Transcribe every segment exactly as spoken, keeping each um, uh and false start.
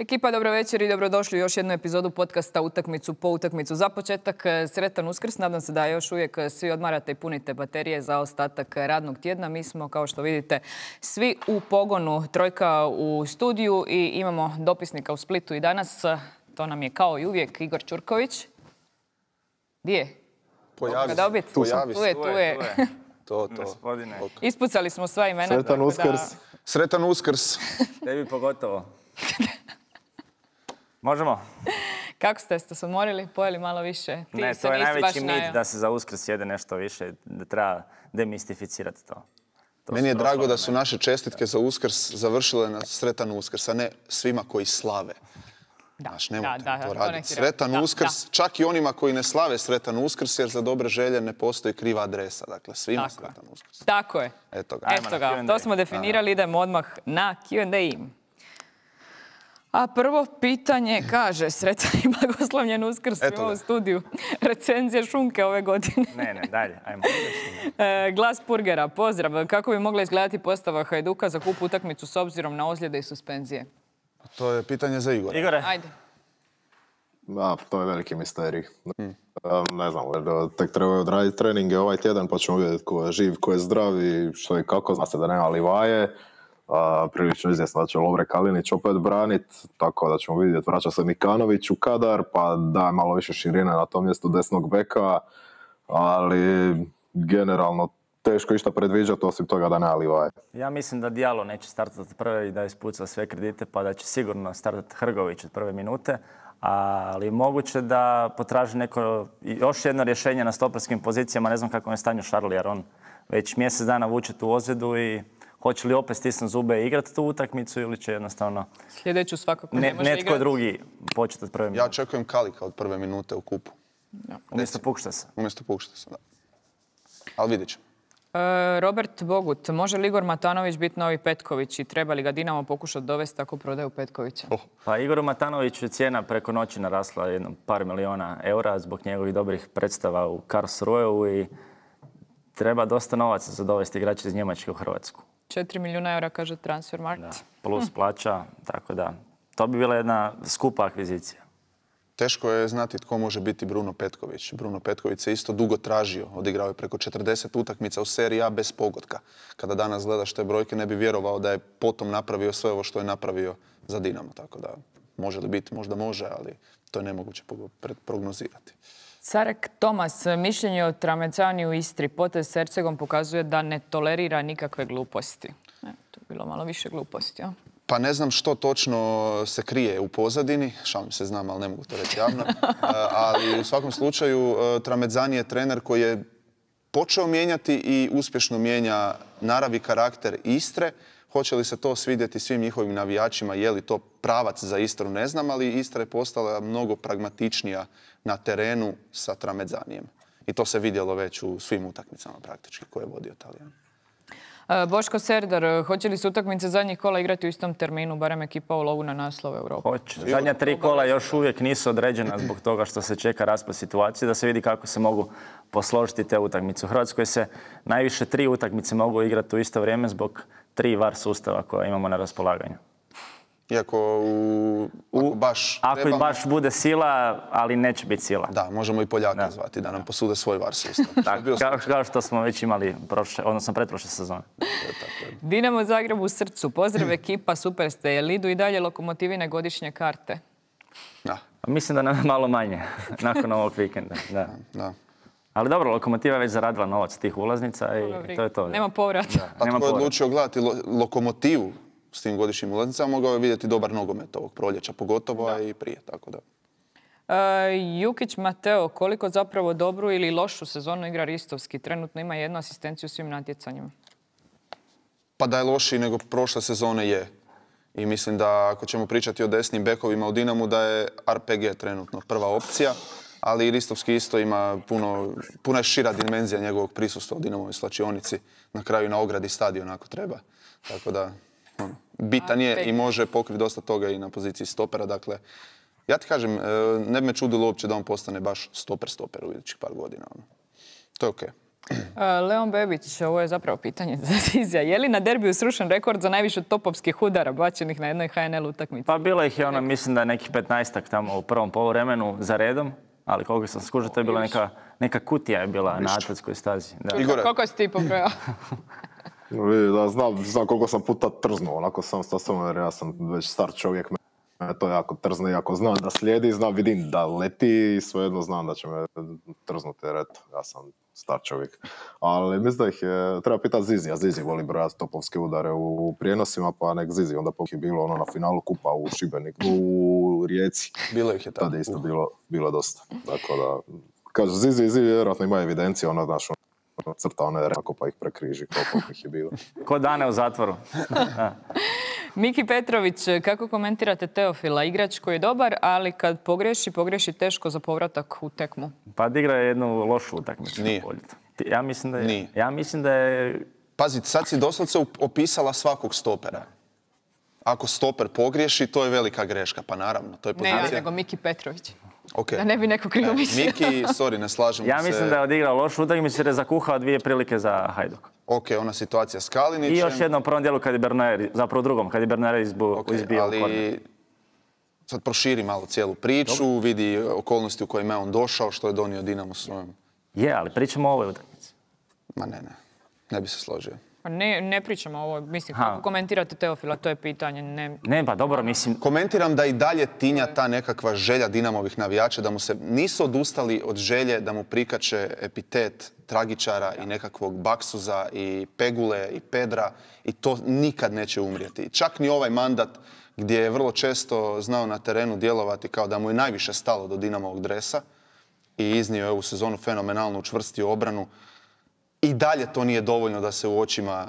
Ekipa, dobro večer i dobrodošli u još jednu epizodu podcasta Utakmicu po utakmicu. Za početak, sretan Uskrs. Nadam se da još uvijek svi odmarate i punite baterije za ostatak radnog tjedna. Mi smo, kao što vidite, svi u pogonu. Trojka u studiju i imamo dopisnika u Splitu i danas. To nam je kao i uvijek Igor Ćurković. Gdje je? Pojavi se. Tu sam. Tu je, tu je. To, to. Gospodine. Ispucali smo sva imena. Sretan Uskrs. Sretan Uskrs. Tebi pogotovo. Možemo? Kako ste? Ste se odmorili? Pojeli malo više? Ti ne, se to je nisi najveći baš mit najao. da se za Uskrs jede nešto više, da treba demistificirati to. to Meni je su drago da prošle su naše čestitke za Uskrs završile na Sretan Uskrs, a ne svima koji slave. Da, Znaš, nemojte da, da, to to raditi. neki Sretan da, Uskrs, da. čak i onima koji ne slave Sretan Uskrs, jer za dobre želje ne postoji kriva adresa. Dakle, svima Tako. Sretan Uskrs. Tako je. Eto ga. Ajmo Eto na ga, Q and A. to smo definirali, idemo odmah na Q and A. A prvo pitanje kaže, sretan i blagoslovljen Uskrs Eto svima ga. u studiju. Recenzije šunke ove godine. Ne, ne, dalje, ajmo. E, Glas Purgera, pozdrav. Kako bi mogla izgledati postava Hajduka za kup utakmicu s obzirom na ozljede i suspenzije? To je pitanje za Igora. Igore, Ajde. Da, to je veliki misterij. Um, ne znam, jer tek trebaju odraditi treninge ovaj tjedan pa ćemo vidjeti ko je živ, ko je zdrav i što i kako. Zna se da nema Livaje. Uh, prilično izvjesno da će Lovre Kalinić opet branit, tako da ćemo vidjeti. Vraća se Mikanović u kadar, pa da malo više širine na tom mjestu desnog beka, ali generalno teško išta predviđati osim toga da nema Livaje. ja mislim da Diallo neće startati prve i da ispuca sve kredite, pa da će sigurno startati Hrgović od prve minute. Ali moguće da potraži neko još jedno rješenje na stoperskim pozicijama. Ne znam kako je stanju Šarli, jer on već mjesec dana vuče tu ozljedu i hoće li opet stisnuti zube i igrati tu utakmicu ili će jednostavno Sljedeću svakako ne, ne, može netko igrati. drugi početi od prve minute. Ja očekujem Kalika od prve minute u kupu. Umjesto Pukštasa. Umjesto Pukštasa, da. Ali vidjet ćemo. E, Robert Bogut, može li Igor Matanović biti novi Petković i treba li ga Dinamo pokušati dovesti ako prodaju Petkovića? Oh. Pa Igoru Matanoviću je cijena preko noći narasla jedno par miliona eura zbog njegovih dobrih predstava u Karlsruheu i treba dosta novaca za dovesti igrače iz Njemačke u Hrvatsku. četiri milijuna eura, kaže Transfermarkt. Da. Plus plaća, tako da. To bi bila jedna skupa akvizicija. Teško je znati tko može biti Bruno Petković. Bruno Petković se isto dugo tražio. Odigrao je preko četrdeset utakmica u seriji A bez pogotka. Kada danas gledaš te brojke, ne bi vjerovao da je potom napravio sve ovo što je napravio za Dinamo. Tako da, može li biti? Možda može, ali to je nemoguće prognozirati. Carek Tomas, mišljenje o Tramezzani u Istri. Potez s Hercegom pokazuje da ne tolerira nikakve gluposti. E, to je bilo malo više gluposti, a? Pa ne znam što točno se krije u pozadini, šalim se, znam, ali ne mogu to reći javno. Ali u svakom slučaju Tramezzani je trener koji je počeo mijenjati i uspješno mijenja narav i karakter Istre. Hoće li se to svidjeti svim njihovim navijačima, je li to pravac za Istru, ne znam, ali Istra je postala mnogo pragmatičnija na terenu sa Tramezzanijem. I to se vidjelo već u svim utakmicama praktički koje je vodio Talijan. Boško Serdar, hoće li se utakmice zadnjih kola igrati u istom terminu, barem ekipa u lovu na naslov Europe? Hoće. Zadnja tri kola još uvijek nisu određena zbog toga što se čeka raspad situacije, da se vidi kako se mogu posložiti te utakmice. U Hrvatskoj se najviše tri utakmice mogu igrati u isto vrijeme zbog tri var sustava koja imamo na raspolaganju. Iako u, ako baš Ako trebamo, baš bude sila, ali neće biti sila. da, možemo i Poljaka da. zvati da nam posude svoj var sustav. Tako, kao, kao što smo već imali prošle, odnosno pretprošle sezone. Dinamo Zagreb u srcu. Pozdrav ekipa, super ste. Je li idu i dalje Lokomotivine godišnje karte? Da, Mislim da nam je malo manje nakon ovog vikenda. Da. da. Ali dobro, Lokomotiva je već zaradila novac tih ulaznica i to je to. Nema povrata. Pa Nema tko je povrata. odlučio gledati lo, Lokomotivu s tim godišnjim ulaznicama, mogao je vidjeti dobar nogomet ovog proljeća, pogotovo a i prije, tako da. E, Jukić Mateo, koliko zapravo dobru ili lošu sezonu igra Ristovski? Trenutno ima jednu asistenciju u svim natjecanjima. Pa da je lošiji nego prošle sezone je. I mislim da ako ćemo pričati o desnim bekovima u Dinamu, da je R P G trenutno prva opcija, ali i Ristovski isto ima puno, puno je šira dimenzija njegovog prisustva u Dinamovoj slačionici, na kraju na ogradi stadiona ako treba. Tako da, ono, bitan je i može pokriti dosta toga i na poziciji stopera. Dakle, ja ti kažem, ne bi me čudilo uopće da on postane baš stoper-stoper u idućih par godina. Ono. To je okej. Leon Bebić, ovo je zapravo pitanje za Zizija. Je li na derbiju srušen rekord za najviše topovskih udara bačenih na jednoj H N L utakmici? Pa bilo ih je ono, mislim da je nekih petnaestak tamo u prvom poluvremenu za redom, ali koliko sam skužio, to je bila neka, neka kutija je bila na atletskoj stazi. Da. Igore. Koliko si ti pobrojao? Vidi, da, znam, znam koliko sam puta trznuo, onako sam sa sobom, jer ja sam već star čovjek, me to jako trzne, jako znam da slijedi, znam, vidim da leti i svejedno znam da će me trznuti, jer eto, ja sam star čovjek. Ali mislim da ih je, treba pitati Zizi, a Zizi voli brojati topovske udare u, u prijenosima, pa nek Zizi, onda je bilo ono na finalu kupa u Šibeniku, u Rijeci. Bilo ih je tako. Tad je isto bilo, bilo dosta, tako da, kaže Zizi, Zizi vjerojatno ima evidencije, ono, znaš, crta one reko pa ih prekriži koliko ih je bilo. Ko dane u zatvoru. Miki Petrović, kako komentirate Teofila? Igrač koji je dobar, ali kad pogreši, pogreši teško za povratak u tekmu. Pa igra je jednu lošu utakmicu. Nije. Ja mislim da je... Nije. Ja mislim da je... Pazi, sad si doslovce opisala svakog stopera. Ako stoper pogriješi, to je velika greška, pa naravno. To je Ne pozicija. ja, nego Miki Petrović. Okay. Da ne bi neko krivo mislio. Miki, sorry, ne slažemo Ja se. mislim da je odigrao lošu utakmicu jer je zakuhao dvije prilike za Hajduk. Ok, ona situacija s Kalinićem. I još jednom u prvom dijelu kad je Bernaer, zapravo u drugom, kad je Bernaer izbu, Okay, izbio ali korner. sad proširi malo cijelu priču, Dobre. vidi okolnosti u kojima je on došao, što je donio Dinamo svojom. Je, ali pričamo o ovoj utakmici. Ma ne, ne. Ne bi se složio. Pa ne, ne pričamo ovo, mislim, Ha. kako komentirate Teofila, to je pitanje. Ne, Ne, pa dobro, mislim... Komentiram da i dalje tinja ta nekakva želja Dinamovih navijača, da mu se nisu odustali od želje da mu prikače epitet tragičara i nekakvog baksuza i pegule i pedra i to nikad neće umrijeti. Čak ni ovaj mandat gdje je vrlo često znao na terenu djelovati kao da mu je najviše stalo do Dinamovog dresa i iznio je ovu sezonu fenomenalno učvrstio obranu. I dalje to nije dovoljno da se u očima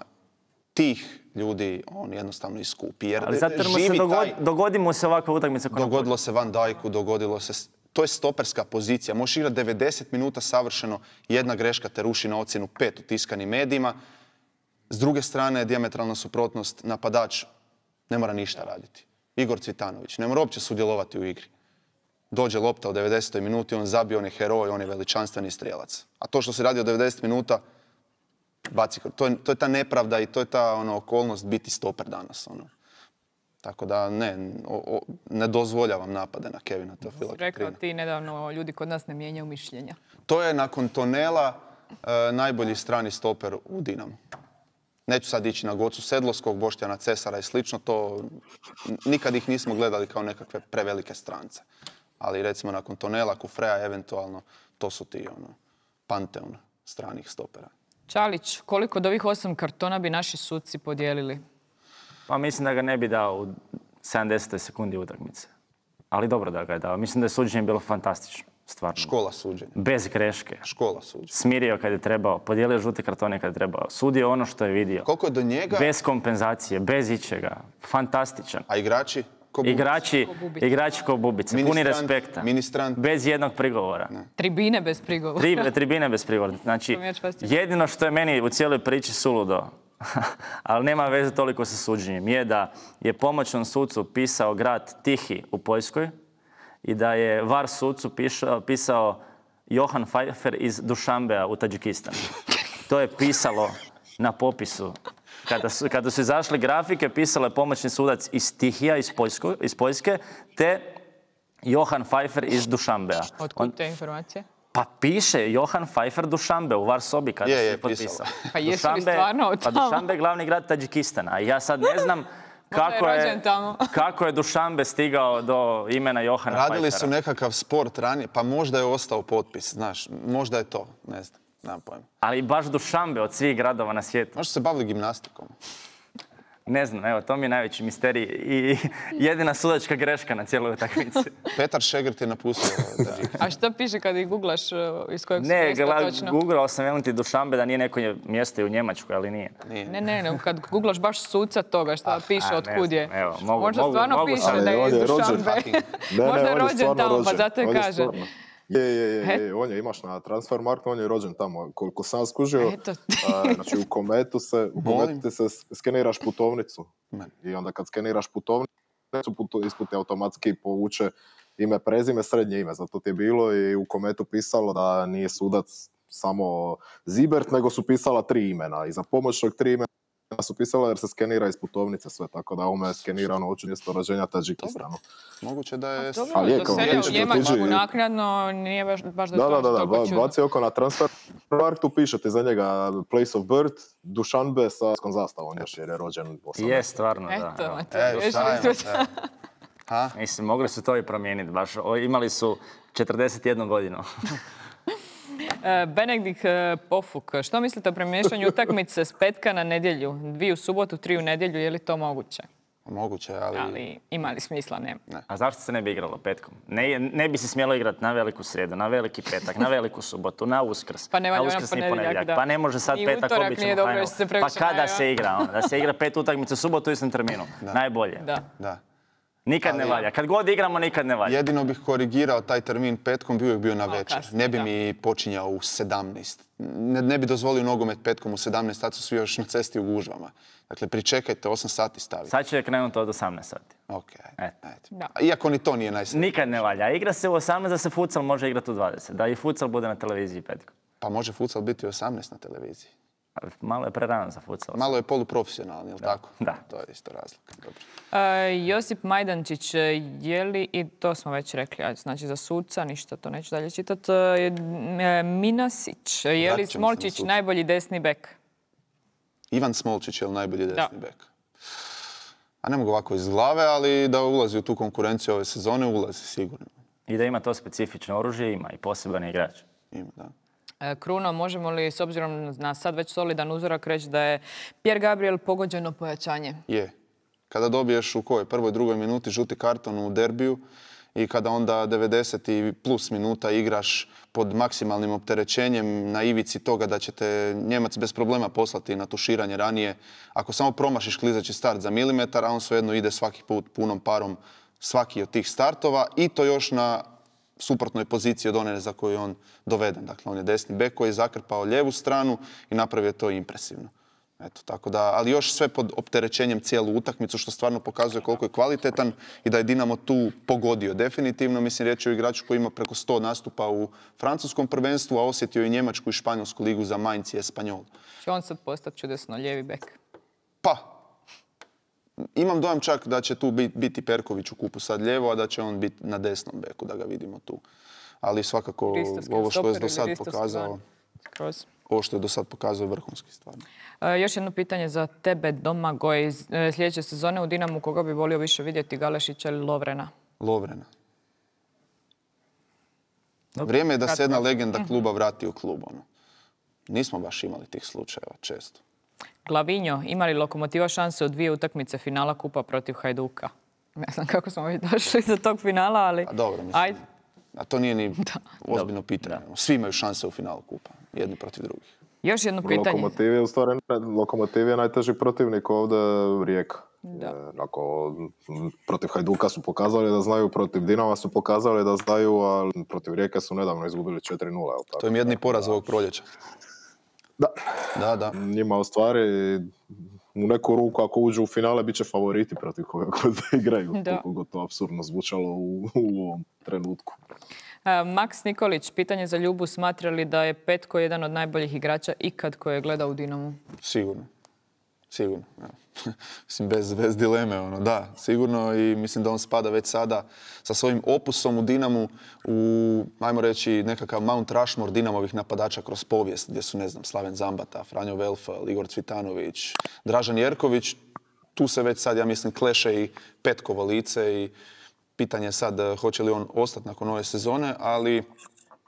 tih ljudi on jednostavno iskupi. Jer Ali zato jer mu se živi dogodi, taj- dogodi mu se ovakva utakmica. koja- Dogodilo se Van Dijku, dogodilo se... To je stoperska pozicija. Možeš igrati devedeset minuta savršeno, jedna greška te ruši na ocjenu pet u tiskanim medijima. S druge strane, dijametralna suprotnost, napadač ne mora ništa raditi. Igor Cvitanović ne mora uopće sudjelovati u igri. Dođe lopta u devedesetoj minuti, on zabije, on je heroj, on je veličanstveni strijelac. A to što se radi od devedeset minuta, baci, to je, to je ta nepravda i to je ta ono, okolnost biti stoper danas. Ono. Tako da ne, o, o, ne dozvoljavam napade na Kevina Teofila rekao Kiprina. ti nedavno, ljudi kod nas ne mijenjaju mišljenja. To je nakon Tonela e, najbolji strani stoper u Dinamu. Neću sad ići na Gocu Sedlovskog, Boštjana Cesara i slično, to nikad ih nismo gledali kao nekakve prevelike strance. Ali recimo nakon Tonela, Kufreja, eventualno, to su ti ono, panteon stranih stopera. Čalić, koliko od ovih osam kartona bi naši suci podijelili? Pa mislim da ga ne bi dao u sedamdesetoj sekundi utakmice. Ali dobro da ga je dao. Mislim da je suđenje bilo fantastično. Stvarno. Škola suđenja. Bez greške. Škola suđenja. Smirio kad je trebao, podijelio žute kartone kad je trebao. Sudio ono što je vidio. Koliko je do njega, Bez kompenzacije, bez ičega. Fantastičan. a igrači? Ko Bubica? Igrači, Ko Bubica. igrači ko Bubice, puni Ministrant, respekta. ministrant. Bez jednog prigovora. Tribine bez prigovora. Tri, tribine bez prigovora. Znači, To mi je fascinantno. jedino što je meni u cijeloj priči suludo, ali nema veze toliko sa suđenjem, je da je pomoćnom sucu pisao grad Tihi u Poljskoj i da je var sucu pišao, pisao Johan Pfeiffer iz Dušanbea u Tadžikistanu. To je pisalo na popisu. Kada su, kada su izašle grafike, pisalo je pomoćni sudac iz Tihija, iz, Poljsko, iz Poljske, te Johan Pfeiffer iz Dušanbea. Otkud te informacije? Pa piše Johan Pfeiffer Dušanbe u Varsobi kada Je, se je, je potpisao. pisalo. Pa jesu li stvarno od Pa tamo? Dušanbe je glavni grad Tadžikistana. A ja sad ne znam kako je je, rođen tamo. kako je Dušanbe stigao do imena Johana Radili Pfeiffera. su nekakav sport ranije, pa možda je ostao potpis, znaš, možda je to, ne znam, nemam pojma. Ali baš Dušanbe od svih gradova na svijetu. Možda su se bavili gimnastikom. Ne znam, evo, to mi je najveći misterij i jedina sudačka greška na cijeloj utakmici. Petar Šegrt je napustio Tadžikistan. A što piše kad ih googlaš uh, iz kojeg su Ne, mjesta gla- točno? googlao sam velim ti Dušanbe da nije neko mjesto i u Njemačkoj, ali nije. Ne, ne, ne, kad googlaš baš suca toga šta piše a, od ne kud je. znam, evo, mogu- Možda mogu- stvarno mogu piše sam- da je Ali iz on je rođen Dušanbe. fucking- Ne, ne, Možda je on rođen stvarno tamo, pa rođen. zato je On je kaže. stvarno. Je, je, je, E? je, on je, imaš na Transfermarktu, on je rođen tamo. Koliko sam skužio, Eto. a, znači u Kometu se, u Molim? Kometu ti se skeniraš putovnicu. Man. I onda kad skeniraš putovnicu, putu, isput ti automatski povuče ime, prezime, srednje ime. Zato ti je bilo i u Kometu pisalo da nije sudac samo Zibert, nego su pisala tri imena i za pomoć tog tri imena su pisala jer se skenira iz putovnice sve, tako da ovome je skenirano oču mjesto rođenja Tadžikistanu. Moguće da je... Dobro, Ali je to kao selja piše, u Njemačku tuđi- naknadno nije baš, baš da, Da, to da, da, da, toliko ba- čudno. baci oko na transfer marktu, pišete za njega place of birth, Dušanbe sa skom zastavom još jer je rođen osamnaesti. Je, stvarno, da. Eto, evo. Mateo, E, riješili šta smo je, to. e. Ha? Mislim, mogli su to i promijeniti baš. O, imali su četrdeset jednu godinu. E, Benedikt e, Pofuk, što mislite o premještanju utakmice s petka na nedjelju? Dvije u subotu, tri u nedjelju, je li to moguće? Moguće, ali... Ali ima li smisla? Nema. A zašto se ne bi igralo petkom? Ne, ne bi se smjelo igrati na veliku srijedu, na veliki petak, na veliku subotu, na Uskrs, Pa ne valja na ona uskrsni ponedjeljak, ponedjeljak. da. Pa ne može sad Ni petak utorak obično nije dobro final. jer se Pa previše kada najava. se igra? Ono, da se igra pet utakmica u subotu u istom terminu. Najbolje. Da. Da. Nikad ne Ali- valja. Kad god igramo, nikad ne valja. Jedino bih korigirao taj termin petkom, bi uvijek bio na večer. kasnije, Ne bi da. mi počinjao u sedamnaest. Ne, ne bi dozvolio nogomet petkom u sedamnaest, tad su svi još na cesti u gužvama. Dakle, pričekajte, osam sati staviti. Sad će krenuti od osamnaest sati. Ok, Eto. ajde. Da. Iako ni to nije najsretnije. Nikad ne valja. Igra se u osamnaest, da se futsal može igrati u dvadeset. Da i futsal bude na televiziji petkom. Pa može futsal biti u osamnaest na televiziji. Malo je prerano za futsal. Malo je poluprofesionalni, jel tako? Da. To je isto razlika. Dobro. E, Josip Majdančić, je li, i to smo već rekli, ajde, znači za suca, ništa to neću dalje čitati, Minasić, je li Vratit ćemo se na Smolčić suca. najbolji desni bek? Ivan Smolčić je li najbolji desni Da. bek? A ne mogu ovako iz glave, ali da ulazi u tu konkurenciju ove sezone, ulazi sigurno. I da ima to specifično oružje, ima i poseban igrač. Ima, da. E, Kruno, možemo li s obzirom na sad već solidan uzorak reći da je Pierre Gabriel pogođeno pojačanje? Je. Kada dobiješ u kojoj prvoj, drugoj minuti žuti karton u derbiju i kada onda devedeset i plus minuta igraš pod maksimalnim opterećenjem na ivici toga da će te Njemac bez problema poslati na tuširanje ranije. Ako samo promašiš klizeći start za milimetar, a on svejedno ide svaki put punom parom svaki od tih startova i to još na suprotnoj poziciji od one za koju je on doveden. Dakle, on je desni bek koji je zakrpao lijevu stranu i napravio to impresivno. Eto, tako da, ali još sve pod opterećenjem cijelu utakmicu, što stvarno pokazuje koliko je kvalitetan i da je Dinamo tu pogodio definitivno. Mislim, riječ je o igraču koji ima preko sto nastupa u francuskom prvenstvu, a osjetio i njemačku i španjolsku ligu za Mainz i Espanyol. Će on sad postati čudesno lijevi bek? Pa, imam dojam čak da će tu bit- biti Perković u kupu sad lijevo, a da će on biti na desnom beku, da ga vidimo tu. Ali svakako Ristovski ovo što je stoper do ili sad ristovski pokazao, van? Skroz. ovo što je do sad pokazao je vrhunski stvarno. E, još jedno pitanje za tebe, Domagoj. Z- e, Sljedeće sezone u Dinamu koga bi volio više vidjeti, Galešića ili Lovrena? Lovrena. Vrijeme je da se jedna legenda kluba vrati u klub. Ono. Nismo baš imali tih slučajeva često. Glavinjo, ima li Lokomotiva šanse u dvije utakmice finala kupa protiv Hajduka? Ne znam kako smo već došli do tog finala, ali... A dobro, mislim. Ajde. A to nije ni ozbiljno pitanje. Svi imaju šanse u finalu kupa. Jedni protiv drugih. Još jedno pitanje. Lokomotiv je u stvari, Lokomotiv je najteži protivnik ovdje Rijeka. Da. E, Ako m, protiv Hajduka su pokazali da znaju, protiv Dinama su pokazali da znaju, a protiv Rijeke su nedavno izgubili četiri nula. jel tako? To je jedni poraz ovog proljeća. Da. Da, da. Njima u stvari u neku ruku ako uđu u finale bit će favoriti protiv koga god da igraju. Da. Koliko god to apsurdno zvučalo u, u ovom trenutku. E, Maks Nikolić, pitanje za Ljubu, smatra li da je Petko jedan od najboljih igrača ikad koje je gledao u Dinamu? Sigurno. Sigurno. evo. Mislim, bez, bez dileme. Ono. Da, sigurno i mislim da on spada već sada sa svojim opusom u Dinamu u, ajmo reći, nekakav Mount Rushmore Dinamovih napadača kroz povijest, gdje su, ne znam, Slaven Zambata, Franjo Velfel, Igor Cvitanović, Dražan Jerković. Tu se već sad, ja mislim, kleše i Petkovo lice i pitanje je sad eh, hoće li on ostati nakon ove sezone, ali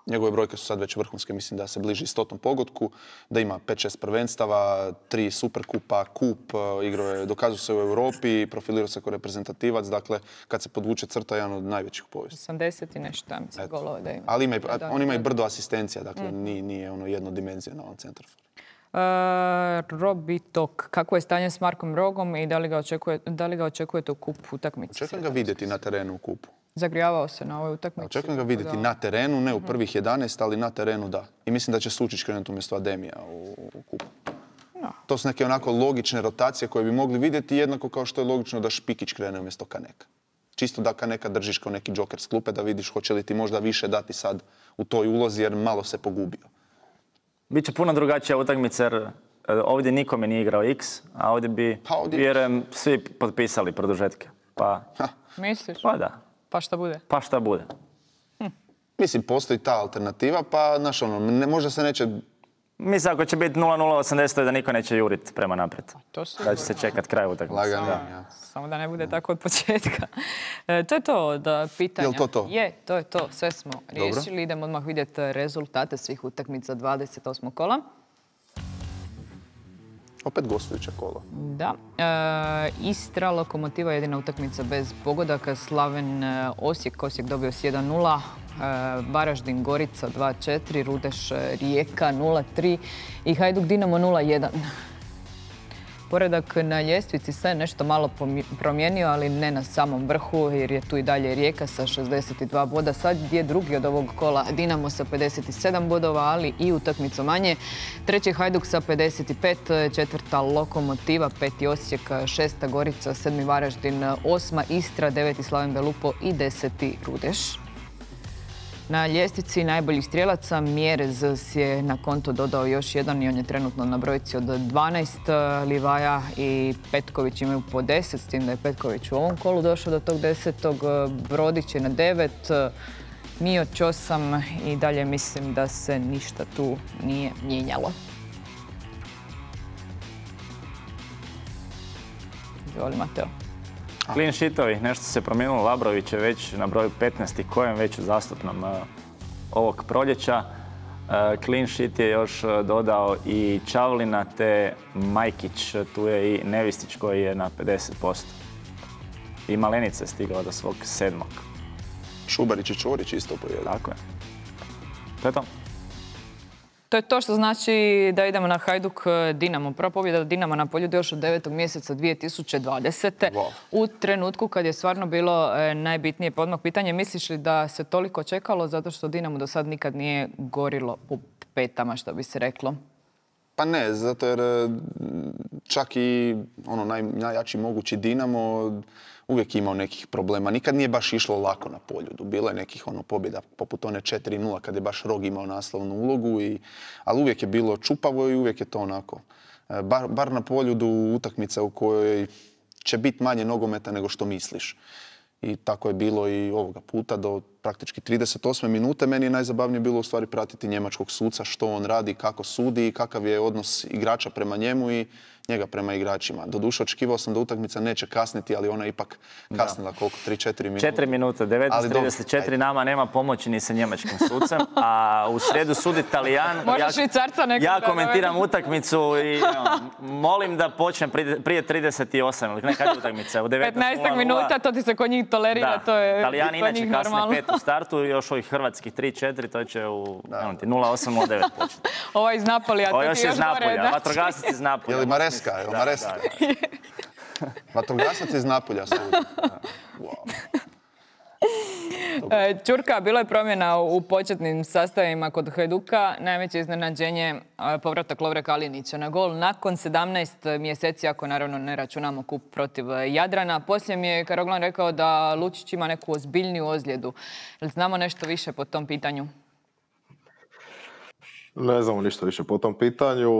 njegove brojke su sad već vrhunske, mislim da se bliži stotom pogodku, da ima pet šest prvenstava, tri superkupa, kup, eh, igrao je, dokazuje se u Europi, profilirao se kao reprezentativac, dakle, kad se podvuče crta, jedan od najvećih u povijesti. osamdeset i nešto, ja mislim, golova da ima. Ali ima i, Da, da, on ima i da. brdo asistencija, dakle, nije, nije ono jednodimenzionalan centarfor. E, Robitok, kako je stanje s Markom Rogom i da li ga, očekuje, da li ga očekujete u kupu utakmici? Očekujem ga vidjeti na terenu u kupu. Zagrijavao se na ovoj utakmici. Očekujem ga tako vidjeti da- na terenu, ne u prvih jedanaest, ali na terenu da. I mislim da će Sučić krenuti umjesto Ademija u, u kupu. No. To su neke onako logične rotacije koje bi mogli vidjeti, jednako kao što je logično da Špikić krene umjesto Kaneka. Čisto da Kaneka držiš kao neki džoker s klupe, da vidiš hoće li ti možda više dati sad u toj ulozi, jer malo se pogubio. Biće puno drugačija utakmica jer ovdje nikome nije igrao X, a ovdje bi, Pa ovdje- vjerujem, svi potpisali produžetke. Pa, Misliš? pa da, Pa šta bude? pa šta bude. Mislim, postoji ta alternativa, pa, znaš, ono, ne, možda se neće... Mislim, ako će biti nula nula osamdeset, da niko neće jurit prema naprijed. To su Da će se čekat kraj utakmice. Lagani, Da. ja. Samo da ne bude tako od početka. E, to je to da pitanja. Jel to to? Je, to je to. Sve smo riješili. Idemo odmah vidjeti rezultate svih utakmica dvadeset osmog kola. Opet gostujuća kola. Da. E, Istra, Lokomotiva jedina utakmica bez pogodaka. Slaven e, Osijek, Osijek dobio s jedan nula. E, Varaždin, Gorica dva četiri. Rudeš, e, Rijeka nula tri. I Hajduk Dinamo nula jedan. Poredak na ljestvici se nešto malo pomi- promijenio, ali ne na samom vrhu, jer je tu i dalje Rijeka sa šezdeset dva boda. Sad je drugi od ovog kola Dinamo sa pedeset sedam bodova, ali i utakmicu manje. Treći Hajduk sa pedeset pet, četvrta Lokomotiva, peti Osijek, šesta Gorica, sedmi Varaždin, osma Istra, deveti Slaven Belupo i deseti Rudeš. Na ljestvici najboljih strijelaca Mjerez si je na konto dodao još jedan i on je trenutno na brojci od dvanaest. Livaja i Petković imaju po deset, s tim da je Petković u ovom kolu došao do tog desetog. Brodić je na devet, Mioć osam i dalje mislim da se ništa tu nije mijenjalo. Izvoli, Mateo. Clean sheetovi, nešto se promijenilo. Labrović je već na broju petnaest i kojem već u zastupnom uh, ovog proljeća. Uh, clean sheet je još uh, dodao i Čavlina te Majkić, tu je i Nevistić koji je na pedeset posto. I Malenica je stigla do svog sedmog. Šubarić i Čorić isto po jedan. Tako je. To je to. To je to što znači da idemo na Hajduk Dinamo. Prva pobjeda Dinama na Poljudu još od devetog mjeseca dvije tisuće dvadesete. Wow. U trenutku kad je stvarno bilo e, najbitnije podmah pitanje, misliš li da se toliko čekalo zato što Dinamo do sad nikad nije gorilo u petama, što bi se reklo? Pa ne, zato jer e, čak i ono naj, najjači mogući Dinamo uvijek imao nekih problema. Nikad nije baš išlo lako na Poljudu. Bilo je nekih ono pobjeda poput one četiri nula kad je baš Rog imao naslovnu ulogu, i, ali uvijek je bilo čupavo i uvijek je to onako. E, bar, bar na Poljudu utakmica u kojoj će biti manje nogometa nego što misliš. I tako je bilo i ovoga puta do praktički trideset osme minute. Meni je najzabavnije bilo u stvari pratiti njemačkog suca, što on radi, kako sudi i kakav je odnos igrača prema njemu i njega prema igračima. Doduše, očekivao sam da utakmica neće kasniti, ali ona je ipak kasnila koliko, tri četiri minute. četiri minute, devetnaest trideset četiri, nama nema pomoći ni sa njemačkim sucem, a u sredu sudi Talijan. Možda Ja- Švicarca nekog Ja da komentiram utakmicu i no, molim da počnem prije, prije trideset osam, ili ne, kad je utakmica? U devetnaest nula petnaest nula. minuta, to ti se kod njih tolerira, Da, to je Talijani kod inače njih kasne normalno. pet u startu i još ovih hrvatskih tri četiri, to će u evo ti, nula osam nula devet početi. Ovaj iz Napolija, Ovo to još ti je još iz gore. Napolja, znači. vatrogasac iz Napolja. Je li Mareska? Je li Da, Mareska? da, da. Vatrogasac iz Napolja sudi. Wow. E, Ćurka, bilo je promjena u početnim sastavima kod Hajduka. Najveće iznenađenje e, povratak Lovre Kalinića na gol nakon sedamnaest mjeseci, ako naravno ne računamo kup protiv Jadrana. Poslije mi je Karoglan rekao da Lučić ima neku ozbiljniju ozljedu. Jel znamo nešto više po tom pitanju? Ne znamo ništa više po tom pitanju.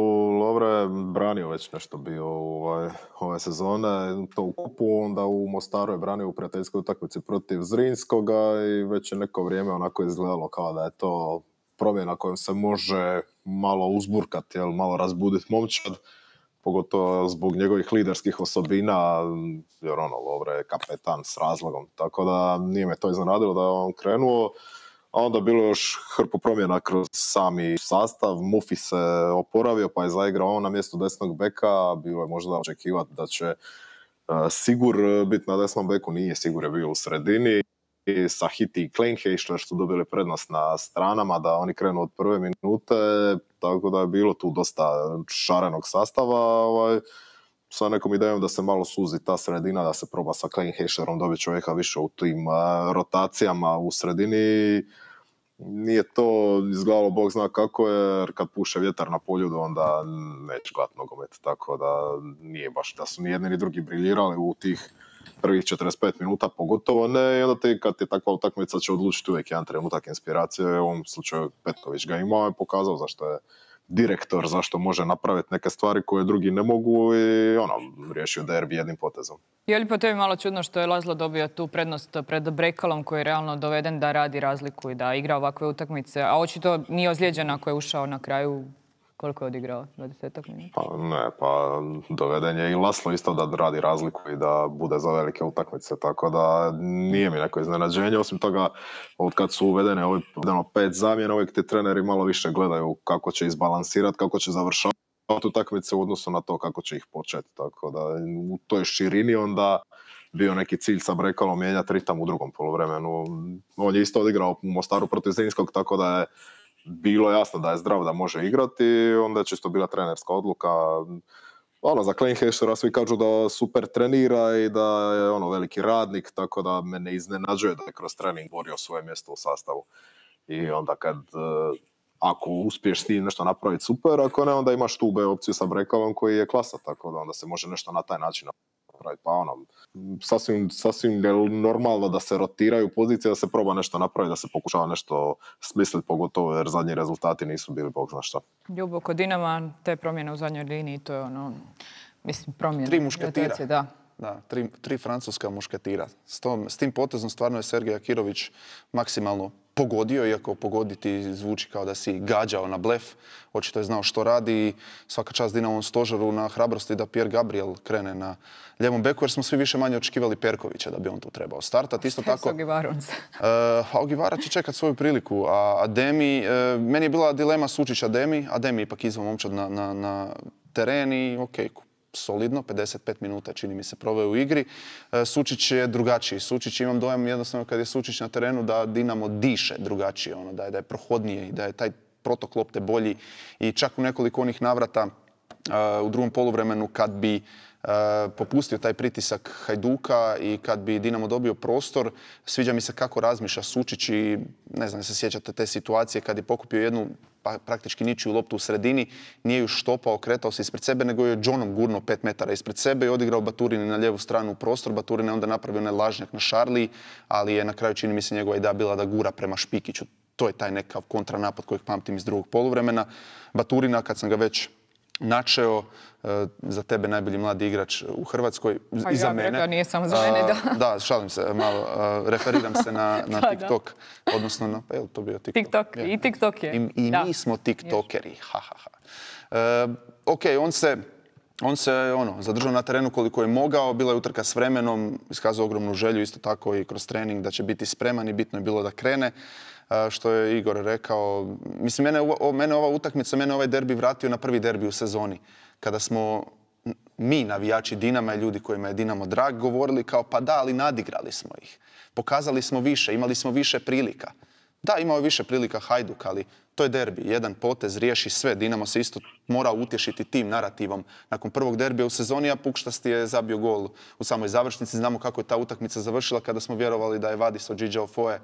Lovre je branio već nešto bio ovaj, ove sezone. To u kupu, onda u Mostaru je branio u prijateljskoj utakmici protiv Zrinskoga i već je neko vrijeme onako izgledalo kao da je to promjena kojom se može malo uzburkati, jel, malo razbuditi momčad. Pogotovo zbog njegovih liderskih osobina, jer ono, Lovre je kapetan s razlogom. Tako da nije me to iznenadilo da je on krenuo. A onda bilo još hrpu promjena kroz sami sastav. Mufi se oporavio pa je zaigrao on na mjestu desnog beka. Bilo je možda očekivati da će uh, Sigur biti na desnom beku. Nije, Sigur je bio u sredini. I Sahiti i Kleinheišler su dobili prednost na stranama da oni krenu od prve minute. Tako da je bilo tu dosta šarenog sastava. Ovaj, sa nekom idejom da se malo suzi ta sredina, da se proba sa Kleinheišlerom dobiti čovjeka više u tim uh, rotacijama u sredini. Nije to izgledalo bog zna kako je, jer kad puše vjetar na Poljudu onda neće gledat nogomet, tako da nije baš da su ni jedni ni drugi briljirali u tih prvih četrdeset pet minuta, pogotovo ne, i onda ti kad je takva utakmica će odlučiti uvijek jedan trenutak inspiracije, u ovom slučaju Petković ga imao i pokazao zašto je direktor zašto može napraviti neke stvari koje drugi ne mogu i ono, riješio derbi jednim potezom. Je li po tebi malo čudno što je Laszlo dobio tu prednost pred Brekalom koji je realno doveden da radi razliku i da igra ovakve utakmice, a očito nije ozlijeđen ako je ušao na kraju? Koliko je odigrao? dvadesetak minuta? Pa ne, pa doveden je i Laszlo isto da radi razliku i da bude za velike utakmice, tako da nije mi neko iznenađenje. Osim toga, od kad su uvedene ovih pet zamjena, uvijek ti treneri malo više gledaju kako će izbalansirati, kako će završavati utakmice u odnosu na to kako će ih početi. Tako da u toj širini onda bio neki cilj sa Brekalom mijenjati ritam u drugom poluvremenu. On je isto odigrao u Mostaru protiv Zrinskog, tako da je bilo jasno da je zdrav, da može igrati, onda je čisto bila trenerska odluka. Ono, za Kleinheislera svi kažu da super trenira i da je ono veliki radnik, tako da me ne iznenađuje da je kroz trening borio svoje mjesto u sastavu. I onda kad, ako uspiješ s tim nešto napraviti, super, ako ne, onda imaš tu B opciju sa Brekalom koji je klasa, tako da onda se može nešto na taj način napraviti. Pa ono, sasvim, sasvim normalno da se rotiraju pozicije, da se proba nešto napraviti, da se pokušava nešto smisliti, pogotovo jer zadnji rezultati nisu bili bog zna šta. Ljubo, kod Dinama te promjene u zadnjoj liniji, to je ono, mislim, promjene. Tri mušketira. Da. Da, tri, tri francuska mušketira. S, tom, s tim potezom stvarno je Sergej Akirović maksimalno pogodio, iako pogoditi zvuči kao da si gađao na blef. Očito je znao što radi i svaka čast Dinamovom stožeru na hrabrosti da Pierre Gabriel krene na ljevom beku, jer smo svi više manje očekivali Perkovića da bi on tu trebao startati. Isto tako, uh, Ogivara će čekati svoju priliku, a Ademi, uh, meni je bila dilema Sučić Ademi, Ademi ipak izvan momčad na, na, na teren i okej, okay, solidno, pedeset pet minuta čini mi se proveo u igri. Sučić je drugačiji. Sučić, imam dojam jednostavno kad je Sučić na terenu da Dinamo diše drugačije, ono, da je, da je prohodnije i da je taj protok lopte bolji. I čak u nekoliko onih navrata uh, u drugom poluvremenu kad bi uh, popustio taj pritisak Hajduka i kad bi Dinamo dobio prostor, sviđa mi se kako razmišlja Sučić i ne znam, se sjećate te situacije kad je pokupio jednu pa praktički ničiju loptu u sredini, nije ju štopao, kretao se ispred sebe, nego je Johnom gurnuo pet metara ispred sebe i odigrao Baturini na lijevu stranu u prostor. Baturin je onda napravio onaj lažnjak na Šarliji, ali je na kraju, čini mi se, njegova ideja bila da gura prema Špikiću. To je taj nekav kontranapad kojeg pamtim iz drugog poluvremena. Baturina, kad sam ga već načeo, za tebe najbolji mladi igrač u Hrvatskoj, pa i za ja mene. Rekao, nije samo za mene, da. Da, šalim se malo, referiram se na, na da, TikTok, da. Odnosno na, pa je li to bio TikTok? TikTok, je. I TikTok je. I, i mi smo tiktokeri, ha, ha, ha. E, ok, on se, on se ono, zadržao na terenu koliko je mogao, bila je utrka s vremenom, iskazao ogromnu želju, isto tako i kroz trening da će biti spreman i bitno je bilo da krene. Što je Igor rekao, mislim, mene, o, mene ova utakmica, mene ovaj derbi vratio na prvi derbi u sezoni. Kada smo mi, navijači Dinama i ljudi kojima je Dinamo drag, govorili kao pa da, ali nadigrali smo ih. Pokazali smo više, imali smo više prilika. Da, imao je više prilika Hajduk, ali to je derbi. Jedan potez riješi sve. Dinamo se isto mora utješiti tim narativom. Nakon prvog derbija u sezoni, a Pukštasti je zabio gol u samoj završnici. Znamo kako je ta utakmica završila kada smo vjerovali da je Vadis od Džidža Ofoe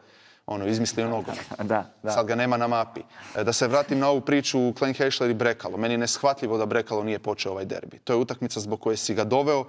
ono, izmislio nogomet. Da, da. Sad ga nema na mapi. Da se vratim na ovu priču Kleinheisler i Brekalo. Meni je neshvatljivo da Brekalo nije počeo ovaj derbi. To je utakmica zbog koje si ga doveo.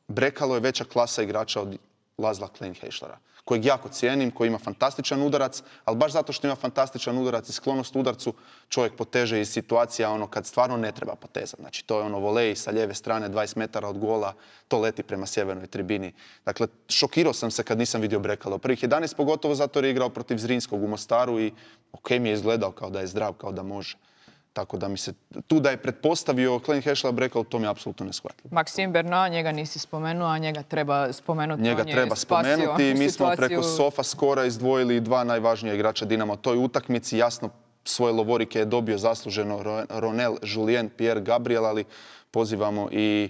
Brekalo je veća klasa igrača od Laszla Kleinheislera, kojeg jako cijenim, koji ima fantastičan udarac, ali baš zato što ima fantastičan udarac i sklonost udarcu, čovjek poteže iz situacija ono kad stvarno ne treba potezati. Znači to je ono volej sa lijeve strane, dvadeset metara od gola, to leti prema sjevernoj tribini. Dakle, šokirao sam se kad nisam vidio Brekalo. Prvih jedanaest pogotovo zato jer je igrao protiv Zrinskog u Mostaru i ok mi je izgledao kao da je zdrav, kao da može. Tako da mi se tu da je pretpostavio Kleinheisler Brekalo, to mi je apsolutno neshvatljivo. Maxime Bernat, njega nisi spomenuo, a njega treba spomenuti. Njega treba spomenuti. Mi smo preko Sofa skora izdvojili dva najvažnija igrača Dinama. Toj utakmici jasno svoje lovorike je dobio zasluženo Ronel Julien, Pierre Gabriel, ali pozivamo i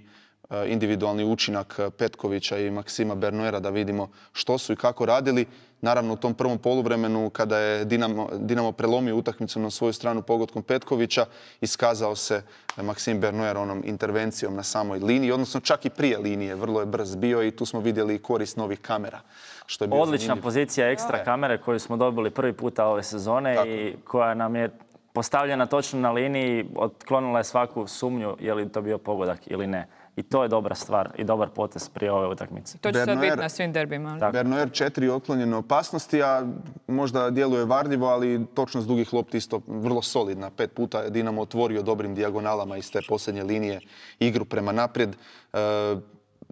individualni učinak Petkovića i Maksima Bernoera da vidimo što su i kako radili. Naravno, u tom prvom poluvremenu, kada je Dinamo, Dinamo prelomio utakmicu na svoju stranu pogodkom Petkovića, iskazao se Maksim Bernoer onom intervencijom na samoj liniji, odnosno čak i prije linije. Vrlo je brz bio i tu smo vidjeli korist novih kamera. Što je bio odlična zanimljiv. Pozicija ekstra kamere koju smo dobili prvi puta ove sezone. Tako. I koja nam je postavljena točno na liniji, otklonila je svaku sumnju je li to bio pogodak ili ne. I to je dobra stvar i dobar potez prije ove utakmice. To će sad Bernoer- biti na svim derbima. ali? Bernoer četiri otklonjene opasnosti, a možda djeluje varljivo, ali točnost dugih lopti isto vrlo solidna. Pet puta je Dinamo otvorio dobrim dijagonalama iz te posljednje linije igru prema naprijed. E,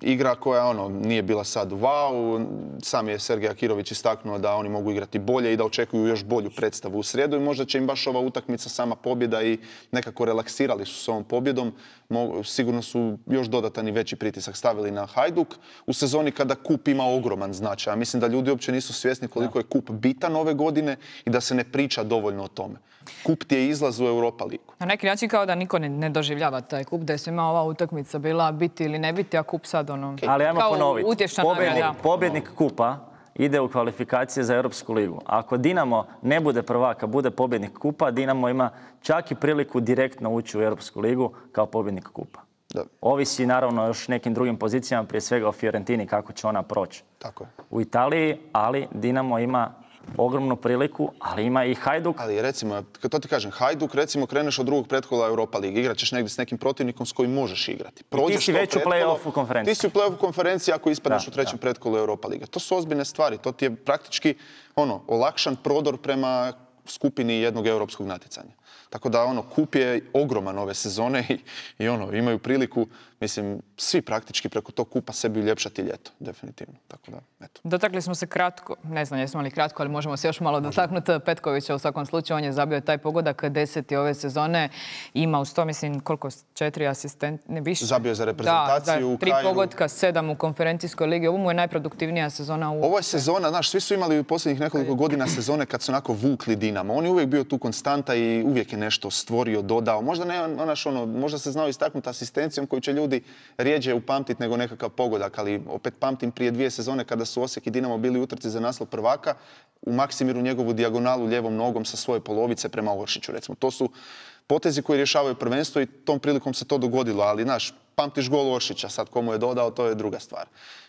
igra koja ono nije bila sad wow, sam je Sergej Akirović istaknuo da oni mogu igrati bolje i da očekuju još bolju predstavu u srijedu i možda će im baš ova utakmica sama pobjeda i nekako relaksirali su s ovom pobjedom. Sigurno su još dodatan i veći pritisak stavili na Hajduk u sezoni kada kup ima ogroman značaj. Ja mislim da ljudi uopće nisu svjesni koliko je kup bitan ove godine i da se ne priča dovoljno o tome. Kup ti je izlaz u Europa ligu. Na neki način kao da niko ne, ne doživljava taj kup, da je svima ova utakmica bila biti ili ne biti, a kup sad ono... Okay. Ali ajmo ponoviti, pobjednik, pobjednik kupa ide u kvalifikacije za Europsku ligu. Ako Dinamo ne bude prvak, a bude pobjednik kupa, Dinamo ima čak i priliku direktno ući u Europsku ligu kao pobjednik kupa. Da. Ovisi naravno još nekim drugim pozicijama, prije svega o Fiorentini, kako će ona proći. Tako je. U Italiji, ali Dinamo ima ogromnu priliku, ali ima i Hajduk. Ali recimo, kad to ti kažem, Hajduk, recimo kreneš od drugog pretkola Europa Ligi, igrat ćeš negdje s nekim protivnikom s kojim možeš igrati. Prođeš ti si već u play-offu konferenciji. Ti si u play-offu konferenciji ako ispadneš da, u trećem da. pretkolu Europa Lige. To su ozbiljne stvari, to ti je praktički ono, olakšan prodor prema skupini jednog europskog natjecanja. Tako da ono, kup je ogroman ove sezone i, i ono, imaju priliku, mislim, svi praktički preko tog kupa sebi uljepšati ljeto, definitivno. Tako da, eto. Dotakli smo se kratko, ne znam jesmo li kratko, ali možemo se još malo dotaknuti Petkovića u svakom slučaju. On je zabio taj pogodak deseti ove sezone. Ima uz to, mislim, koliko? Četiri asistenta, ne više. Zabio je za reprezentaciju da, u tri Kairu. pogotka, sedam u konferencijskoj ligi. Ovo mu je najproduktivnija sezona u... Ovo je sezona, znaš, svi su imali u posljednjih nekoliko godina sezone kad su onako vukli Dinamo. On je uvijek bio tu konstanta i uvijek je nešto stvorio, dodao. Možda, ne, onaš, ono, možda se znao istaknuti asistencijom koju će ljudi rijeđe upamtiti nego nekakav pogodak, ali opet pamtim prije dvije sezone kada su Osijek i Dinamo bili u utrci za naslov prvaka, u Maksimiru njegovu dijagonalu lijevom nogom sa svoje polovice prema Oršiću, recimo. To su potezi koji rješavaju prvenstvo i tom prilikom se to dogodilo, ali znaš, pamtiš gol Oršića, sad komu je dodao, to je druga stvar.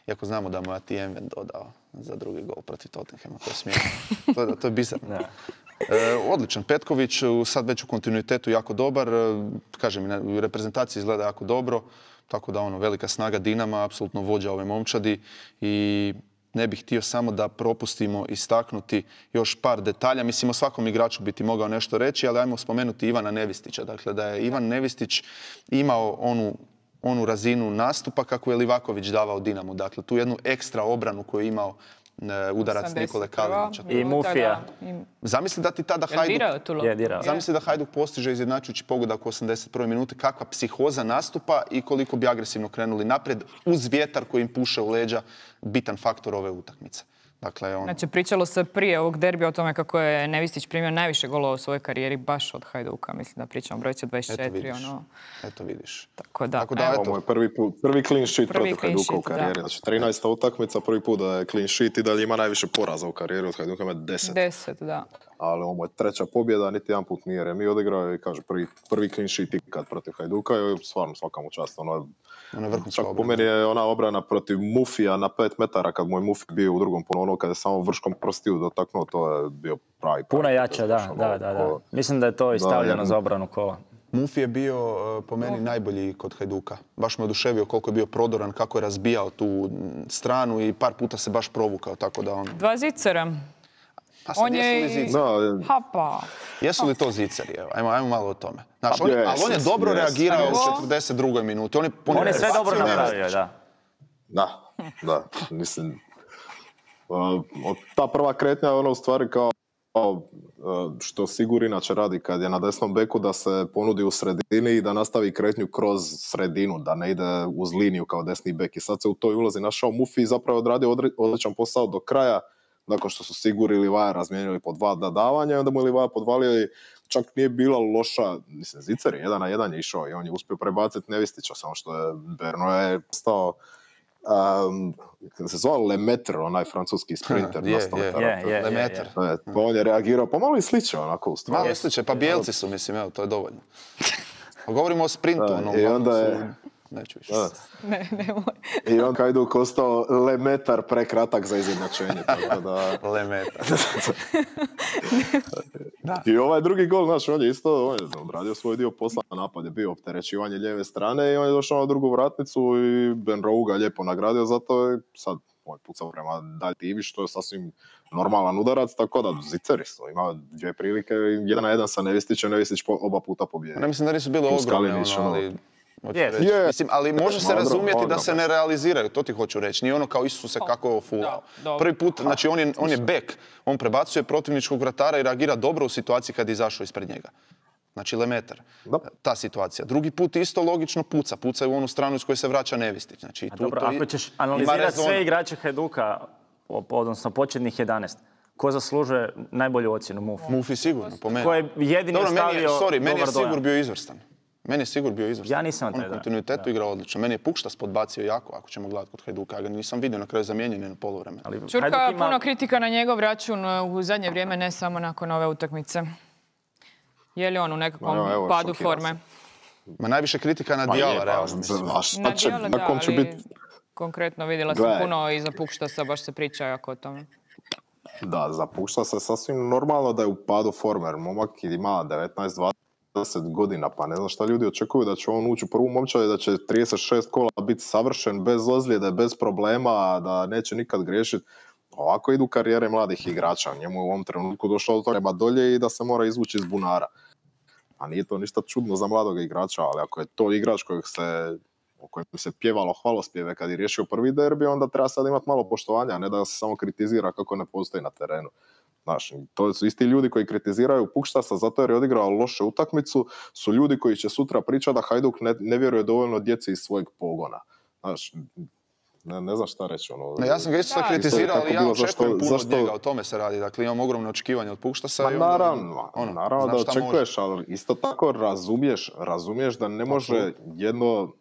Iako znamo da mu je Atijemen dodao za drugi gol protiv Tottenhama, to je smiješno. To je, to je bizarno. E, odličan Petković, sad već u kontinuitetu jako dobar, kažem, u reprezentaciji izgleda jako dobro, tako da ono, velika snaga Dinama, apsolutno vođa ove momčadi i ne bih htio samo da propustimo istaknuti još par detalja. Mislim, o svakom igraču bi ti mogao nešto reći, ali ajmo spomenuti Ivana Nevistića. Dakle, da je Ivan Nevistić imao onu, onu razinu nastupa kako je Livaković davao Dinamu. Dakle, tu jednu ekstra obranu koju je imao udarac Nikole Kalinića. I Mufija. Zamisli da ti tada Hajduk, je dirao. Zamisli da Hajduk postiže izjednačujući pogodak u osamdeset prvoj minuti, kakva psihoza nastupa i koliko bi agresivno krenuli naprijed uz vjetar koji im puše u leđa, bitan faktor ove utakmice. Dakle, on... Znači, pričalo se prije ovog derbija o tome kako je Nevistić primio najviše golova u svojoj karijeri baš od Hajduka. Mislim da pričamo brojci dvadeset četiri. Eto vidiš. Ono... Eto vidiš. Tako da, Tako da eto. Ovo je prvi, put, prvi clean sheet prvi protiv clean Hajduka sheet, u karijeri. Da. Znači, trinaesta utakmica, prvi put da je clean sheet i dalje ima najviše poraza u karijeri. Od Hajduka ima deset. Deset, da. Ali ovo je treća pobjeda, niti jedan put nije remi odigrao i kaže prvi, prvi clean sheet ikad protiv Hajduka i stvarno svaka mu čast. Ono, ono čak po meni je ona obrana protiv Mufija na pet metara kad moj Mufi bio u drugom polu, kada je samo vrškom prstiju dotaknuo, to je bio pravi. pravi Puno jače, da, da, da, da. Mislim da je to i stavljeno da, za obranu kola. Mufi je bio po meni najbolji kod Hajduka. Baš me oduševio koliko je bio prodoran, kako je razbijao tu stranu i par puta se baš provukao, tako da on... Dva zicera. Pa sad, on je... Da, Hapa. Jesu li to ziceri? Evo, ajmo, ajmo malo o tome. Znaš, on, yes, ali on je dobro yes, reagirao yes. u četrdeset drugoj minuti. On je, on on je sve dobro napravio, da. Da, da. Mislim, uh, ta prva kretnja je ono u stvari kao uh, što Sigur inače radi kad je na desnom beku, da se ponudi u sredini i da nastavi kretnju kroz sredinu, da ne ide uz liniju kao desni bek. I sad se u toj ulozi našao Mufi i zapravo odradio odličan posao do kraja, nakon što su Sigur i Livaja razmijenili po dva davanja i onda mu je Livaja podvalio i čak nije bila loša, mislim, Zicer je jedan na jedan je išao i on je uspio prebaciti Nevistića, samo što je Berno je stao, um, se zvao Lemaitre, onaj francuski sprinter. Je, je, je, Lemaitre. On je reagirao, pomalo i sliče onako u stvari. Malo sliče, pa bijelci su, mislim, evo, to je dovoljno. Govorimo o sprintu, ono, i onda je... neću više. Ne, nemoj. I on Hajduk ostao lemetar prekratak za izjednačenje. Tako da... Lemetar. Da. I ovaj drugi gol, znaš, on je isto on je odradio svoj dio posla, napad je bio opterećivanje lijeve strane i on je došao na drugu vratnicu i Ben Rowe ga lijepo nagradio, zato je sad on pucao prema daljivi, što je sasvim normalan udarac, tako da Ziceri su, ima dvije prilike, jedan na jedan sa Nevistićem, Nevistić oba puta pobjedi. Ne mislim da nisu bile ogromne, ono, ali... Yes. Yes. Mislim, ali može se Magro, razumjeti magro. da se ne realiziraju, to ti hoću reći. Nije ono kao Isuse kako je ofulao. Prvi put, znači on je, on je bek, on prebacuje protivničkog vratara i reagira dobro u situaciji kad je izašao ispred njega. Znači lemetar, Da. ta situacija. Drugi put isto logično puca, puca u onu stranu iz koje se vraća Nevistić. Znači, A tu, dobro, to ako i- ćeš ima analizirati rezona. sve igrače Hajduka, odnosno početnih jedanaest, ko zaslužuje najbolju ocjenu Mufi? Mufi sigurno, po meni. Ko je jedini Dobro, meni je, ostavio sorry, meni je dobar dojam? Sigur bio izvrstan. Meni je Sigur bio izvrstan. Ja nisam On taj u dojam. kontinuitetu igrao odlično. Meni je Pukštas podbacio jako, ako ćemo gledati kod Hajduka. Ja ga nisam vidio, na kraju zamijenjen je na poluvremenu. Ali Čurka, Hajduk ima- puno kritika na njegov račun u zadnje vrijeme, ne samo nakon ove utakmice. Je li on u nekakvom Ma, evo, padu šokira forme? Ma najviše kritika na Pa je, Dijala, pa, realno. mislim. a šta Na će, dijelu, na da, kom će ali biti? konkretno vidjela sam Gledaj. puno i za Pukštasa, baš se priča jako o tome. Da, zapušta se sasvim normalno da je u padu forme, jer momak ima devetnaest dvadeset godina, pa ne znam šta ljudi očekuju da će on ući u prvu momčad i da će trideset šest kola biti savršen, bez ozljede, bez problema, da neće nikad griješiti. Ovako idu karijere mladih igrača, njemu je u ovom trenutku došlo do toga treba dolje i da se mora izvući iz bunara. A nije to ništa čudno za mladog igrača, ali ako je to igrač kojeg se, o kojem se pjevalo hvalospjeve kad je riješio prvi derbi, onda treba sad imati malo poštovanja, a ne da se samo kritizira kako ne postoji na terenu. Znaš, to su isti ljudi koji kritiziraju Pukštasa zato jer je odigrao lošu utakmicu, su ljudi koji će sutra pričati da Hajduk ne, ne vjeruje dovoljno djeci iz svojeg pogona. Znaš, ne, ne znam šta reći. Ono, Ne, ja sam ga isto Da. kritizirao, Isto je ali ja tako bilo, očekujem zašto- puno zašto- od njega, o tome se radi. Dakle, imam ogromne očekivanje od Pukštasa. Ma i onda, naravno, ono, naravno znam da šta može. očekuješ, ali isto tako razumiješ, razumiješ da ne može Apsolutno. jedno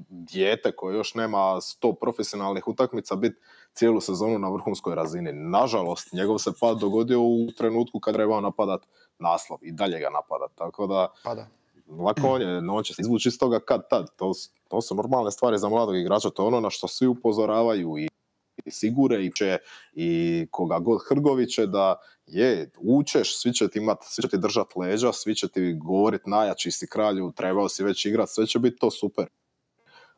dijete koje još nema sto profesionalnih utakmica biti cijelu sezonu na vrhunskoj razini. Nažalost, njegov se pad dogodio u trenutku kad trebao napadat naslov i dalje ga napadat. Tako da, Pa da. lako on je, no on će se izvući iz toga kad tad. To, su- to su normalne stvari za mladog igrača, to je ono na što svi upozoravaju i i Sigure i će i koga god Hrgoviće da je, učeš, svi će ti imat, svi će ti držat leđa, svi će ti govorit najjači si kralju, trebao si već igrat, sve će biti to super.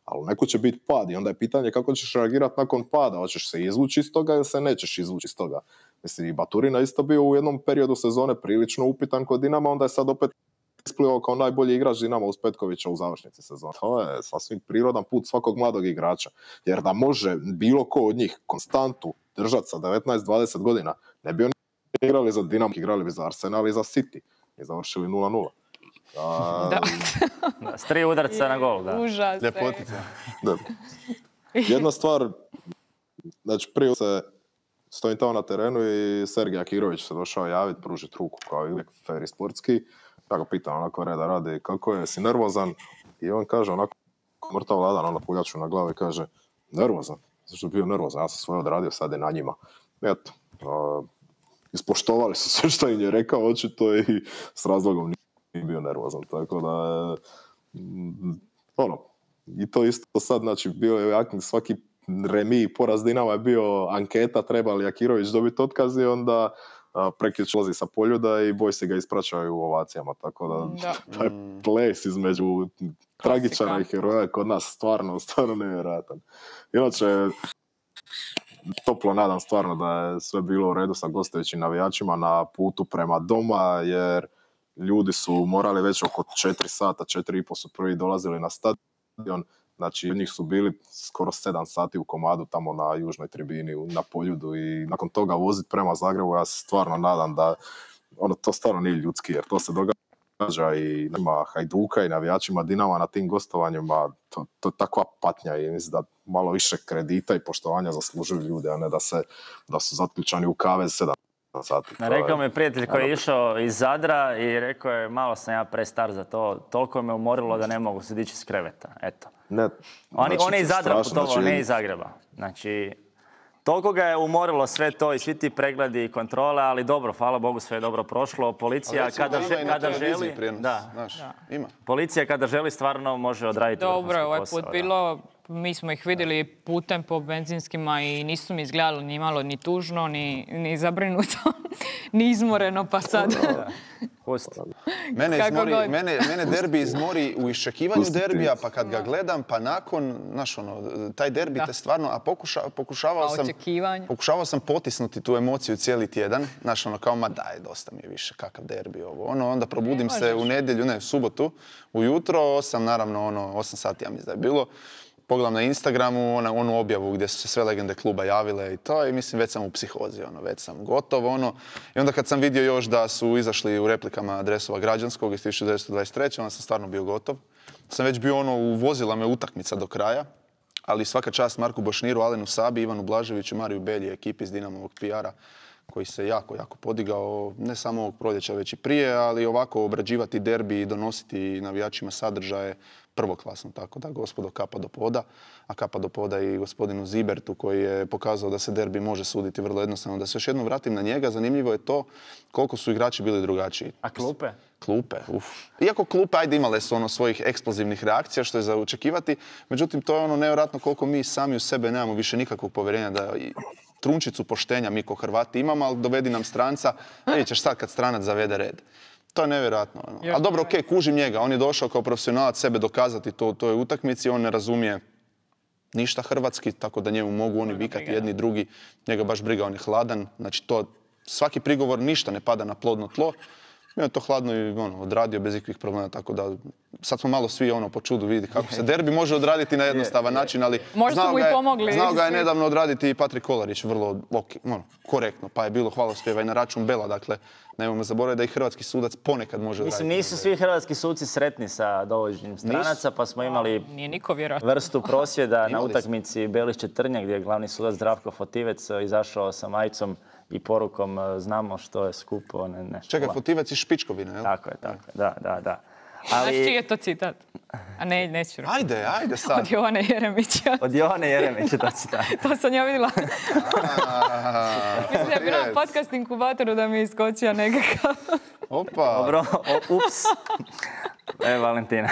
Ali neko će biti pad i onda je pitanje kako ćeš reagirati nakon pada, hoćeš se izvući iz toga ili se nećeš izvući iz toga. Mislim, i Baturina isto bio u jednom periodu sezone prilično upitan kod Dinama, onda je sad opet isplivao kao najbolji igrač Dinama uz Petkovića u završnici sezone. To je sasvim prirodan put svakog mladog igrača. Jer da može bilo ko od njih konstantu držati sa devetnaest dvadeset godina, ne bi oni igrali za Dinamo, igrali bi za Arsenal i za City i završili nula nula. A, Da. Da, s tri udarca na gol, da. Užas. Ljepotica. da. Jedna stvar, znači prije se stojim tamo na terenu i Sergej Akirović se došao javiti, pružiti ruku kao i uvijek fair i sportski. Ja ga pitam onako reda radi kako je, si nervozan? I on kaže onako mrtav ladan, ono puljaču na glavi i kaže nervozan. Zašto bi bio nervozan? Ja sam svoje odradio, sad je na njima. Eto, a, ispoštovali su sve što im je rekao očito i s razlogom nije bio nervozan. Tako da, mm, ono, i to isto sad, znači, bio je jak- svaki remi i poraz Dinama je bio anketa treba li Akirović dobiti otkaz i onda prekjučer lazi sa poljuda i bojsi ga ispraćaju u ovacijama, tako da, Da. taj ples između tragičara i Klasika. heroja je kod nas stvarno, stvarno nevjerojatan. Inače, toplo nadam stvarno da je sve bilo u redu sa gostujućim navijačima na putu prema doma, jer ljudi su morali već oko četiri sata, četiri i po su prvi dolazili na stadion, znači od njih su bili skoro sedam sati u komadu tamo na južnoj tribini u- na Poljudu i nakon toga voziti prema Zagrebu, ja se stvarno nadam da ono, to stvarno nije ljudski, jer to se događa i ima Hajduka i navijačima Dinama na tim gostovanjima, to, to je takva patnja i mislim da malo više kredita i poštovanja zaslužuju ljudi, a ne da, se, da su zatključani u kavez sedam sati. To je- Rekao mi je prijatelj koji je išao iz Zadra i rekao je malo sam ja prestar za to, toliko me umorilo da ne mogu se dići iz kreveta, eto. Ne, On, znači, on je iz Zadra strašno, putovao, znači, ne iz Zagreba. Znači, Toliko ga je umorilo sve to i svi ti pregledi i kontrole, ali dobro, hvala Bogu, sve je dobro prošlo. Policija kada, že, kada želi... Prijenos, da. Znaš, Da. ima. Policija kada želi stvarno može odraditi Dobro, ovaj posao, put da. bilo, mi smo ih vidjeli putem po benzinskima i nisu mi izgledali ni malo ni tužno, ni, ni zabrinuto, ni izmoreno, pa sad... Pusti. Mene, Kako izmori, god. mene, mene derbi izmori u iščekivanju Pusti. derbija, pa kad ga gledam, pa nakon, znaš ono, taj derbi Da. te stvarno, a pokuša, pokušavao Pa sam... očekivanje. Pokušavao sam potisnuti tu emociju cijeli tjedan, znaš ono kao, ma daj, dosta mi je više, kakav derbi ovo. Ono, onda probudim Ne se možeš. u nedjelju, ne, u subotu, ujutro, osam, naravno, ono, osam sati, ja mislim da je bilo. Pogledam na Instagramu ona, onu objavu gdje su se sve legende kluba javile i to, i mislim već sam u psihozi, ono, već sam gotov, ono. I onda kad sam vidio još da su izašli u replikama Dresova građanskog iz tisuću devetsto dvadeset treće onda sam stvarno bio gotov. Sam već bio ono, uvozila me utakmica do kraja, ali svaka čast Marku Bošniru, Alenu Sabi, Ivanu Blaževiću, Mariju Belji, ekipi iz Dinamovog P R-a, koji se jako, jako podigao, ne samo ovog proljeća, već i prije, ali ovako obrađivati derbi i donositi navijačima sadržaje prvoklasno, tako da gospodo kapa do poda, a kapa do poda i gospodinu Zibertu koji je pokazao da se derbi može suditi vrlo jednostavno. Da se još jednom vratim na njega, zanimljivo je to koliko su igrači bili drugačiji. A klupe? Klupe, uf. Iako klupe, ajde, imale su ono svojih eksplozivnih reakcija, što je za očekivati, međutim to je ono nevjerojatno koliko mi sami u sebe nemamo više nikakvog povjerenja da i trunčicu poštenja mi ko Hrvati imamo, ali dovedi nam stranca, vidjet ćeš sad kad stranac zavede red. To je nevjerojatno. Ono. Još Ali dobro, nevjerojatno. okej, kužim njega. On je došao kao profesionalac sebe dokazati to u toj utakmici. On ne razumije ništa hrvatski, tako da njemu mogu oni vikati briga, jedni drugi. Njega baš briga, on je hladan. Znači, to, svaki prigovor ništa ne pada na plodno tlo. I on je to hladno i ono, odradio bez ikakvih problema, tako da sad smo malo svi ono po čudu vidi kako se derbi može odraditi na jednostavan način, ali Možda su znao mu i ga je, pomogli znao ga je svi. nedavno odraditi i Patrik Kolarić, vrlo ok, ono, korektno, pa je bilo hvalospjeva i na račun Bela, dakle, nemojmo zaboraviti da i hrvatski sudac ponekad može odraditi. Mislim, nisu svi hrvatski suci sretni sa dovođenjem stranaca, pa smo imali Nije niko vjerojatno. vrstu prosvjeda na Imali smo. utakmici Belišće-Trnje gdje je glavni sudac Zdravko Fotivec izašao sa majicom i porukom znamo što je skupo, ne, ne. Čekaj, Fotivec iz Špičkovine, jel? Tako je, tako je, da, da, da. Znaš čiji Ali je to citat? A ne, neću. Ajde, ajde sad. Od Jovane Jeremića. od Jovane Jeremića to citat. To sam ja vidjela. Mislim da je bila Yes. na podcast inkubatoru da mi je iskočio nekakav. Opa. Dobro, o, ups. E, Valentina.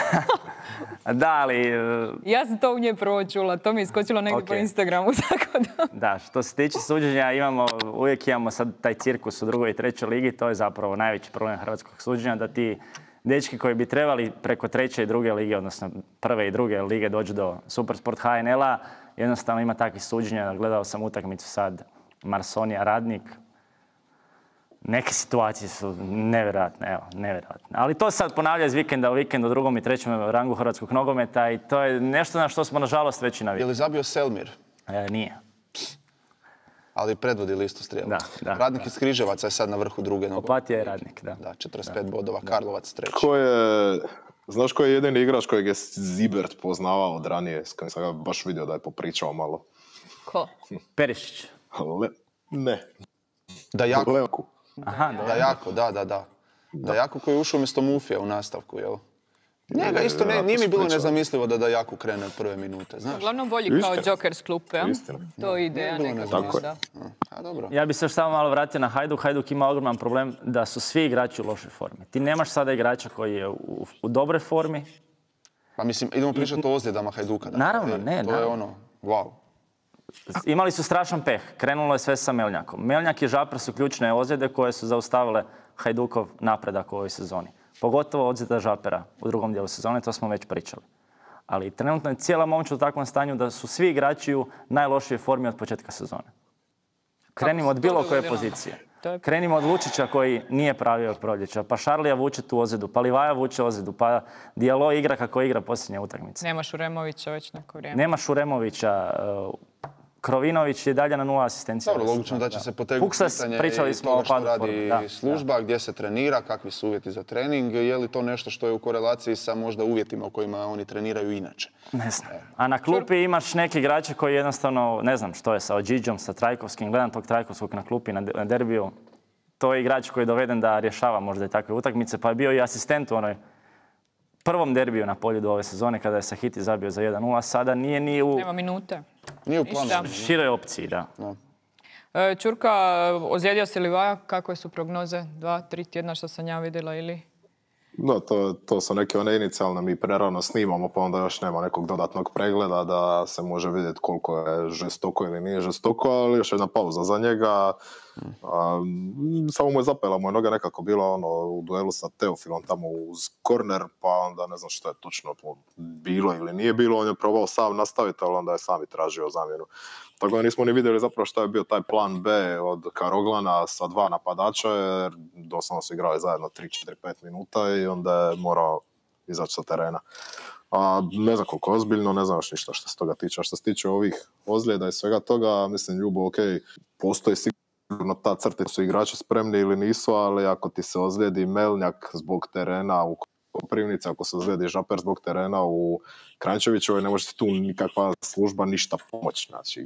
Da, ali... e, Ja sam to u nje prvo čula. To mi je iskočilo negdje po Ok. Instagramu, tako da... Da, što se tiče suđenja, imamo, uvijek imamo sad taj cirkus u drugoj i trećoj ligi, to je zapravo najveći problem hrvatskog suđenja, da ti dečki koji bi trebali preko treće i druge lige, odnosno prve i druge lige dođu do Supersport H N L-a, jednostavno ima takvih suđenja. Gledao sam utakmicu sad Marsonija Radnik. Neke situacije su nevjerojatne, evo, nevjerojatne. Ali to se sad ponavlja iz vikenda u vikend u drugom i trećem rangu hrvatskog nogometa i to je nešto na što smo nažalost već i Je navikli. li zabio Selmir? E, nije. Ali predvodi listu strijela. Da, da, Radnik iz Križevaca je sad na vrhu druge noge. Opatija je Radnik, da. Da, četrdeset pet bodova, Karlovac treći. Ko je, znaš ko je jedini igrač kojeg je Zibert poznavao od ranije, s kojim sam ga baš vidio da je popričao malo? Ko? Perišić. Le, ne, Da jako, Levku. Aha, da. da jako, da, da, da. Da jako koji je ušao umjesto Mufija u nastavku, jel? Njega isto ne, nije mi bilo nezamislivo da da jako krene od prve minute, znaš? Uglavnom bolji kao Istina. Joker s klupe, a? Istina. To je ideja bilo nekako. nezamislivo. Da. A, dobro. Ja bi se još samo malo vratio na Hajduk. Hajduk ima ogroman problem da su svi igrači u lošoj formi. Ti nemaš sada igrača koji je u, u dobroj formi. Pa mislim, idemo pričati o ozljedama Hajduka. dakle, Naravno, e, ne, To je naravno. ono, wow. Imali su strašan peh. Krenulo je sve sa Melnjakom. Meljnjak i Žapar su ključne ozljede koje su zaustavile Hajdukov napredak u ovoj sezoni. Pogotovo ozljeda Žapera u drugom dijelu sezone, to smo već pričali. Ali trenutno je cijela momčad u takvom stanju da su svi igrači u najlošijoj formi od početka sezone. Krenimo od se to bilo koje dogodilo? pozicije. To je- Krenimo od Lučića koji nije pravio od proljeća, pa Šarlija vuče tu ozljedu, pa Livaja vuče ozljedu, pa Dijalo igra kako igra posljednje utakmice. Nemaš Uremovića već neko vrijeme. Nema Šuremovića, uh, Krovinović je dalje na nula asistencija. Dobro, logično da će se potegnuti Fuksas, pitanje pričali i smo toga o što padu radi forme, da, služba, gdje se trenira, kakvi su uvjeti za trening, je li to nešto što je u korelaciji sa možda uvjetima u kojima oni treniraju inače. Ne znam. A na klupi imaš neke igrače koji jednostavno, ne znam što je sa Ođiđom, sa Trajkovskim, gledam tog Trajkovskog na klupi na, de- na derbiju. To je igrač koji je doveden da rješava možda i takve utakmice, pa je bio i asistent u onoj prvom derbiju na Poljudu ove sezone kada je Sahiti zabio za jedan nula, sada nije ni u... Nema minute. Nije u planu. Ništa. Široj opciji, da. Da. E, Ćurka, ozlijedio se Livaja? Kakve su prognoze? Dva, tri tjedna što sam ja vidjela ili... No, to, to su neke one inicijalne, mi prerano snimamo, pa onda još nema nekog dodatnog pregleda da se može vidjeti koliko je žestoko ili nije žestoko, ali još jedna pauza za njega. A, samo mu je zapela, mu je noga nekako bila ono, u duelu sa Teofilom tamo uz korner, pa onda ne znam što je točno bilo ili nije bilo, on je probao sam nastaviti, ali onda je sam i tražio zamjenu. Tako da nismo ni vidjeli zapravo što je bio taj plan B od Karoglana sa dva napadača, jer doslovno su igrali zajedno tri, četiri, pet minuta i onda je morao izaći sa terena. A ne znam koliko ozbiljno, ne znam još ništa što se toga tiče. A što se tiče ovih ozljeda i svega toga, mislim, Ljubo, ok, postoji sigurno ta crta, su igrači spremni ili nisu, ali ako ti se ozlijedi Melnjak zbog terena u Koprivnici, ako se ozlijedi Žaper zbog terena u Kranjčevićevoj, ne može ti tu nikakva služba ništa pomoći. Znači,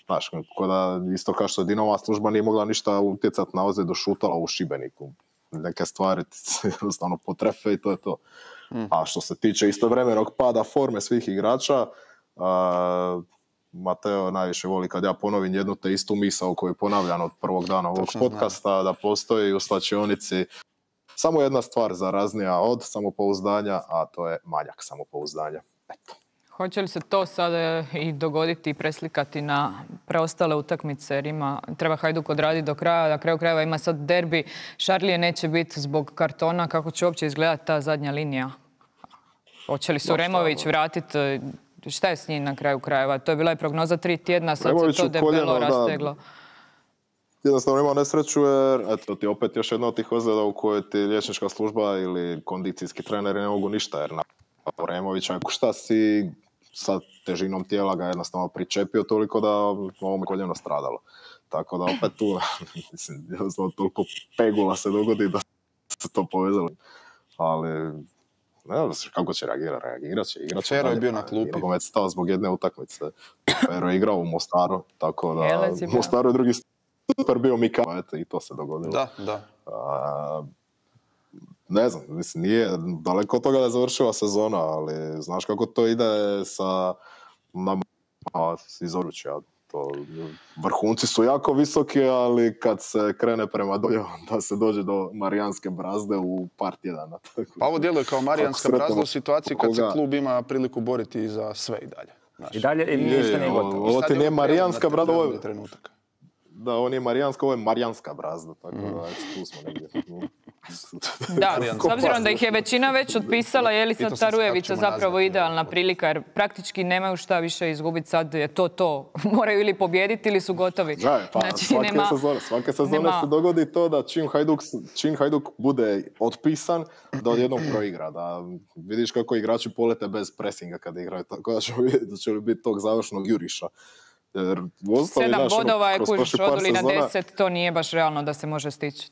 znaš, da isto kao što Dinamova služba nije mogla ništa utjecati na ozljedu Šutala u Šibeniku. Neke stvari ti se jednostavno potrefe i to je to. Mm. A što se tiče istovremenog pada forme svih igrača, uh, Mateo najviše voli kad ja ponovim jednu te istu misao koju ponavljam od prvog dana ovog Točno podcasta, znam. Da postoji u slačionici samo jedna stvar zaraznija od samopouzdanja, a to je manjak samopouzdanja. Eto. Hoće li se to sada i dogoditi i preslikati na preostale utakmice? Jer ima, treba Hajduk odraditi do kraja, na kraju krajeva ima sad derbi. Šarlije neće biti zbog kartona. Kako će uopće izgledati ta zadnja linija? Hoće li Suremović vratiti? Šta je s njim na kraju krajeva? To je bila i prognoza tri tjedna, sad Remović se to debelo koljeno, rasteglo. Da. Jednostavno ima nesreću jer eto ti opet još jedna od tih ozljeda u kojoj ti liječnička služba ili kondicijski treneri ne mogu ništa, jer na Removića šta si sa težinom tijela ga jednostavno pričepio toliko da ovom koljeno stradalo. Tako da opet tu, mislim, jednostavno toliko pegula se dogodi da se to povezalo. Ali, ne znam kako će reagirati, reagirat će, igrat će. Pero je bio na klupi. Nogomet stao zbog jedne utakmice. Pero je igrao u Mostaru, tako da u Mostaru je drugi super bio Mikava, eto, i to se dogodilo. Da, da. A, ne znam, mislim, nije daleko od toga da je završila sezona, ali znaš kako to ide sa nama iz Oručja. To, vrhunci su jako visoki, ali kad se krene prema dolje, da se dođe do Marijanske brazde u par tjedana. Pa ovo djeluje kao Marijanska brazda u situaciji kad se klub ima priliku boriti za sve i dalje. Znaš. I dalje i ništa nije gotovo. Ovo ti nije Marijanska brazda, ovo je... Da, ovo nije Marijanska, ovo je Marijanska brazda, tako da mm. tu smo negdje. Da, s obzirom da ih je većina već otpisala, je li sad ta Rujevica zapravo idealna prilika, jer praktički nemaju šta više izgubiti, sad je to to. Moraju ili pobijediti ili su gotovi. Da, pa znači, svake nema, sezone, svake sezone nema... se dogodi to da čim Hajduk, čim Hajduk bude otpisan, da odjednom proigra. Da vidiš kako igrači polete bez presinga kad igraju, tako da će, da će biti tog završnog juriša. Jer, ostali, Sedam naš, bodova je kužiš oduli na deset, to nije baš realno da se može stići.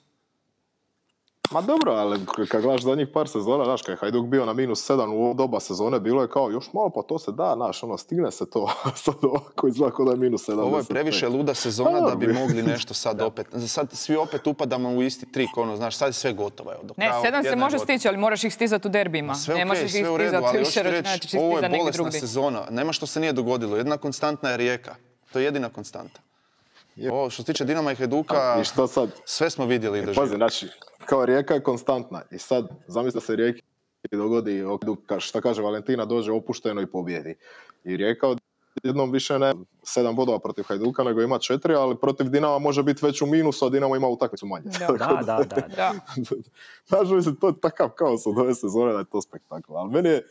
Ma dobro, ali kad gledaš zadnjih par sezona, znaš, kad je Hajduk bio na minus sedam u ovo doba sezone, bilo je kao još malo, pa to se da, znaš, ono, stigne se to, sad ovako izgleda da je minus sedam. Ovo je previše luda sezona da bi mogli nešto sad opet, sad svi opet upadamo u isti trik, ono, znaš, sad je sve gotovo. Evo, ne, sedam se može stići, ali moraš ih stizati u derbima. Sve ne okej, možeš sve ih u redu, ali još reći, ovo je bolesna sezona, nema što se nije dogodilo, jedna konstantna je Rijeka, to je jedina konstanta. Ovo što se tiče Dinama i Hajduka, i što sad? Sve smo vidjeli i doživjeli. Pazi, znači, kao Rijeka je konstantna i sad zamisli se Rijeki dogodi, šta kaže Valentina, dođe opušteno i pobjedi. I Rijeka jednom više ne sedam bodova protiv Hajduka, nego ima četiri, ali protiv Dinama može biti već u minusu, a Dinamo ima utakmicu manje. Da, da, da. da, da. Znaš, mislim, to je takav kaos od ove sezone da je to spektakl. Ali meni je,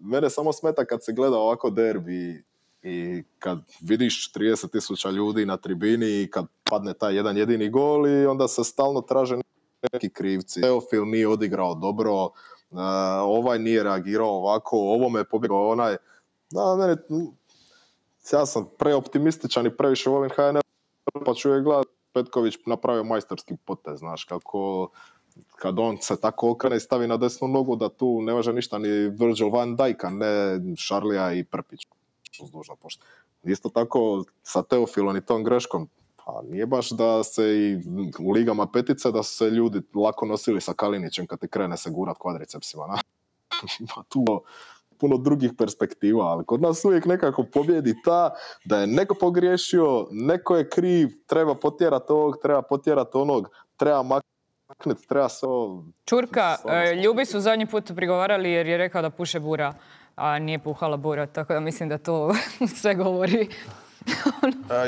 mene samo smeta kad se gleda ovako derbi i kad vidiš trideset tisuća ljudi na tribini i kad padne taj jedan jedini gol i onda se stalno traže neki krivci. Teofil nije odigrao dobro, uh, ovaj nije reagirao ovako, ovome je pobjegao onaj. Da, mene, ja sam preoptimističan i previše volim H N L, pa ću je gledati, Petković napravio majstorski potez, znaš, kako kad on se tako okrene i stavi na desnu nogu da tu ne može ništa ni Virgil van Dijka, ne Šarlija i Prpić. Isto tako sa Teofilom i tom greškom, pa nije baš da se i u ligama petice da su se ljudi lako nosili sa Kalinićem kad ti krene se gurat kvadricepsima. Pa tu puno drugih perspektiva, ali kod nas uvijek nekako pobjedi ta da je neko pogriješio, neko je kriv, treba potjerati ovog, treba potjerati onog, treba maknuti, treba se ovo... Čurka, Ljubi su zadnji put prigovarali jer je rekao da puše bura, a nije puhala bura, tako da mislim da to sve govori.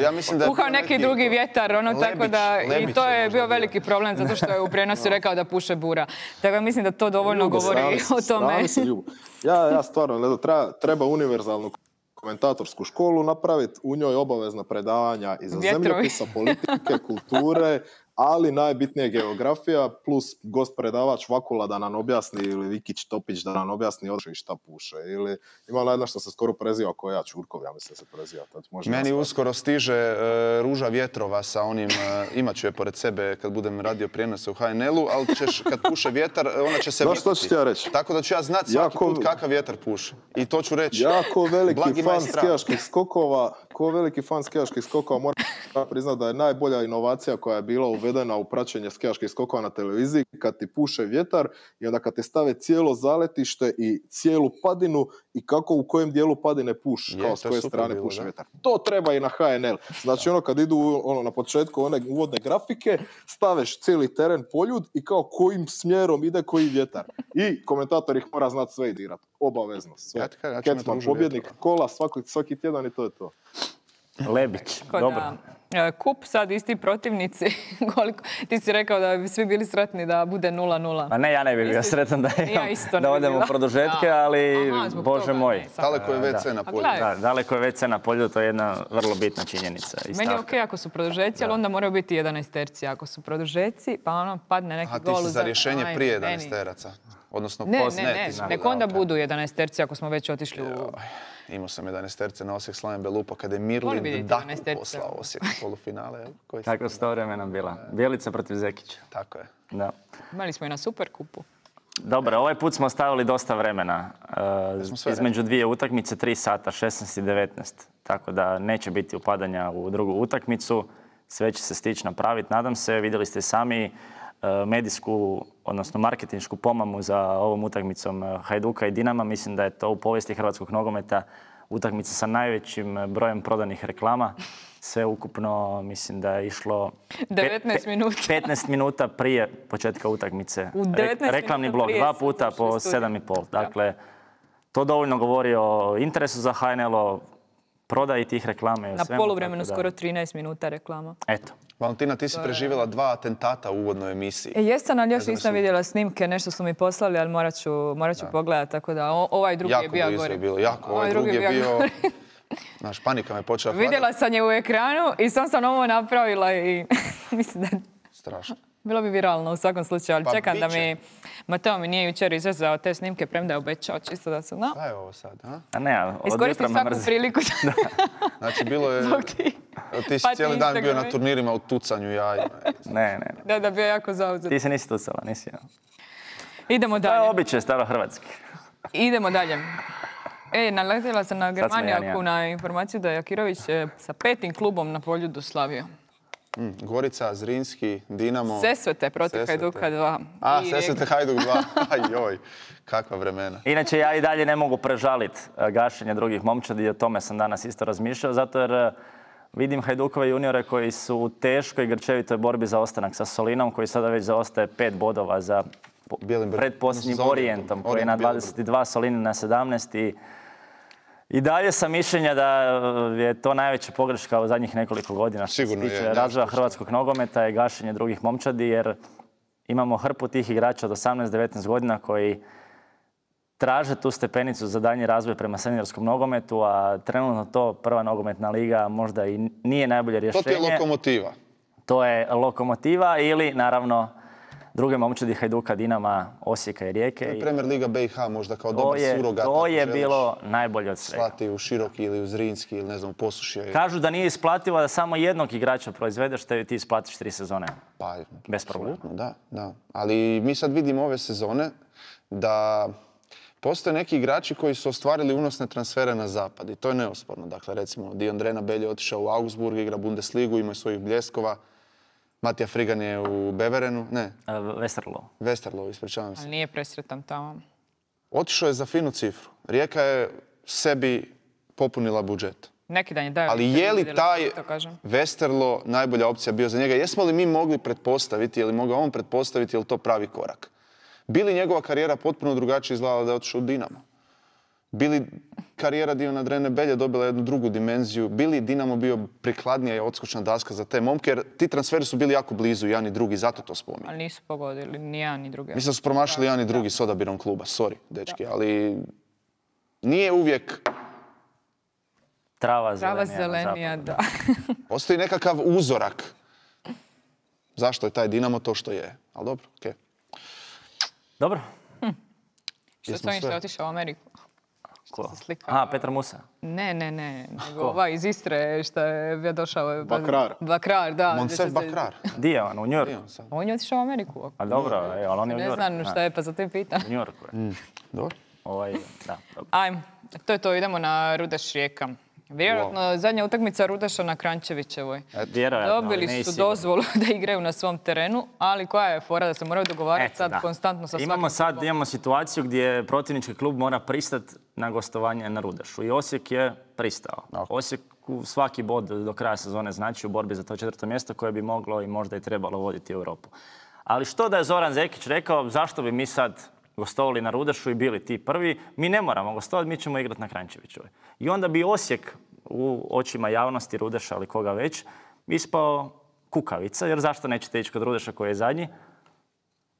Ja mislim da je puhao neki drugi vjetar, ono, Lebić, tako da Lebić i to je je možda bio bio. veliki problem zato što je u prenosu rekao da puše bura. Tako da mislim da to dovoljno Ljubo, govori srali se, o tome. srali se, Ljubo. Ja, ja stvarno, ne znam, treba, treba univerzalnu komentatorsku školu napraviti, u njoj obavezna predavanja iz Vjetrovi. zemljopisa, politike, kulture, ali najbitnije geografija, plus gost predavač Vakula da nam objasni, ili Vikić Topić da nam objasni odšli šta puše. Ili ima jedna što se skoro preziva ko ja, Čurkov, ja mislim se preziva. Tad može Meni nastaviti. uskoro stiže e, Ruža vjetrova sa onim, e, imat ću je pored sebe kad budem radio prijenose u ha en el-u, ali ćeš, kad puše vjetar, ona će se Znaš što vrtiti. ću ti ja reći? Tako da ću ja znati svaki Jako- put kakav vjetar puše. I to ću reći. Jako veliki Blagi fan majstra. skijaških skokova, ko veliki fan skijaških skokova moram priznati da je najbolja inovacija koja je bila uvedena u praćenje skijaških skokova na televiziji kad ti puše vjetar i onda kad te stave cijelo zaletište i cijelu padinu i kako u kojem dijelu padine puš, Je, kao s to je koje super strane bilo, puše da. vjetar. To treba i na ha en el. Znači ono kad idu ono, na početku one uvodne grafike, staveš cijeli teren poljud i kao kojim smjerom ide koji vjetar. I komentator ih mora znati sve i dirat. Obavezno. Sve. Ja ti kažem, ja ću imati Kecman, Ružu pobjednik vjetrova. kola svaki, svaki tjedan i to je to. Lebić, Tako dobro. da, e, kup sad isti protivnici, koliko, ti si rekao da bi svi bili sretni da bude nula nula. Ma ne, ja ne bih bio Mislim, sretan da, ja imam, isto ne da bi odemo bila. u produžetke, Da. ali Aha, zbog Bože toga, moj. ne, sad. Daleko je ve ce Da. na A polju. gledaj. Da, daleko je ve ce na polju, to je jedna vrlo bitna činjenica. I Meni je stavka. okej ako su produžeci, ali onda moraju biti jedanaesterci. Ako su produžeci, pa ono padne neki A ti gol. si u za zadnje. rješnje Aj, prije meni. jedanaesteraca. Odnosno Ne, post- ne, ne, ti si nek bila, onda ok. budu jedanaesterci ako smo već otišli u... Imao sam jedanaesterce na Osijek Slaven Belupa kada je Volim Mirlin vidjeti Daku jedanaesterce. poslao Osijek u polufinale. jel? Koji si- Tako su to vremena bila. Bjelica protiv Zekića. Tako je. Da. Imali smo i na Superkupu. Dobro, ovaj put smo stavili dosta vremena. Uh, smo sve između dvije utakmice, tri sata, šesnaest i devetnaest. Tako da neće biti upadanja u drugu utakmicu. Sve će se stići napraviti, nadam se. Vidjeli ste sami uh, medijsku, odnosno marketinšku pomamu za ovom utakmicom uh, Hajduka i Dinama. Mislim da je to u povijesti hrvatskog nogometa utakmica sa najvećim uh, brojem prodanih reklama. Sve ukupno mislim da je išlo pet- devetnaest pe- minuta. petnaest minuta prije početka utakmice. U Re- devetnaest reklamni minuta blok, prije dva su puta došli u po studio. sedam i pol. Da. Dakle, to dovoljno govori o interesu za ha en el, o prodaji tih reklama i o Na svemu, poluvremenu tako da- skoro trinaest minuta reklama. Eto. Valentina, ti si preživjela dva atentata u uvodnoj emisiji. E, jesam, ali još znam nisam jesu- vidjela snimke, nešto su mi poslali, ali morat ću, morat ću pogledati, tako da o- ovaj drugi je Jako bio blizu gori. je bilo, jako. Ovaj drugi je bio... gori. Znaš, panika me počela hvatati. Vidjela sam je u ekranu i sam sam ovo napravila i mislim da Strašno. bilo bi viralno u svakom slučaju, ali Pa čekam da bit će. mi Mateo mi nije jučer izrezao te snimke, premda je obećao, čisto da se zna. Šta je ovo sad, a? A ne, od jutra Iskoristim me svaku mrzi. priliku Znači, bilo je... zbog ti. Ti si Pa ti cijeli dan bio na Instagrami. turnirima u tucanju jaja. Ne, ne, ne. Da, da bio jako zauzet. Ti se nisi tucala, nisi. ja. Idemo To je dalje. običaj staro-hrvatski. Idemo dalje. E, naletila sam na sam ja, Germanijaku ja. na informaciju da je Jakirović e, sa petim klubom na Poljudu slavio. Mm, Gorica, Zrinski, Dinamo... Sesvete protiv Sesvete. Hajduka dva. A, I Sesvete Hajduk dva. Ajoj, kakva vremena. Inače, ja i dalje ne mogu prežaliti e, gašenje drugih momčadi i o tome sam danas isto razmišljao, zato jer e, vidim Hajdukove juniore koji su u teškoj i grčevitoj borbi za ostanak sa Solinom, koji sada već zaostaje pet bodova za po- Bijelim Br- pretposljednjim za Orijentom. Orijentom, koji je na Orijent, Bijeli dvadeset dva, Solini na sedamnaest. I, i dalje sam mišljenja da e, je to najveća pogreška u zadnjih nekoliko godina što Sigurno se je, tiče nema razvoja što. hrvatskog nogometa i gašenje drugih momčadi, jer imamo hrpu tih igrača od osamnaest devetnaest godina koji traže tu stepenicu za daljnji razvoj prema seniorskom nogometu, a trenutno to prva nogometna liga možda i nije najbolje To rješenje. ti je Lokomotiva. To je Lokomotiva ili naravno druge momčadi Hajduka, Dinama, Osijeka i Rijeke. I Premier Liga be i ha možda kao to dobar je, surogat. to ako je želiš bilo najbolje od svega. slati u Široki ili u Zrinski ili ne znam u Posušje. Kažu da nije isplativo da samo jednog igrača proizvedeš, te ti isplatiš tri sezone. Pa, Bez problema. apsolutno, da, da. Ali mi sad vidimo ove sezone da postoje neki igrači koji su ostvarili unosne transfere na zapad i to je neosporno. Dakle, recimo, Diondrena Belje otišao u Augsburg, igra Bundesligu, ima svojih bljeskova. Matija Frigan je u Beverenu, ne, E, Westerlo. Westerlo, ispričavam se. Ali nije presretan tamo. Otišao je za finu cifru. Rijeka je sebi popunila budžet. Neki dan je dao. Ali je li taj Westerlo najbolja opcija bio za njega? Jesmo li mi mogli pretpostaviti, je li mogao on pretpostaviti, je li to pravi korak? Bi li njegova karijera potpuno drugačije izgledala da je otišao u Dinamo? Bi li karijera Divana Drene Belje dobila jednu drugu dimenziju? Bi li Dinamo bio prikladnija i odskočna daska za te momke? Jer ti transferi su bili jako blizu, jedan i drugi, zato to spominjem. Ali nisu pogodili, ni jedan ni drugi. Mislim da su promašili jedan i drugi s odabirom kluba, sorry, dečki, ali nije uvijek... Trava Trava zelenija. zelenija, da. Postoji nekakav uzorak. Zašto je taj Dinamo to što je? Ali dobro, okej. Dobro. Što su oni što je otišao u Ameriku? Ko? Se slika. Aha, Petar Musa. Ne, ne, ne. Nego ovaj iz Istre što je bio došao. Bakrar. Bakrar, da. Monsef Bakrar. Di je on? U New Yorku? On je otišao u Ameriku. A dobro, e, ali on je u New Ne Yorku. znam šta je, pa za te pitam. U New Yorku je. Dobro. Ovaj, da, dobro. Ajmo, to je to, idemo na Rudeš Rijeka. Vjerojatno zadnja utakmica Rudeša na Kranjčevićevoj. Vjerojatno, ali Dobili ne su sigurno. dozvolu da igraju na svom terenu, ali koja je fora da se moraju dogovarati Eto, sad da. konstantno sa Imamo svakim sad klubom? imamo situaciju gdje protivnički klub mora pristati na gostovanje na Rudešu. I Osijek je pristao. Osijek svaki bod do kraja sezone znači u borbi za to četvrto mjesto koje bi moglo i možda i trebalo voditi Europu. Ali što da je Zoran Zekić rekao, zašto bi mi sad gostovali na Rudešu i bili ti prvi, mi ne moramo gostovati, mi ćemo igrati na Kranjčevićevoj. I onda bi Osijek u očima javnosti Rudeša ili koga već ispao kukavica, jer zašto nećete ići kod Rudeša koji je zadnji,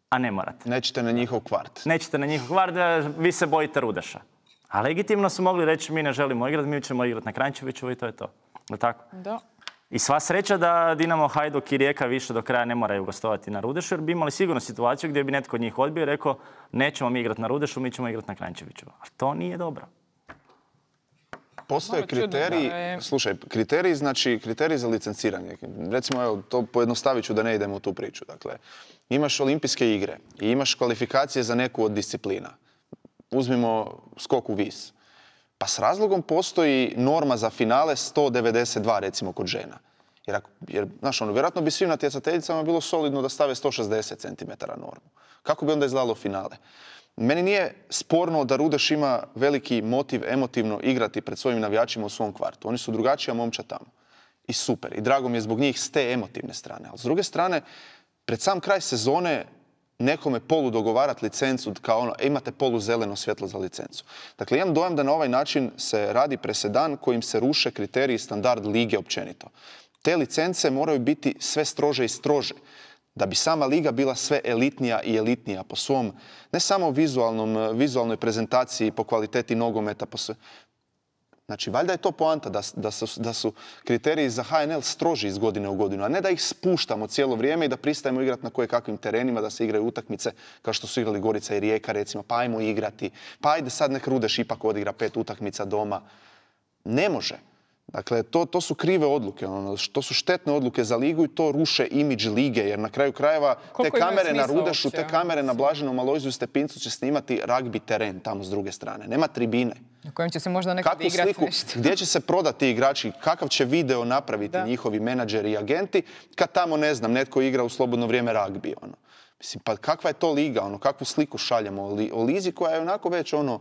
a ne morate. Nećete na njihov kvart. Nećete na njihov kvart, vi se bojite Rudeša. A legitimno su mogli reći mi ne želimo igrati, mi ćemo igrati na Kranjčevićevoj i to je to. Je li tako? Da. I sva sreća da Dinamo, Hajduk i Rijeka više do kraja ne moraju gostovati na Rudešu, jer bi imali sigurno situaciju gdje bi netko od njih odbio i rekao nećemo mi igrati na Rudešu, mi ćemo igrati na Kranjčevićevoj. A to nije dobro. Postoje Malo čudno, kriteriji, da je- slušaj, kriteriji znači kriteriji za licenciranje. Recimo, evo, to pojednostavit ću da ne idemo u tu priču. Dakle, imaš olimpijske igre i imaš kvalifikacije za neku od disciplina. Uzmimo skok u vis. Pa s razlogom postoji norma za finale sto devedeset dva recimo kod žena. Jer, ako, jer znaš, ono, vjerojatno bi svim natjecateljicama bilo solidno da stave sto šezdeset centimetara normu. Kako bi onda izgledalo finale? Meni nije sporno da Rudeš ima veliki motiv emotivno igrati pred svojim navijačima u svom kvartu. Oni su drugačija momča tamo. I super. I drago mi je zbog njih s te emotivne strane. Ali s druge strane, pred sam kraj sezone nekome polu dogovarati licencu kao ono, e, imate polu zeleno svjetlo za licencu. Dakle, imam dojam da na ovaj način se radi presedan kojim se ruše kriteriji i standard lige općenito. Te licence moraju biti sve strože i strože. Da bi sama liga bila sve elitnija i elitnija po svom, ne samo vizualnom, vizualnoj prezentaciji, po kvaliteti nogometa, po sve. Znači, valjda je to poanta da, da, su, da su kriteriji za H N L stroži iz godine u godinu, a ne da ih spuštamo cijelo vrijeme i da pristajemo igrati na koje kakvim terenima, da se igraju utakmice kao što su igrali Gorica i Rijeka, recimo, pa ajmo igrati, pa ajde sad nek Rudeš ipak odigra pet utakmica doma. Ne može. Dakle, to, to su krive odluke, ono, to su štetne odluke za ligu i to ruše imidž lige, jer na kraju krajeva Koliko te imaju kamere na smisla Rudešu, uopće, te kamere na Blaženom Alojziju Stepincu će snimati ragbi teren tamo s druge strane. Nema tribine. Na kojem će se možda nekad Kakvu igrati sliku, nešto. gdje će se prodati igrači, kakav će video napraviti Da. njihovi menadžeri i agenti, kad tamo, ne znam, netko igra u slobodno vrijeme ragbi, ono. Mislim, pa kakva je to liga, ono, kakvu sliku šaljemo o, li, o lizi koja je onako već, ono,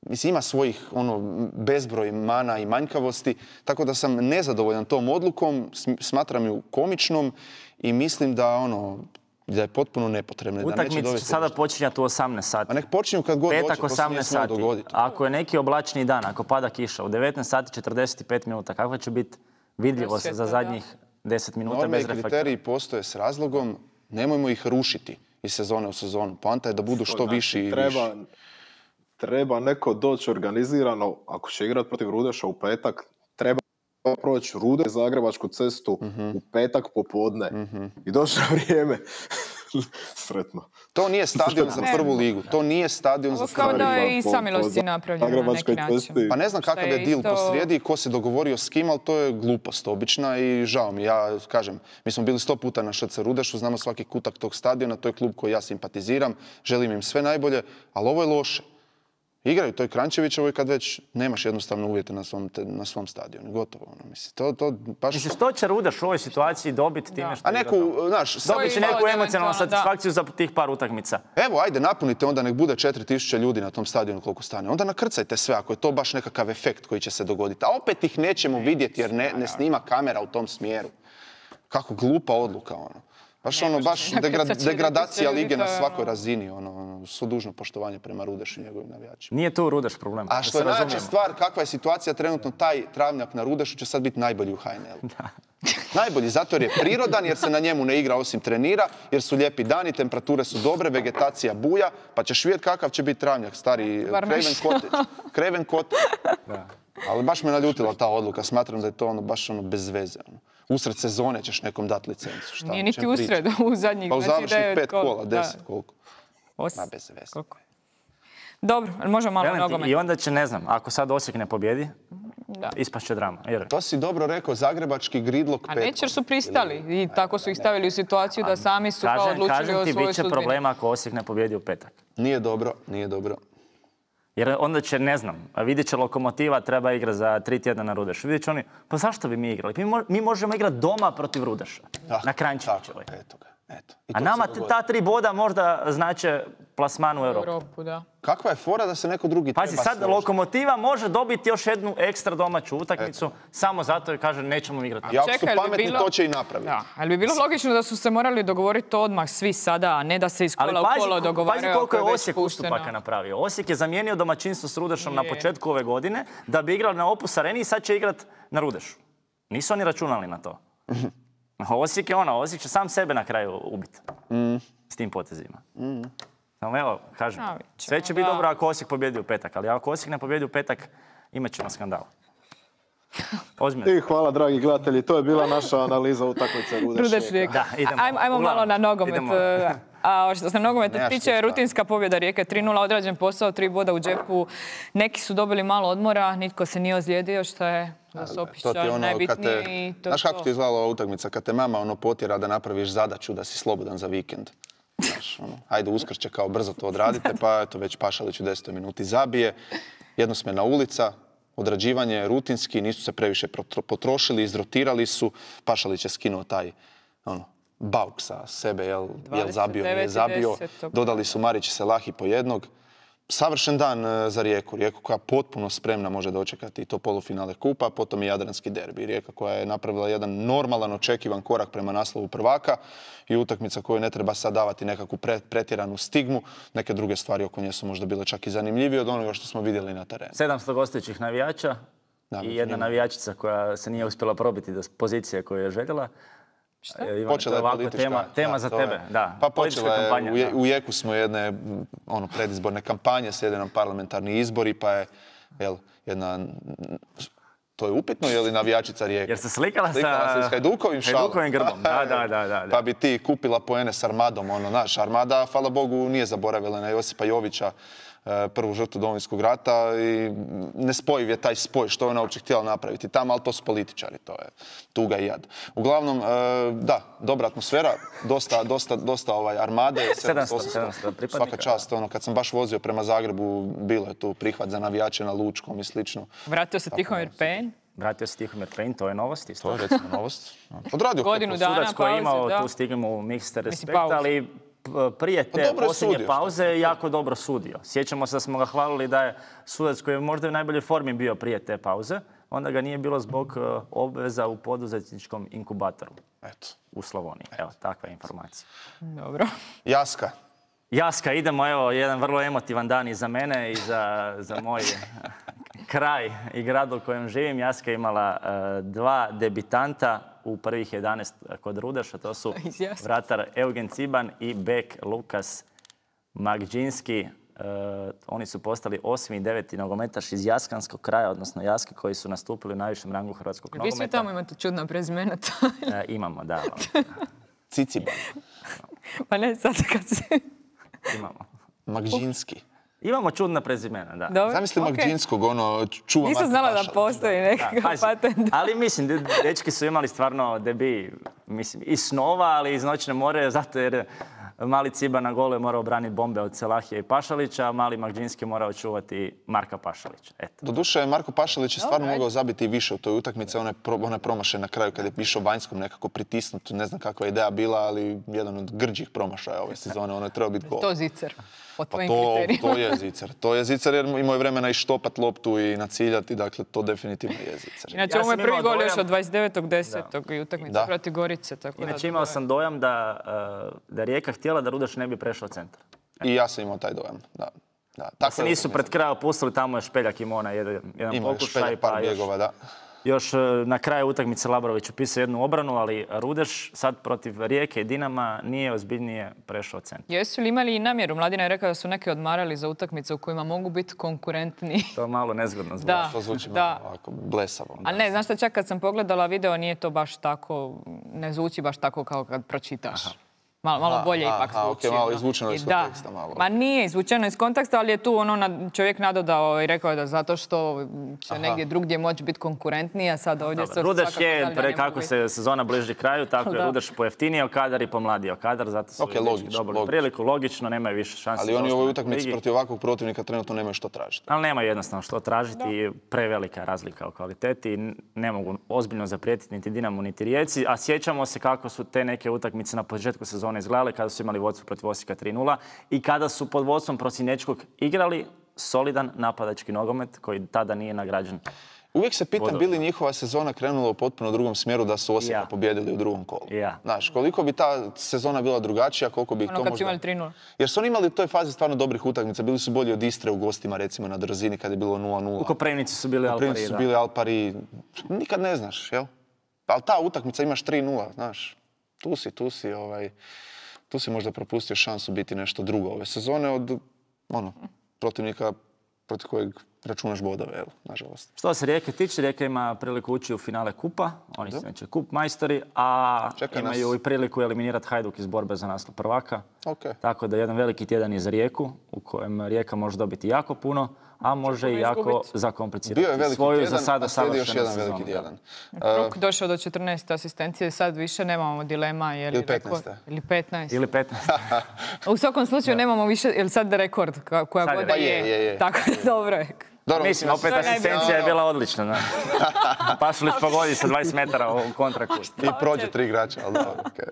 mislim, ima svojih ono, bezbroj mana i manjkavosti, tako da sam nezadovoljan tom odlukom, sm- smatram ju komičnom i mislim da, ono, da je potpuno nepotrebna. Da neće Utakmice će dovesti sada ništa. počinjati u osamnaest sati. A nek počinju kad god Petak hoće, to se nije osamnaest smjelo sati. dogoditi. Ako je neki oblačni dan, ako pada kiša, u devetnaest sati četrdeset pet minuta, kakva će biti vidljivost Prosvjetna, za da. zadnjih deset minuta Norme bez i reflektora? kriteriji postoje s razlogom, nemojmo ih rušiti iz sezone u sezonu. Poanta je da budu što Znači, viši i treba, viši. Treba neko doći organizirano, ako će igrati protiv Rudeša u petak, treba proći Rude, Zagrebačku cestu u petak popodne i doći na vrijeme. Sretno. To nije stadion za Ne. prvu ligu. To nije stadion za Ovo kao prvu da ligu. je i po- samilosti po napravljeno na neki Zagrebačkoj način. cesti. Pa ne znam Šta kakav je je deal isto- posrijedi i ko se dogovorio s kim, ali to je glupost obična i žao mi. Ja kažem, mi smo bili sto puta na Š C Rudešu, znamo svaki kutak tog stadiona, to je klub koji ja simpatiziram, želim im sve najbolje, ali ovo je loše. Igraju toj Kranjčevićevoj kad već nemaš jednostavno uvjete na svom, te, na svom stadionu. Gotovo. Ono, mislim. To, to baš... Mislim, što će Rudeš u ovoj situaciji dobiti time što A neku, znaš... Dobit će neku emocionalnu satisfakciju za tih par utakmica. Evo, ajde, napunite onda, nek bude četiri tisuće ljudi na tom stadionu koliko stane. Onda nakrcajte sve, ako je to baš nekakav efekt koji će se dogoditi. A opet ih nećemo vidjeti jer ne, ne snima kamera u tom smjeru. Kako glupa odluka, ono. Baš ono, baš degra- degradacija lige na svakoj razini, ono, svo dužno poštovanje prema Rudešu i njegovim navijačima. Nije tu Rudeš problem. A što je najjača stvar, kakva je situacija trenutno, taj travnjak na Rudešu će sad biti najbolji u H N L-u. Najbolji, zato jer je prirodan, jer se na njemu ne igra osim trenira, jer su lijepi dani, temperature su dobre, vegetacija buja, pa ćeš vidjeti kakav će biti travnjak, stari Craven Cottage. Craven Cottage. Ali baš me naljutila ta odluka, smatram da je to ono baš ono bez veze. Ono. Usred sezone ćeš nekom dati licencu. Šta? Nije niti usred, u zadnjih pa u završnih pet kola, da. deset koliko. Os... Ma bez veze. Koliko je? Dobro, ali možemo malo nogomet. I onda će, ne znam, ako sad Osijek ne pobjedi, da. ispašće drama. Jer... To si dobro rekao, zagrebački gridlok petkom. A neće jer su pristali i tako su ih stavili u situaciju da sami su kao odlučili o svojoj sudbini. Kažem ti, bit će problema ako Osijek ne pobjedi u petak. Nije dobro, nije dobro. Jer onda će, ne znam, vidjet će Lokomotiva, treba igrati za tri tjedna na Rudešu. Vidjet će oni, pa zašto bi mi igrali? Mi, mo- mi možemo igrati doma protiv Rudeša. Ah, na Kranjčevićevoj. Eto ga, eto. A nama ta tri boda možda znače plasman u Europu. Europu, da. Kakva je fora da se neko drugi Pazi, treba sad složiti? Lokomotiva može dobiti još jednu ekstra domaću utakmicu, eto. Samo zato jer kaže nećemo igrati. I ako su Čekaj, pametni, bilo... to će i napraviti. Da, ali bi bilo logično da su se morali dogovoriti odmah svi sada, a ne da se iz kola u kolo dogovaraju. Ali pazi koliko je Osijek ustupaka napravio. Osijek je zamijenio domaćinstvo s Rudešom je. Na početku ove godine da bi igrali na Opus Areni i sad će igrati na Rudešu. Nisu oni računali na to. Osijek je ono, Osijek će sam sebe na kraju ubiti. Mm. S tim potezima. Mm. Samo evo, kažem, sve će biti dobro ako Osijek pobjedi u petak, ali ako Osijek ne pobjedi u petak, imat ćemo skandal. Ozbiljno. I hvala, dragi gledatelji, to je bila naša analiza utakmice Rudeš Rijeka. Da, idemo. Ajmo, ajmo malo na nogomet. Idemo. A što se nogometa tiče, rutinska pobjeda Rijeke tri nula, odrađen posao, tri boda u džepu. Neki su dobili malo odmora, nitko se nije ozlijedio, što je za Sopića ono, najbitnije. Te, to znaš kako to. ti je izgledala ova utakmica? Kad te mama ono potjera da napraviš zadaću da si slobodan za vikend. Znaš, ono, ajde Uskrće kao brzo to odradite, pa eto već Pašalić u desetoj minuti zabije. Jednosmjerna ulica, odrađivanje rutinski, nisu se previše potrošili, izrotirali su. Pašalić je skinuo taj ono, bauk sa sebe, jel, jel zabio, nije zabio. Dodali su Marić i Selahi po jednog. Savršen dan za Rijeku. Rijeku koja potpuno spremna može dočekati i to polufinale kupa, potom i Jadranski derbi. Rijeka koja je napravila jedan normalan, očekivan korak prema naslovu prvaka i utakmica koju ne treba sad davati nekakvu pretjeranu stigmu. Neke druge stvari oko nje su možda bile čak i zanimljivije od onoga što smo vidjeli na terenu. sedamsto gostujućih navijača da, i jedna njima. Navijačica koja se nije uspjela probiti do pozicije koju je željela. Šta? Ivan, počela je politička tema, tema da, za tebe. Je. Da, pa počela je, kampanja, u, je, u jeku smo jedne ono, predizborne kampanje, slijede nam parlamentarni izbori, pa je jel, jedna... To je upitno, je li navijačica Rijeke? Jer se slikala, slikala sa... se s Hajdukovim šalom. Hajdukovim grbom, da, da, da, da. Pa bi ti kupila poene s Armadom, ono, naš Armada, hvala Bogu, nije zaboravila na Josipa Jovića, prvu žrtvu Domovinskog rata i nespojiv je taj spoj što je ona uopće htjela napraviti tamo, ali to su političari, to je tuga i jad. Uglavnom, da, dobra atmosfera, dosta, dosta, dosta ovaj Armade, sedamsto, sedamsto pripadnika. Svaka čast, ono, kad sam baš vozio prema Zagrebu, bilo je tu prihvat za navijače na Lučkom i slično. Vratio se Tihomir Pejn. Vratio se Tihomir Pejn, to je novost isto. To je recimo novost. Odradio godinu dana pauze, sudac koji je imao da. Tu stigmu mixed respect, ali prije te pa posljednje sudio, pauze je jako dobro sudio. Sjećamo se da smo ga hvalili da je sudac koji je možda u najboljoj formi bio prije te pauze, onda ga nije bilo zbog obveza u poduzetničkom inkubatoru. Eto. U Slavoniji. Evo, takva je informacija. Dobro. Jaska. Jaska, idemo, evo, jedan vrlo emotivan dan i za mene i za, za moj kraj i grad u kojem živim. Jaska je imala uh, dva debitanta u prvih jedanaest kod Rudeša. To su vratar Eugen Ciban i bek Lukas Magdžinski. Uh, oni su postali osmi i deveti nogometaš iz jaskanskog kraja, odnosno Jaske, koji su nastupili u najvišem rangu hrvatskog Vi nogometa. svi tamo imate čudna prezimena. uh, imamo, da. Ciciban. Pa ne, sad kad se... Imamo. Magdžinski. Imamo čudna prezimena, da. Dobro, Zamisli okay. Magdžinskog, ono, čuva Nisam znala da postoji nekakav patent. Ali mislim, dečki su imali stvarno debi, mislim, iz snova, ali iz noćne more, zato jer Mali Ciba na golu je morao braniti bombe od Selahija i Pašalića, a mali Magdžinski morao čuvati Marka Pašalića. Eto. Doduše, Marko Pašalić je stvarno Dobro, mogao zabiti i više u toj utakmici. Ona je, pro, ona je promašaj na kraju kad je išao vanjskom nekako pritisnut. Ne znam kakva je ideja bila, ali jedan od grđih promašaja ove sezone. Ono je trebao biti gol. To Zicer, po Pa tvojim to, kriterijima. to je Zicer. To je Zicer jer imao je vremena i štopat loptu i naciljati. Dakle, to definitivno je Zicer. Inače, Ja ovo je sam prvi imao gol dojam- još od dvadeset devetog desetog i utakmica Da. protiv Gorice. Tako Inače da, imao sam dojam da, uh, da je Rijeka htjela da Rudeš ne bi prešao centar. I ja sam imao taj dojam. Da. Da. Da Tako se je nisu utakmica. pred kraj opustili, tamo je Špeljak imao onaj jedan, jedan Imao je pokušaj, Špeljak pa par još, bjegova, da. još uh, na kraju utakmice Labrović upisao jednu obranu, ali Rudeš sad protiv Rijeke i Dinama nije ozbiljnije prešao centar. Jesu li imali i namjeru? Mladina je rekao da su neki odmarali za utakmice u kojima mogu biti konkurentni. To je malo nezgodno zvuči. Da. To zvuči Da. malo ovako blesavo. Ali ne, znaš šta, čak kad sam pogledala video, nije to baš tako, ne zvuči baš tako kao kad pročitaš. Malo, malo Aha, bolje aha, ipak aha, zvuči. ok, malo ono. izvučeno iz I da. konteksta, malo. Ma nije izvučeno iz konteksta, ali je tu ono na, čovjek nadodao i rekao da zato što će negdje drugdje moći biti konkurentniji, a sad ovdje Dobro, su Rudeš svakako je, znali da pre, ne mogu kako biti. se sezona bliži kraju, tako je Da. Rudeš pojeftinio kadar i pomladio kadar, zato su Ok, dečki logično, dobili logično. priliku, logično, nemaju više šanse. Ali za oni u ovoj ostanak u utakmici ligi. protiv ovakvog protivnika trenutno nemaju što tražiti. Ali nema jednostavno što tražiti i prevelika je razlika u kvaliteti i ne mogu ozbiljno zaprijetiti niti Dinamo niti Rijeci, a sjećamo se kako su te neke utakmice na početku sezone izgledale kada su imali vodstvo protiv Osijeka tri nula i kada su pod vodstvom Prosinečkog igrali solidan napadački nogomet koji tada nije nagrađen. Uvijek se pitam Vodom. bi li njihova sezona krenula u potpuno drugom smjeru da su Osijeka Ja. pobijedili u drugom kolu. Ja. Znaš, koliko bi ta sezona bila drugačija, koliko bi ih Ono to kad su možda... imali tri nula. Jer su oni imali u toj fazi stvarno dobrih utakmica. Bili su bolji od Istre u gostima, recimo na Drzini kad je bilo nula nula. U Koprivnici su bili Koprivnici Alpari, su da. bili Alpari. Nikad ne znaš, jel? Ali ta utakmica imaš tri nula, znaš. Tu si, tu si, ovaj... Tu si možda propustio šansu biti nešto drugo ove sezone od, ono, protivnika protiv kojeg računaš bodove, evo, nažalost. Što se Rijeke tiče, Rijeka ima priliku ući u finale kupa, oni su znači kup majstori, a Čeka imaju nas. i priliku eliminirati Hajduk iz borbe za naslov prvaka. Ok. Tako da jedan veliki tjedan je za Rijeku, u kojem Rijeka može dobiti jako puno, a može i jako izgubiti. zakomplicirati Bio je veliki svoju tjedan, za sada a slijedi još savršenu jedan sezonu. veliki tjedan. Kruk došao do četrnaest asistencije, sad više nemamo dilema. Je li Ili petnaest. rekord- Ili petnaest. Ili petnaest. U svakom slučaju nemamo više, je li sad rekord ka- koja Sad je god da rekord. je. Pa je, je, je. Tako je, dobro je. Dobro, Mislim, da opet se- asistencija je bila odlična. Da. Pašalić pogodi sa dvadeset metara u kontraktu. I prođe tri igrača, ali dobro, okej.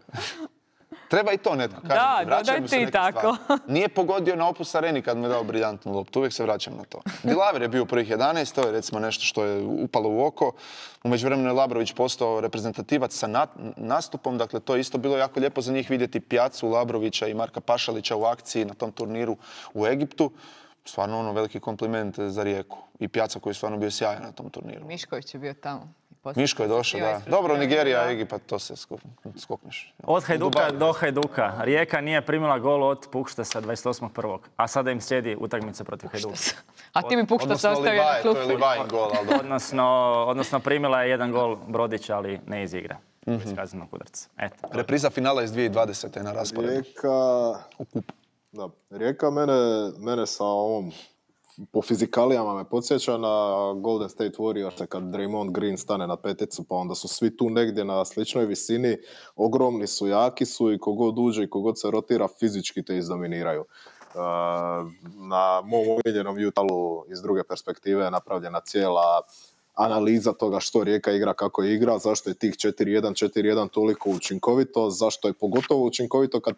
Treba i to netko, kažem Da, ti, vraćaju dodaj mu se ti neke tako. stvari. Nije pogodio na Opus Areni kad mu je dao briljantnu loptu, uvijek se vraćam na to. Dilaver je bio u prvih jedanaest, to je recimo nešto što je upalo u oko. U međuvremenu je Labrović postao reprezentativac sa na- nastupom, dakle to je isto bilo jako lijepo za njih vidjeti Pjacu, Labrovića i Marka Pašalića u akciji na tom turniru u Egiptu. Stvarno ono veliki kompliment za Rijeku. I Pjaca koji je stvarno bio sjajan na tom turniru. Mišković je bio tamo. I poslije Miško je došao, bio da. ispred Dobro, Hrvatske, Nigerija, da. Egipat, to se skup- skokneš. Od Hajduka Dubai. do Hajduka. Rijeka nije primila gol od Puštesa dvadeset osmog prvog a sada im slijedi utakmica protiv Hajduka. A ti mi Pušta Odnosno sastavio na Livaje, klub. to je Livajin gol, ali dobro. Odnosno, odnosno primila je jedan gol Brodića, ali ne iz igre. Iz kaznenog udarca. Eto. Repriza finala iz dvije tisuće dvadesete na rasporedu. Rijeka... Da, Rijeka mene, mene sa ovom po fizikalijama me podsjeća na Golden State Warriors kad Draymond Green stane na peticu, pa onda su svi tu negdje na sličnoj visini, ogromni su, jaki su i kogod uđe i kogod se rotira fizički te izdominiraju. Uh, na mom omiljenom Utahu iz druge perspektive je napravljena cijela analiza toga što Rijeka igra, kako igra, zašto je tih četiri jedan četiri jedan toliko učinkovito, zašto je pogotovo učinkovito kad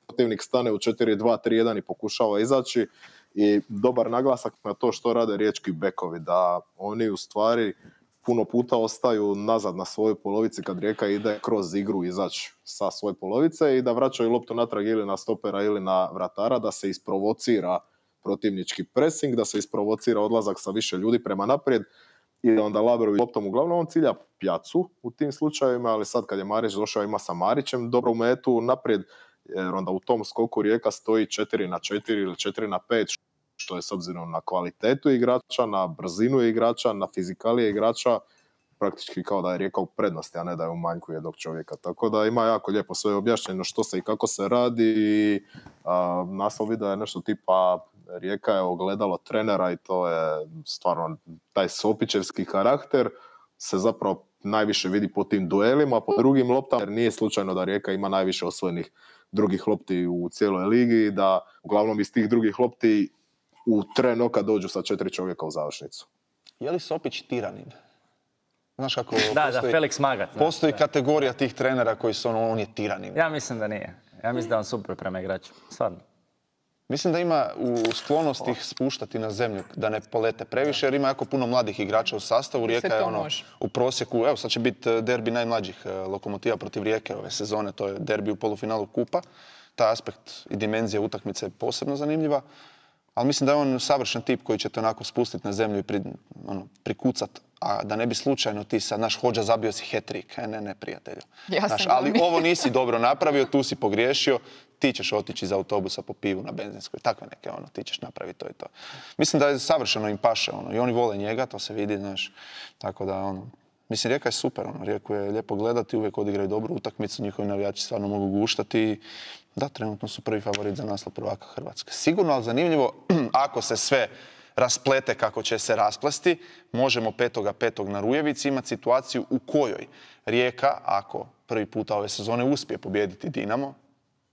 protivnik stane u četiri dva tri jedan i pokušava izaći. I dobar naglasak na to što rade riječki bekovi, da oni u stvari puno puta ostaju nazad na svojoj polovici kad Rijeka ide kroz igru izaći sa svoje polovice i da vraćaju loptu natrag ili na stopera ili na vratara, da se isprovocira protivnički pressing, da se isprovocira odlazak sa više ljudi prema naprijed i da onda Labrović loptom uglavnom on cilja Pjacu u tim slučajevima, ali sad kad je Marić došao ima sa Marićem dobru metu naprijed, jer onda u tom skoku Rijeka stoji četiri na četiri ili četiri na pet, što je s obzirom na kvalitetu igrača, na brzinu igrača, na fizikalije igrača, praktički kao da je Rijeka u prednosti, a ne da je u manjku jednog čovjeka. Tako da ima jako lijepo sve objašnjeno što se i kako se radi i a, naslov videa je nešto tipa Rijeka je ogledalo trenera i to je stvarno taj sopičevski karakter se zapravo najviše vidi po tim duelima, po drugim loptama, jer nije slučajno da Rijeka ima najviše osvojenih drugih lopti u cijeloj ligi, da uglavnom iz tih drugih lopti u tren oka dođu sa četiri čovjeka u završnicu. Je li Sopić tiranin? Znaš kako Da, postoji, da, Felix Magath. da. postoji kategorija tih trenera koji su ono, on je tiranin. Ja mislim da nije. Ja mislim da je on super prema igračima. Stvarno. Mislim da ima u sklonost ih spuštati na zemlju, da ne polete previše, jer ima jako puno mladih igrača u sastavu. Rijeka to je ono može. u prosjeku, evo sad će biti derbi najmlađih eh, Lokomotiva protiv Rijeke ove sezone, to je derbi u polufinalu kupa. Taj aspekt i dimenzija utakmice je posebno zanimljiva, ali mislim da je on savršen tip koji će te onako spustiti na zemlju i pri, ono, prikucat, a da ne bi slučajno ti sad, naš Hodža zabio si hat-trick. E, ne, ne, prijatelju. Ja Znaš, sam ali glumi. ovo nisi dobro napravio, tu si pogriješio, ti ćeš otići iz autobusa po pivu na benzinskoj. Takve neke, ono, ti ćeš napraviti to i to. Mislim da je savršeno im paše, ono, i oni vole njega, to se vidi, znaš. Tako da, ono, mislim, Rijeka je super, ono, Rijeku je lijepo gledati, uvijek odigraju dobru utakmicu, njihovi navijači stvarno mogu guštati i da, trenutno su prvi favorit za naslov prvaka Hrvatske. Sigurno, ali zanimljivo, ako se sve rasplete kako će se rasplesti, možemo petoga petog na Rujevici imati situaciju u kojoj Rijeka, ako prvi puta ove sezone uspije pobijediti Dinamo,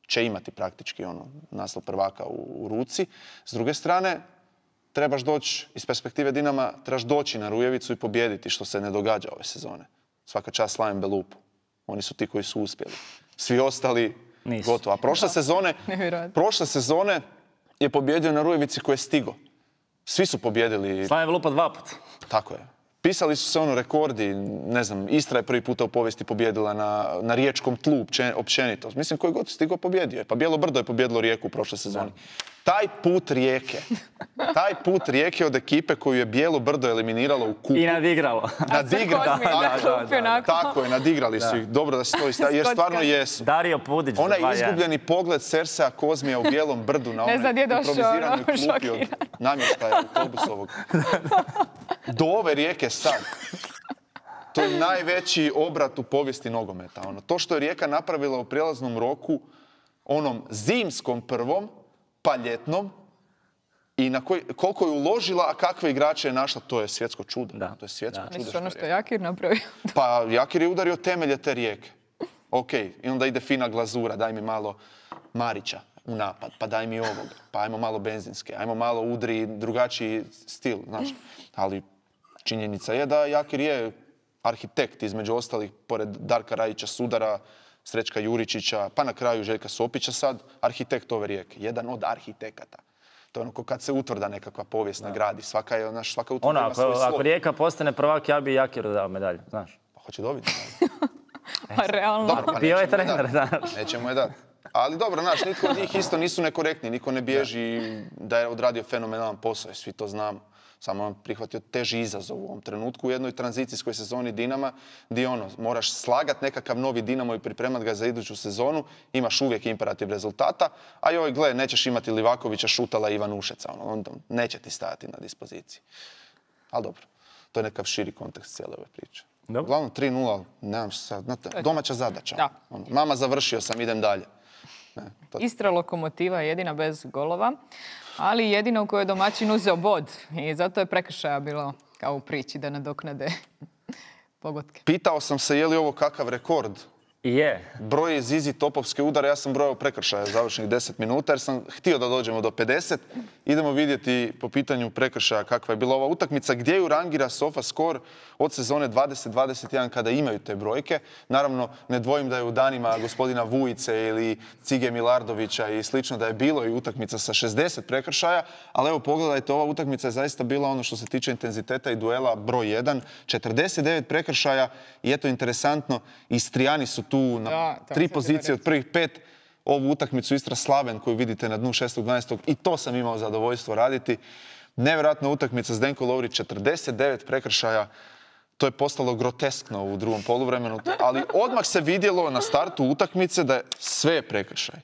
će imati praktički ono naslov prvaka u, u ruci. S druge strane, trebaš doći, iz perspektive Dinama, trebaš doći na Rujevicu i pobijediti, što se ne događa ove sezone. Svaka čast Slaven Belupu. Oni su ti koji su uspjeli. Svi ostali Nisu. gotovo. A prošle sezone, Nevjerojatno. prošle sezone je pobjedio na Rujevici koji je stigo. Svi su pobjedili. Slaven Belupa dva puta. Tako je. Pisali su se ono rekordi, ne znam, Istra je prvi puta u povijesti pobjedila na, na riječkom tlu opće- općenito. Mislim, koji god stigo pobjedio je. Pa Bijelo Brdo je pobjedilo Rijeku u prošle sezoni. Taj put Rijeke, taj put Rijeke od ekipe koju je Bijelo Brdo eliminiralo u kupu. I nadigralo. Nadigrali, Kozmin, tako, da, je. da, da, da. Tako je, nadigrali su ih. Dobro da se to istavi, jer stvarno jesu. Dario Pudić. za Onaj dva jedan. izgubljeni pogled Cersea Kozmija u Bijelom Brdu na Ne zna gdje onoj je došao, improviziranoj ono, klupi od šokiran. namještaja autobusovog. Do ove Rijeke sad. To je najveći obrat u povijesti nogometa. Ono, to što je Rijeka napravila u prijelaznom roku, onom zimskom prvom, pa ljetnom, i na koji, koliko je uložila, a kakve igrače je našla, to je svjetsko čudo. Da. To je svjetsko Da. čudo. Misliš što ono je što Rijeka. je Jakir napravio? Pa Jakir je udario temelje te Rijeke. Ok, i onda ide fina glazura, daj mi malo Marića u napad, pa daj mi ovoga, pa ajmo malo benzinske, ajmo malo udri drugačiji stil, znaš. Ali činjenica je da Jakir je arhitekt, između ostalih, pored Darka Rajića Sudara, Srećka Juričića, pa na kraju Željka Sopića sad, arhitekt ove Rijeke. Jedan od arhitekata. To je ono ko kad se utvrda nekakva povijest nagradi. Svaka je, znaš, svaka utvrda Ono, ima ako, svoj slog. ako Rijeka postane prvak, ja bi Jakiru dao medalju, znaš. Pa hoće dobiti. Pa realno. Dobro, pa Bio je nećemo je trener, dat. znaš. Nećemo je dati. Ali dobro, znaš, nitko od njih isto nisu nekorektni. Niko ne bježi da je odradio fenomenalan posao, svi to znamo. Samo on prihvatio teži izazov u ovom trenutku u jednoj tranzicijskoj sezoni Dinama, gdje ono, moraš slagat nekakav novi Dinamo i pripremat ga za iduću sezonu, imaš uvijek imperativ rezultata, a joj, gle, nećeš imati Livakovića, Šutala i Ivanušeca, ono, onda neće ti stajati na dispoziciji. Ali dobro, to je nekav širi kontekst cijele ove priče. Dobro. Uglavnom tri nula, nemam sad, znate, domaća zadaća. Da. Ono, mama, završio sam, idem dalje. Ne, to- Istra Lokomotiva je jedina bez golova, ali jedina u kojoj je domaćin uzeo bod. I zato je prekršaja bilo kao u priči da nadoknade pogodke. Pitao sam se je li ovo kakav rekord. I je. Broj Zizi topovske udare, ja sam brojao prekršaja završenih deset minuta jer sam htio da dođemo do pedeset. Idemo vidjeti po pitanju prekršaja kakva je bila ova utakmica, gdje ju rangira SofaScore od sezone dvadeset dvadeset jedan kada imaju te brojke. Naravno, ne dvojim da je u danima gospodina Vujice ili Cige Milardovića i slično da je bilo i utakmica sa šezdeset prekršaja, ali evo pogledajte, ova utakmica je zaista bila ono što se tiče intenziteta i duela broj jedan, četrdeset devet prekršaja i eto interesantno, Istrijani su tu na Da, to tri sam pozicije htjela od prvih pet. Ovu utakmicu Istra Slaven koju vidite na dnu šestog dvanaestog i to sam imao zadovoljstvo raditi. Nevjerojatna utakmica Zdenko Lovrić, četrdeset devet prekršaja. To je postalo groteskno u drugom poluvremenu, ali odmah se vidjelo na startu utakmice da je sve prekršaj.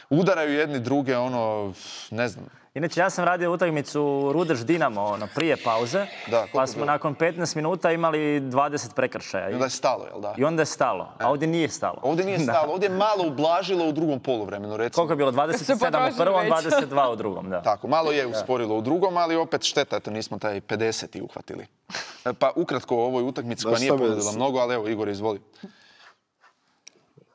Udaraju jedni druge, ono, ne znam, Inače, ja sam radio utakmicu Rudeš Dinamo ono, prije pauze, Da, koliko pa je smo bilo? nakon petnaest minuta imali dvadeset prekršaja. i onda je stalo, jel da? I onda je stalo, a ovdje nije stalo. Ovdje nije Da. stalo, ovdje je malo ublažilo u drugom poluvremenu, recimo. Koliko je bilo? dvadeset sedam u potrošili prvom, već. dvadeset dva u drugom, da. Tako, malo je usporilo u drugom, ali opet šteta, eto nismo taj pedeseti uhvatili. E, Pa ukratko o ovoj utakmici koja Da, nije šta me- ponudila mnogo, ali evo Igor, izvoli.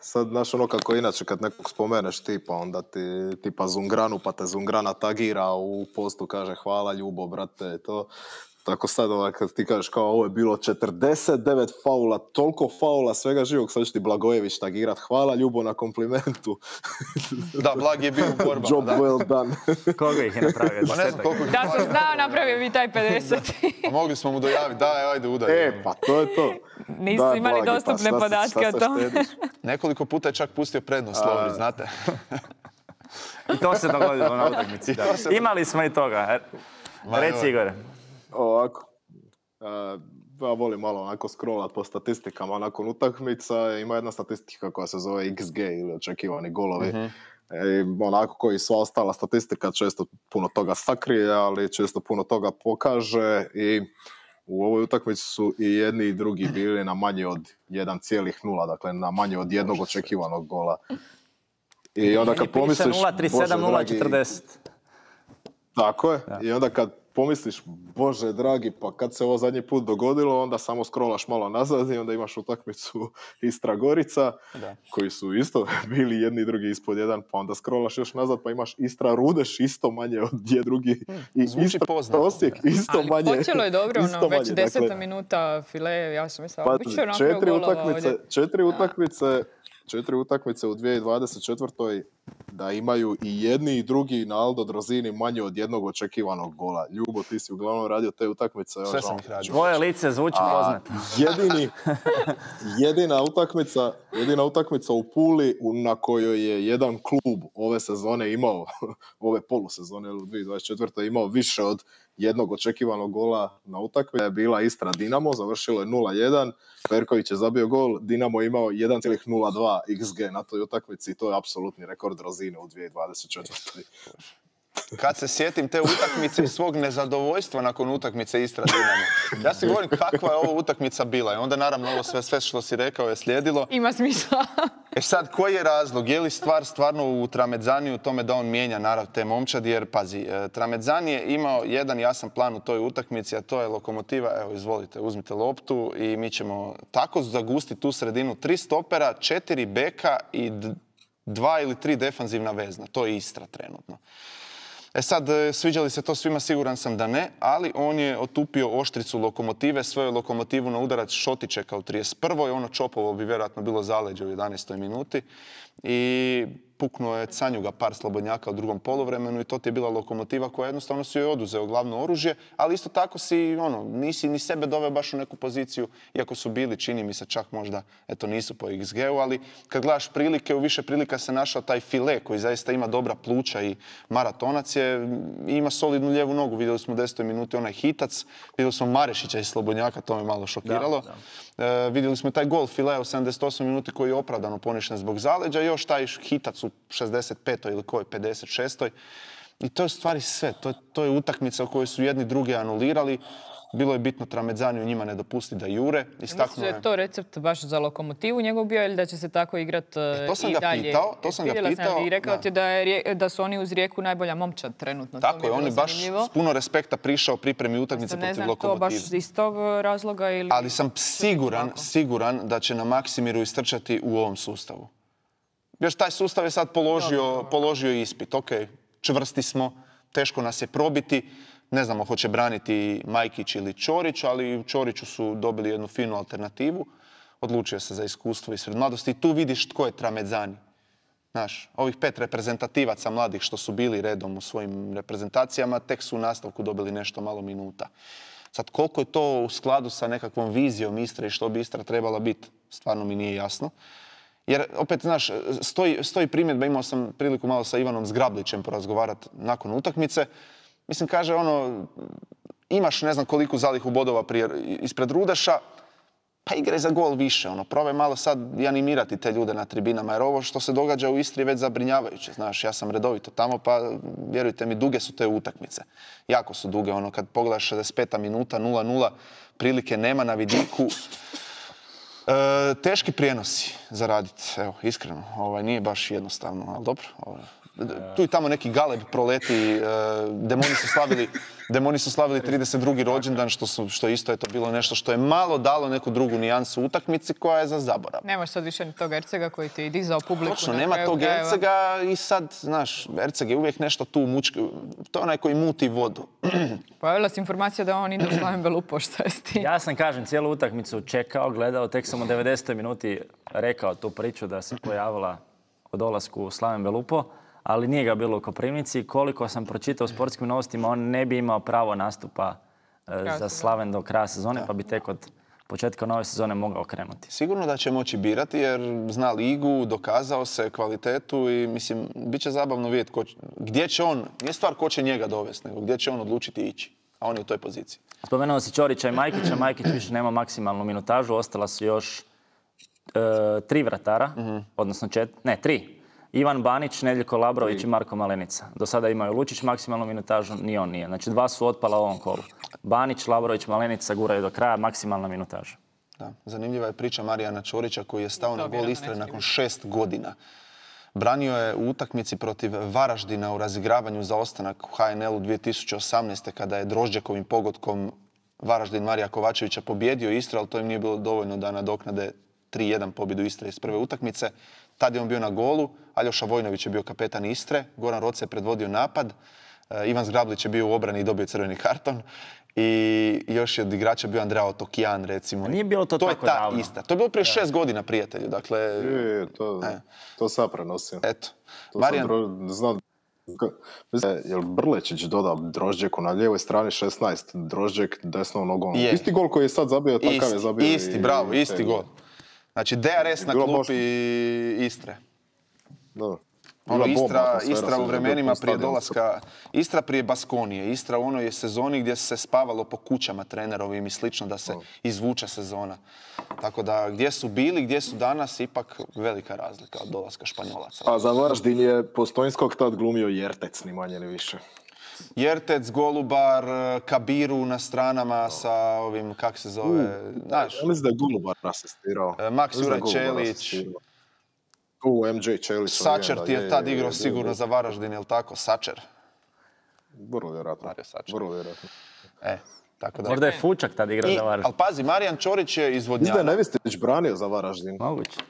sad, znaš, ono kako inače kad nekog spomeneš tipa, onda ti tipa Zungranu, pa te Zungrana tagira u postu, kaže hvala Ljubo, brate, to. Tako sad, ovaj, kad ti kažeš kao ovo je bilo četrdeset devet faula, toliko faula, svega živog, sad će ti Blagojević tagirat. Hvala Ljubo na komplimentu. Da, Blag je bio u borbama. Job da. well done. Koga ih je napravio? Pa ne znam koliko... Da sam znao, napravio bi taj pedeset. A mogli smo mu dojaviti, daj, ajde, udaj. E, pa to je to. Nisu Daj, imali Blagi, pa dostupne šta se- podatke šta o se tome. štediš? Nekoliko puta je čak pustio prednost, Lovri, znate. I to se dogodilo na utakmici. Imali smo i toga. Ma, Reci joj. Igore. Ovako. Uh, ja volim malo onako scrollat po statistikama nakon utakmica. Ima jedna statistika koja se zove X G ili očekivani golovi. Mhm. E, onako koji sva ostala statistika često puno toga sakrije, ali često puno toga pokaže i u ovoj utakmici su i jedni i drugi bili na manje od jedan zarez nula, dakle na manje od jednog očekivanog gola. I onda kad pomisliš... nula tri sedam Bože nula dragi, četrdeset. tako je. I onda kad pomisliš, Bože dragi, pa kad se ovo zadnji put dogodilo, onda samo scrollaš malo nazad i onda imaš utakmicu Istra Gorica, Da. koji su isto bili jedni i drugi ispod jedan, pa onda scrollaš još nazad, pa imaš Istra Rudeš isto manje od je drugi. I Zvuči Istra poznato. Osijek isto Ali manje. počelo je dobro, isto ono, već manje, deseta dakle, minuta file, ja sam mislila, pa, bit će napravio četiri golova utakmice, ovdje. četiri utakmice, četiri utakmice u dvije tisuće dvadeset četvrtoj da imaju i jedni i drugi na Aldo Drozini manje od jednog očekivanog gola. Ljubo, ti si uglavnom radio te utakmice. evo, Sve žao sam mi ih je. radio. Tvoje lice zvuči A poznato. jedini, jedina utakmica, jedina utakmica u Puli u- na kojoj je jedan klub ove sezone imao, ove polusezone u dvije tisuće dvadeset četvrtoj imao više od jednog očekivanog gola na utakmici je bila Istra Dinamo, završilo je nula jedan, Perković je zabio gol, Dinamo je imao jedan zarez nula dva X G na toj utakmici i to je apsolutni rekord Rozine u dvije tisuće dvadeset četvrtoj. Kad se sjetim te utakmice i svog nezadovoljstva nakon utakmice Istra Dinamo. Ja si govorim kakva je ovo utakmica bila i onda naravno ovo sve, sve što si rekao je slijedilo. Ima smisla. E sad, koji je razlog? Je li stvar stvarno u Tramedzani u tome da on mijenja narav te momčadi? Jer, pazi, e, Tramedzani je imao jedan jasan plan u toj utakmici, a to je Lokomotiva. Evo, izvolite, uzmite loptu i mi ćemo tako zagustiti tu sredinu. Tri stopera, četiri beka i d- dva ili tri defanzivna vezna. To je Istra trenutno. E sad, e, sviđa li se to svima? Siguran sam da ne, ali on je otupio oštricu Lokomotive, svoju Lokomotivu na udarac Šotičeka u trideset prvoj Ono Čopovo bi vjerojatno bilo zaleđe u jedanaestoj minuti. I puknuo je Canjuga par slobodnjaka u drugom poluvremenu i to ti je bila Lokomotiva koja jednostavno si joj oduzeo glavno oružje, ali isto tako si, ono, nisi ni sebe doveo baš u neku poziciju, iako su bili, čini mi se čak možda, eto nisu po X G-u, ali kad gledaš prilike, u više prilika se našao taj File koji zaista ima dobra pluća i maratonac je, i ima solidnu lijevu nogu, vidjeli smo u desetoj minuti onaj hitac, vidjeli smo Marešića iz slobodnjaka, to me malo šokiralo. Da, E, vidjeli smo taj gol Filea u sedamdeset osmoj minuti koji je opravdano poništen zbog zaleđa i još taj hitac u šezdeset petoj ili kojoj, pedeset šestoj I to je u stvari sve. To je, to je utakmica u kojoj su jedni druge anulirali. Bilo je bitno Tramedzaniju njima ne dopustiti da jure. Misliš Istaknuo da je... je to recept baš za Lokomotivu njegov bio ili da će se tako igrat E, to sam i ga dalje? pitao, to sam ga Vidjela pitao, i rekao da. ti da, je, Rije- da su oni uz Rijeku najbolja momčad trenutno. To mi Tako je, on bilo je baš zanimljivo. s puno respekta prišao pripremi utakmice Sad ne protiv znam to baš Lokomotive. iz tog razloga ili... Ali sam siguran, siguran da će na Maksimiru istrčati u ovom sustavu. Još taj sustav je sad položio, položio ispit. Ok, čvrsti smo, teško nas je probiti. Ne znamo hoće braniti Majkić ili Ćorić, ali u Ćoriću su dobili jednu finu alternativu. Odlučio se za iskustvo ispred mladosti i tu vidiš tko je Tramedzani. Znaš, ovih pet reprezentativaca mladih što su bili redom u svojim reprezentacijama, tek su u nastavku dobili nešto malo minuta. Sad, koliko je to u skladu sa nekakvom vizijom Istre i što bi Istra trebala biti, stvarno mi nije jasno. Jer, opet, znaš, stoji, stoji primjedba, imao sam priliku malo sa Ivanom Zgrablićem porazgovarati nakon utakmice. Mislim, kaže, ono, imaš ne znam koliko zalihu bodova prije, ispred Rudeša, pa igraj za gol više, ono, probaj malo sad i animirati te ljude na tribinama, jer ovo što se događa u Istri je već zabrinjavajuće, znaš, ja sam redovito tamo, pa vjerujte mi, duge su te utakmice. Jako su duge, ono, kad pogledaš šezdeset peta minuta, nula nula, prilike nema na vidiku. E, teški prijenosi za raditi, evo, iskreno, ovaj, nije baš jednostavno, ali dobro. Ovaj. Tu i tamo neki galeb proleti, e, demoni su slavili, Demoni su slavili trideset drugi rođendan, što, su, što isto je to bilo nešto što je malo dalo neku drugu nijansu utakmici koja je za zaborav. Nemaš sad više ni tog Ercega koji ti je dizao publiku. Točno, na nema kraju tog krajeva. Ercega i sad, znaš, Erceg je uvijek nešto tu mučki, to je onaj koji muti vodu. Pojavila se informacija da on ide u Slaven Belupo, šta je s tim? Ja sam, kažem, cijelu utakmicu čekao, gledao, tek sam u devedesetoj minuti rekao tu priču da se pojavila o dolasku u Slaven Belupo, ali nije ga bilo u Koprivnici. Koliko sam pročitao u sportskim novostima, on ne bi imao pravo nastupa e, za Slaven do kraja sezone, pa bi tek od početka nove sezone mogao krenuti. Sigurno da će moći birati jer zna ligu, dokazao se kvalitetu i mislim, bit će zabavno vidjeti ko, gdje će on, nije stvar ko će njega dovesti, nego gdje će on odlučiti ići. A on je u toj poziciji. Spomenuo si Ćorića i Majkića. Majkić više nema maksimalnu minutažu, ostala su još e, tri vratara, mm-hmm. odnosno čet, ne, tri. Ivan Banić, Nedeljko Labrović i Marko Malenica. Do sada imaju Lučić maksimalnu minutažu, ni on nije. Znači dva su otpala u ovom kolu. Banić, Labrović, Malenica guraju do kraja, maksimalna minutaža. Da, zanimljiva je priča Marijana Ćorića koji je stao na gol Istre nakon šest godina. Branio je u utakmici protiv Varaždina u razigravanju za ostanak u H N L-u dvije tisuće osamnaeste. kada je Drožđekovim pogodkom Varaždin Marija Kovačevića pobjedio Istru, ali to im nije bilo dovoljno da nadoknade tri jedan pobjedu Istre iz prve utakmice. Tad je on bio na golu, Aljoša Vojnović je bio kapetan Istre, Goran Roce je predvodio napad, Ivan Zgrablić je bio u obrani i dobio crveni karton i još je od igrača bio Andrea Otokijan, recimo. Nije bilo to, to tako je ta davno. Ista. To je bilo prije šest godina, prijatelju. Dakle, Je, to, e. to sad prenosio. Eto. To Marijan... sam znao, je li Brlečić dodao Drožđeku na lijevoj strani šesnaest, Drožđek desnom nogom. Je. Isti gol koji je sad zabio, takav Isti, je zabio. isti, i, bravo, i isti gol. Znači, D R S na Bilo klupi baš- Istre. Da. Ono, Bila bomba Istra, atmosfera, Istra sam u vidio vremenima po prije stadionu. dolaska, Istra prije Baskonije, Istra u onoj sezoni gdje se spavalo po kućama trenerovim i slično da se izvuče sezona. Tako da gdje su bili, gdje su danas, ipak velika razlika od dolaska Španjolaca. A za Varaždin je Postojnskog tad glumio Jertec, ni manje ni više. Jertec, Golubar, Kabiru na stranama sa ovim, kak se zove, znaš, Ja mislim da je Golubar asistirao. e, Max Mislim da je Juraj Golubar Čelić. asistirao. U, M J Čelić. Sačer ti je tad igrao je, sigurno je. za Varaždin, jel tako? Sačer. Vrlo vjerojatno. Mario Sačer. Vrlo vjerojatno. E, tako da... Možda je Fučak tad igrao I, za Varaždin. ali pazi, Marijan Ćorić je Mislim da je izvodnjava. Nevistić branio za Varaždin. Moguće.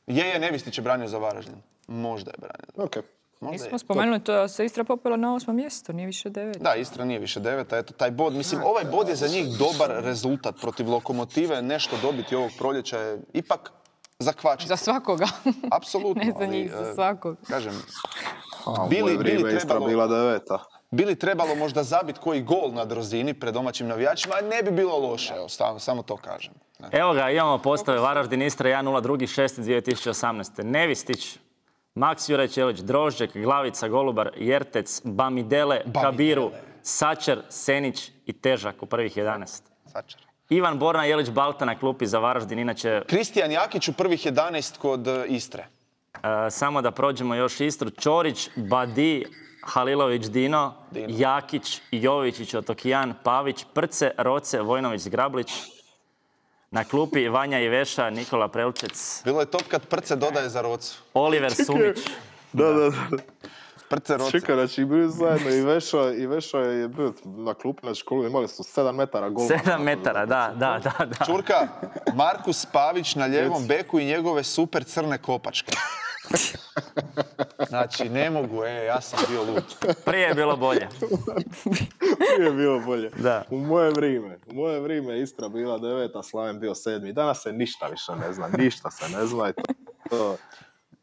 Je, je, Nevistić je branio za Varaždin. Možda je branio. Ok. Možda Mi je. smo spomenuli to da se Istra popela na osmo mjesto, nije više devet. Da, Istra nije više deveta, eto taj bod. Mislim, ovaj bod je za njih dobar rezultat protiv Lokomotive. Nešto dobiti ovog proljeća je ipak za kvačicu. Za svakoga. Apsolutno. Ne za ali, njih, za e, svakog. Kažem, A, u Bili- moje bili vrijeme Istra trebalo- bila deveta. bili trebalo možda zabiti koji gol na Drozini pred domaćim navijačima, ne bi bilo loše, evo, samo, samo to kažem. Ne. Evo ga, imamo postave Varaždin, Istra jedan nula, drugi šesti dvije tisuće osamnaeste. Nevistić, Max Juraj Čelić, Drožđek, Glavica, Golubar, Jertec, Bamidele, Kabiru, Sačer, Senić i Težak u prvih jedanaest. Sačer. Ivan Borna Jelić Balta na klupi za Varaždin, inače Kristijan Jakić u prvih jedanaest kod e, Istre. e, samo da prođemo još Istru. Ćorić, Badi, Halilović Dino, Dino. Jakić, Jovičić, Otokijan, Pavić, Prce, Roce, Vojnović, Grablić. Na klupi Vanja Iveša, Nikola Prelčec, Bilo je top kad Prce dodaje za Rocu. Oliver Sumić. Da, da, da. Prce Roce. Čekaj, znači bili zajedno i Veša, i Veša je bio na klupi na školu, imali su sedam metara gol. Sedam metara, da, da, da, da. Čurka, Markus Pavić na ljevom beku i njegove super crne kopačke. Znači, ne mogu, e, ja sam bio lud. Prije je bilo bolje. Nije bilo bolje. Da. U moje vrijeme, u moje vrijeme Istra bila deveta, Slaven bio sedmi. Danas se ništa više ne zna, ništa se ne zna i to, to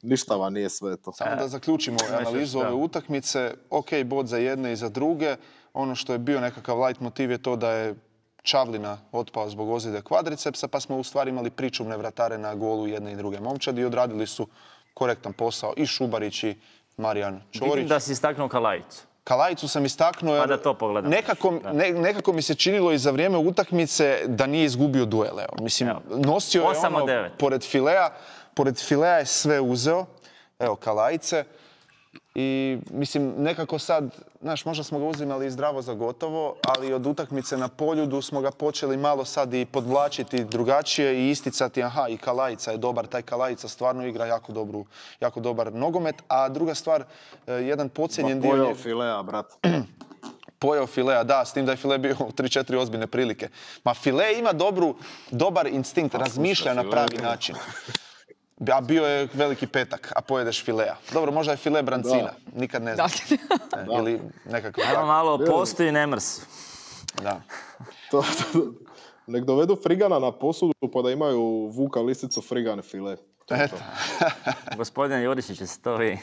ništa vam nije sveto. Samo da zaključimo analizu da. ove utakmice. Ok, bod za jedne i za druge. Ono što je bio nekakav light motiv je to da je Čavlina otpao zbog ozljede kvadricepsa, pa smo u stvari imali pričuvne vratare na golu jedne i druge momčadi i odradili su korektan posao i Šubarić i Marijan Vidim Ćorić. da si istaknuo Kalajicu. Kalajicu sam istaknuo jer Pa da to pogledamo. nekako, ne- nekako mi se činilo i za vrijeme utakmice da nije izgubio duel. Evo. Mislim, Evo. nosio je Osam od ono, devet. pored filea, pored filea je sve uzeo. Evo, Kalajice. I mislim, nekako sad, znaš, možda smo ga uzimali zdravo za gotovo, ali od utakmice na Poljudu smo ga počeli malo sad i podvlačiti drugačije i isticati, aha, i Kalajica je dobar, taj Kalajica stvarno igra jako, dobru, jako dobar nogomet. A druga stvar, eh, jedan podcijenjen dio... Pojao nje- filea, brat. pojeo filea, da, s tim da je file bio u tri četiri ozbiljne prilike. Ma file ima dobru, dobar instinkt, razmišlja na pravi način. A bio je veliki petak, a pojedeš filea. Dobro, možda je file brancina, nikad ne znam. Da. Ili nekako Evo tako. malo postoji ne mrs. Da. To, to, nek dovedu frigana na posudu pa da imaju Vuka lisicu frigane file. To je Eto. Gospodin Jurišić će se to vi.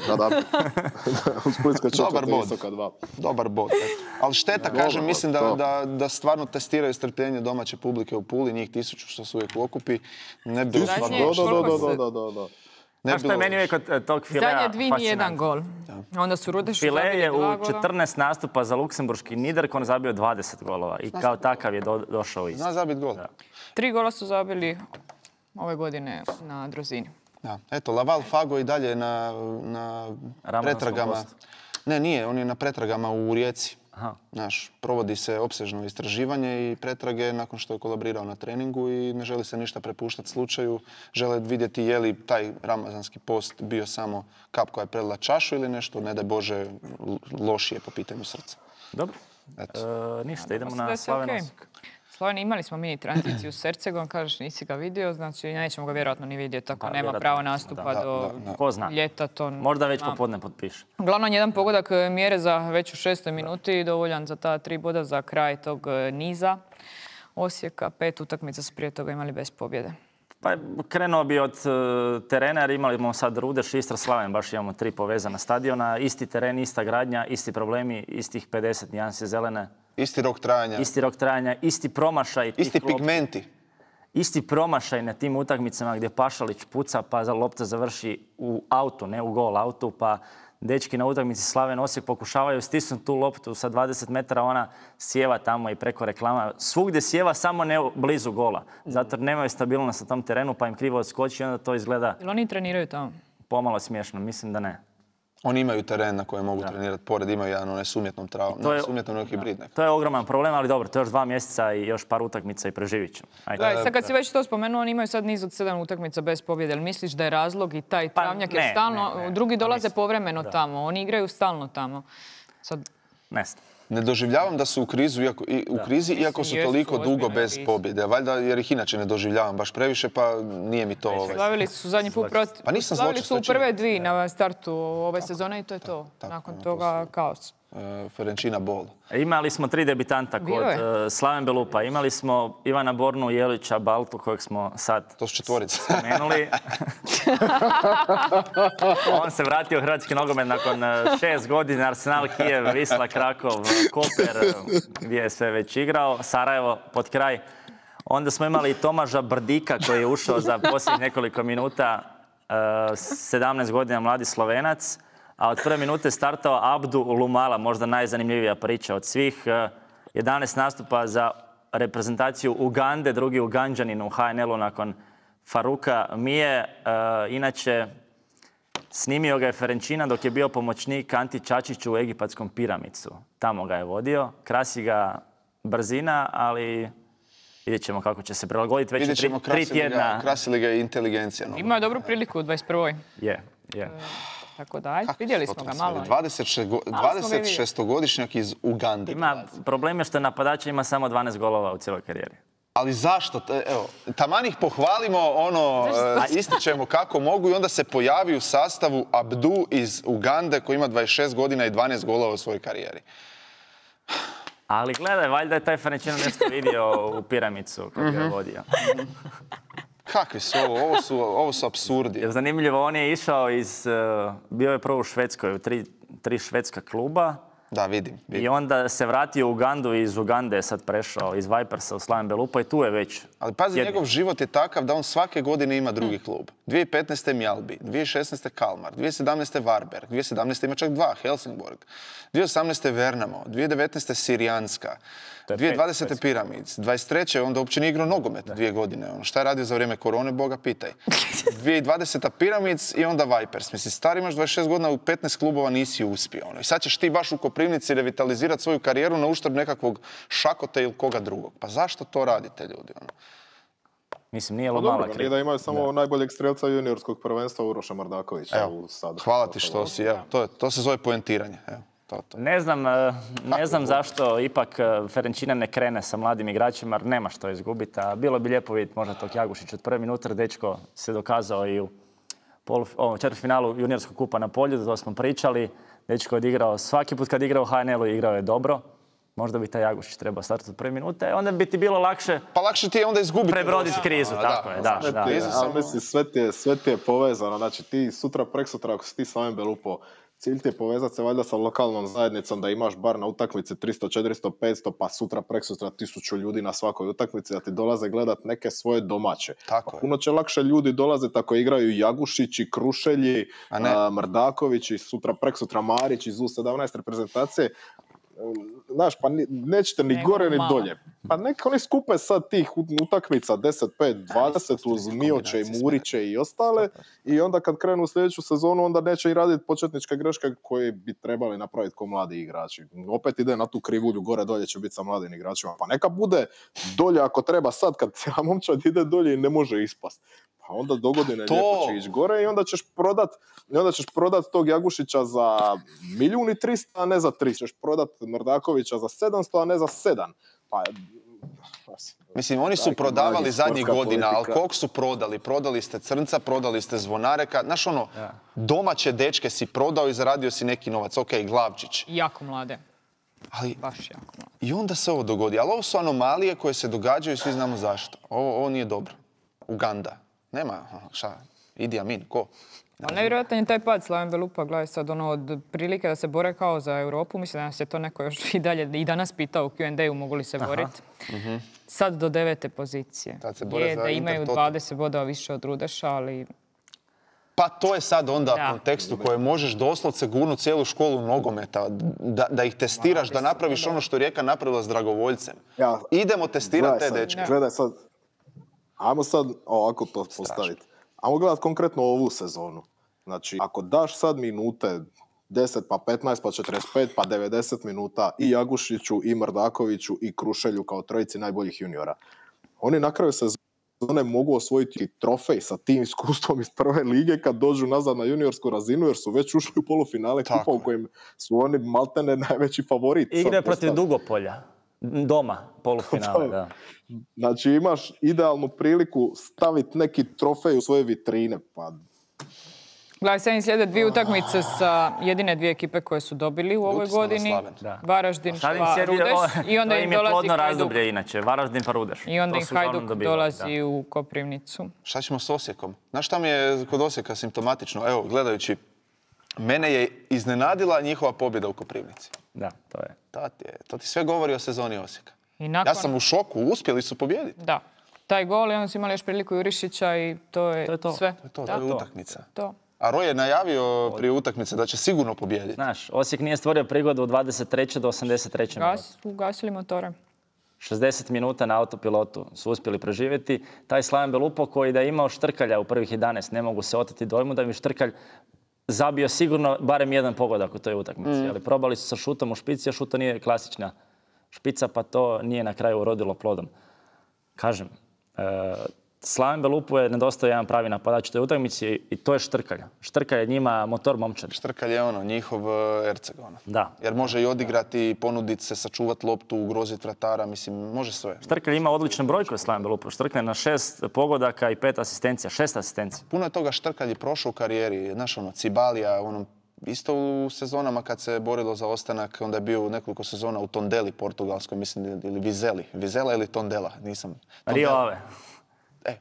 Da, da. U Splitskoj Dobar četvrti bod. Istoka dva. Dobar bod. eto. Ali šteta, Dobar kažem, bod, mislim da, to. da, da stvarno testiraju strpljenje domaće publike u Puli, njih tisuću što su uvijek u okupi. Ne bi bilo Zadnje- stvarno Da, da, da, koliko da, se- da, da, da. ne A bi što je bilo meni uvijek loše. od tog filea Zadnje dvi ni jedan fascinantno. gol. Onda su Rudešu File zabili je dva u gola. četrnaest nastupa za luksemburški Niederkorn zabio dvadeset golova i kao takav je do, došao isto. Zna zabit gol. Tri gola su zabili ove godine na Drozini. Da. Eto, Laval Fago i dalje na, na Ramazanskom pretragama. postu. Ne, nije, on je na pretragama u Rijeci. Aha. Znaš, provodi se opsežno istraživanje i pretrage nakon što je kolabrirao na treningu i ne želi se ništa prepuštati slučaju. Žele vidjeti je li taj ramazanski post bio samo kap koja je prelila čašu ili nešto, ne daj Bože, l- lošije po pitanju srca. Dobro. Eto. E, ništa, idemo Mislim da na je sve Slaven okej. Osijek. Slaven, imali smo mini tranziciju s Hercegom, kažeš nisi ga vidio, znači nećemo ga vjerojatno ni vidjeti, tako Pa, nema vjerojatno pravo nećemo, nastupa da, do da, da. Ko zna? ljeta. To Možda već znam. popodne potpiše. Uglavnom, jedan pogodak e, mjere za već u šestoj minuti, dovoljan za ta tri boda za kraj tog e, niza Osijeka. Pet utakmica su prije toga imali bez pobjede. Pa krenuo bi od e, terena jer imali smo sad Rudeš, Istra, Slaven, baš imamo tri povezana stadiona. Isti teren, ista gradnja, isti problemi, istih pedeset nijansi zelene, Isti rok trajanja, isti rok trajanja, isti promašaj. tih isti lopti. pigmenti. Isti promašaj na tim utakmicama gdje Pašalić puca pa za lopta završi u autu, ne u gol autu, pa dečki na utakmici Slaven Osijek pokušavaju stisnuti tu loptu sa dvadeset metara, ona sjeva tamo i preko reklama. Svugdje sjeva, samo ne blizu gola. Zato jer nemaju stabilnost na tom terenu pa im krivo odskoči i onda to izgleda Jel oni treniraju tamo? pomalo smiješno. Mislim da ne. Oni imaju teren na kojem mogu trenirati pored, imaju jedan onaj s umjetnom travom, To ne je- s umjetnom nego hibrid neko. To je ogroman problem, ali dobro, to je još dva mjeseca i još par utakmica i preživit ćemo. Ajde. Gledaj, sad kad si već to spomenuo, oni imaju sad niz od sedam utakmica bez pobjede. Jel misliš da je razlog i taj Pa travnjak jer ne, stalno, ne, ne. drugi Pa dolaze mislim, povremeno da. tamo, oni igraju stalno tamo. Sad, Ne znam. Ne doživljavam da su u, krizu, iako, i, u krizi, iako su Jesu, toliko dugo ozbiljna bez kriza. pobjede. Valjda jer ih inače ne doživljavam baš previše, pa nije mi to... Ovaj. slavili su zadnji put protiv... Pa nisam Slavili zločest, su to u je činjenica. prve dvije na startu ove sezone i to je to. tako, Nakon ono, to toga kaos. e, Ferenčina Bol. Imali smo tri debitanta kod Bilo je. uh, Slaven Belupa. Imali smo Ivana Bornu, Jelića, Baltu, kojeg smo sad To su četvorice. spomenuli. On se vratio u hrvatski nogomet nakon uh, šest godina. Arsenal, Kijev, Wisla, Krakov, Koper, uh, gdje je sve već igrao. Sarajevo, pod kraj. Onda smo imali Tomaža Brdika koji je ušao za posljednjih nekoliko minuta. Uh, sedamnaest godina mladi Slovenac. A od prve minute startao Abdu Lumala, možda najzanimljivija priča od svih. Uh, jedanaest nastupa za reprezentaciju Ugande, drugi Uganđanin u H N L-u nakon Faruka Mije. Uh, inače, snimio ga je Ferenčina dok je bio pomoćnik Anti Čačiću u egipatskom Piramicu. Tamo ga je vodio. Krasi ga brzina, ali vidjet ćemo kako će se prilagoditi. Već je Vidjet tri, ćemo tri krasi li ga, tjedna. krasi li ga i inteligencija. No. Imao je dobru priliku u dvadeset prvoj. Je, je. Tako da, ajde, vidjeli smo ga malo. dvadeset šestogodišnjak iz Ugande. Ima problem je što je napadač ima samo dvanaest golova u cijeloj karijeri. Ali zašto? Te- Evo, taman ih pohvalimo, ono, e, ističemo kako mogu i onda se pojavi u sastavu Abdu iz Ugande koji ima dvadeset šest godina i dvanaest golova u svojoj karijeri. Ali gledaj, valjda je taj Ferenčino nešto vidio u Piramicu kad ga je vodio. Kakvi su ovo? Ovo su, ovo su apsurdi. Jer zanimljivo, on je išao iz, uh, bio je prvo u Švedskoj, u tri, tri švedska kluba. Da, vidim. I vidim. onda se vratio u Ugandu i iz Ugande je sad prešao iz Vipersa u Slaven Belupa i tu je već. Ali pazi, jedni. njegov život je takav da on svake godine ima drugi klub. dvije tisuće petnaeste. Mjalbi, dvije tisuće šesnaeste. Kalmar, dvije tisuće sedamnaeste. Varberg, dvije tisuće sedamnaeste. ima čak dva, Helsingborg, dvije tisuće osamnaeste. Vernamo, dvije tisuće devetnaeste. Sirijanska, To je dvije tisuće pet, dvadesete. pet. Piramids, dvadeset treće. onda uopće nije igrao nogomet dvije godine. Ono, šta je radio za vrijeme korone, Boga pitaj. dvije tisuće dvadeseta. Piramids i onda Vipers. Mislim, stari imaš dvadeset šest godina, u petnaest klubova nisi uspio. Ono. I sad ćeš ti baš u Koprivnici revitalizirati svoju karijeru na uštrb nekakvog Šakota ili koga drugog. Pa zašto to radite, ljudi? Ono? Mislim, nije Pa Lumala dobro, nije kriv. da imaju samo najboljeg strelca juniorskog prvenstva Uroša Mardakovića. Evo, u sad. hvala ti što si, evo, to, je, to se zove poentiranje. Evo. To, to. Ne znam, e, ne znam zašto ipak e, Ferenčina ne krene sa mladim igračima, jer nema što izgubiti. A bilo bi lijepo vidjeti možda tog Jagušić od prve minute, jer dečko se dokazao i u polu, četvrtfinalu juniorskog kupa na Poljudu, to smo pričali. Dečko je odigrao, svaki put kad igrao u H N L-u igrao je dobro. Možda bi taj Jagušić trebao startati od prve minute, onda bi ti bilo lakše Pa lakše ti je onda izgubiti. prebroditi krizu, A, tako da, je, da. Sve da, ti je, da. a mislim, sve ti je, sve ti je povezano. Znači ti sutra, preksutra, ako si ti Slaven Belupo, cilj ti je povezati se valjda sa lokalnom zajednicom da imaš bar na utakmici tristo, četiristo, petsto, pa sutra, preksutra tisuću ljudi na svakoj utakmici, da ti dolaze gledat neke svoje domaće. Tako Pa je. puno će lakše ljudi dolaziti ako igraju Jagušići, Krušelji, A ne. a, Mrdakovići, sutra, preksutra Marić iz U sedamnaest reprezentacije. Znaš, pa ni- nećete ni Nego gore ni malo. dolje. Pa neka oni skupe sad tih utakmica deset, pet, dvadeset uz Mioće i Muriće i ostale i onda kad krenu u sljedeću sezonu onda neće i raditi početničke greške koje bi trebali napraviti kao mladi igrači. Opet ide na tu krivulju, gore dolje će biti sa mladim igračima. Pa neka bude dolje ako treba sad kad cijela momčad ide dolje i ne može ispast. Pa onda dogodine To- lijepo će ići gore i onda ćeš prodat, i onda ćeš prodat tog Jagušića za milijun i trista, a ne za tristo. Ćeš prodat Mrdakovića za sedamsto, a ne za sedam. Pa, Mislim, oni su Dajte, prodavali mladi, zadnjih sportska godina, ali politika. kog su prodali? Prodali ste Crnca, prodali ste Zvonareka. Znaš ono, domaće dečke si prodao i zaradio si neki novac. Ok, Glavčić. Jako mlade. Ali Baš jako mlade. i onda se ovo dogodi. Ali ovo su anomalije koje se događaju i svi znamo zašto. Ovo, ovo nije dobro. Uganda. Nema, aha, šta, Idi Amin, ko? Ali nevjerojatan je taj pad Slaven Belupa, gledaj sad, ono, od prilike da se bore kao za Europu, mislim da nas je to neko još i dalje i danas pitao u Q and A-u mogu li se boriti. Sad do devete pozicije. Tad se bore Je za da imaju Intertoto. dvadeset bodova više od Rudeša, ali Pa to je sad onda Da. kontekst u kojem možeš doslovce gurnuti cijelu školu nogometa, da, da ih testiraš, da napraviš ono što je Rijeka napravila s dragovoljcem. Ja- Idemo testirati te Gledaj dečke. sad, gledaj sad, ajmo sad ovako to postaviti. Ajmo gledati konkretno ovu sezonu. Znači, ako daš sad minute, deset, pa petnaest, pa četrdeset pet, pa devedeset minuta i Jagušiću, i Mrdakoviću, i Krušelju kao trojici najboljih juniora, oni na kraju sezone mogu osvojiti trofej sa tim iskustvom iz prve lige kad dođu nazad na juniorsku razinu, jer su već ušli u polufinale Tako kupa u je. kojem su oni maltene najveći favorit. sad Igre protiv postali. Dugopolja. Doma, polufinale, da. Znači imaš idealnu priliku staviti neki trofej u svoje vitrine. Pa gledaj, sad im slijede dvije utakmice sa jedine dvije ekipe koje su dobili u ovoj Ljuti smo na godini. Slaven. Da. Varaždin Sad im pa sjedi- Rudeš o, i onda to im je dolazi plodno Hajduk. razdoblje inače, Varaždin pa Rudeš. I onda To im su uglavnom Hajduk dobivali, dolazi da. u Koprivnicu. Šta ćemo s Osijekom? Znaš šta mi je kod Osijeka simptomatično? Evo, gledajući, mene je iznenadila njihova pobjeda u Koprivnici. Da, to je. To ti, je, to ti sve govori o sezoni Osijeka. I nakon, Ja sam u šoku, uspjeli su pobijediti. Da. Taj gol i onda su imali još priliku Jurišića i to je, To je to. sve. To je to, Da, to je utakmica. to. A Roy je najavio prije utakmice da će sigurno pobijediti. Znaš, Osijek nije stvorio prigodu od dvadeset treće do osamdeset treće minute. Gas, ugasili motore. šezdeset minuta na autopilotu su uspjeli preživjeti. Taj Slaven Belupo koji da je imao Štrkalja u prvih jedanaest, ne mogu se oteti dojmu da bi Štrkalj zabio sigurno barem jedan pogodak u toj utakmici. Ali probali su sa šutom u špici, a šuto nije klasična špica, pa to nije na kraju urodilo plodom. Kažem, e, Slaven Belupu je nedostao jedan pravi napadač u toj utakmici i to je Štrkalj. Štrkalj je njima motor momčad. Štrkalj je ono, njihov uh, Erceg, ono. Da. Jer može i odigrati, ponuditi se, sačuvati loptu, ugroziti vratara, mislim, može sve. Štrkalj ima odličnu brojku Slaven Belupu. Štrkalj je na šest pogodaka i pet asistencija. Šest asistencija. Puno je toga Štrkalj je prošao u karijeri, znaš ono, Cibalija, ono, isto u sezonama kad se borilo za ostanak, onda je bio u nekoliko sezona u Tondeli, portugalskoj, mislim, ili Vizeli. Vizela ili Tondela, nisam. Rio Tondela. Ave. E,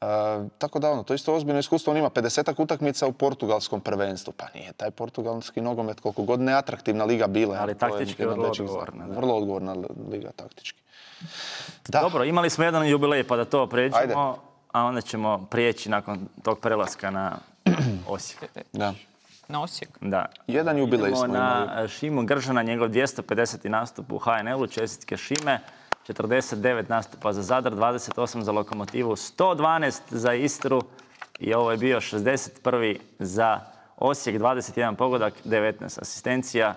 a, tako da ono, to je isto ozbiljno iskustvo. On ima pedesetak utakmica u portugalskom prvenstvu. Pa nije taj portugalski nogomet koliko god neatraktivna liga bila. Ali to je taktički jedan vrlo većih odgovorna, zakona. da. Vrlo odgovorna liga taktički. Da. Dobro, imali smo jedan jubilej pa da to pređemo, Ajde. a onda ćemo prijeći nakon tog prelaska na Osijek. Da. Na Osijek. Da. Jedan jubilej Idemo smo na imali. Šimu Gržana, njegov dvjesto pedeseti nastup u H N L-u, čestitke Šime, četrdeset devet nastupa za Zadar, dvadeset osam za Lokomotivu, sto dvanaest za Istru i ovo je bio šezdeset prvi za Osijek, dvadeset jedan pogodak, devetnaest asistencija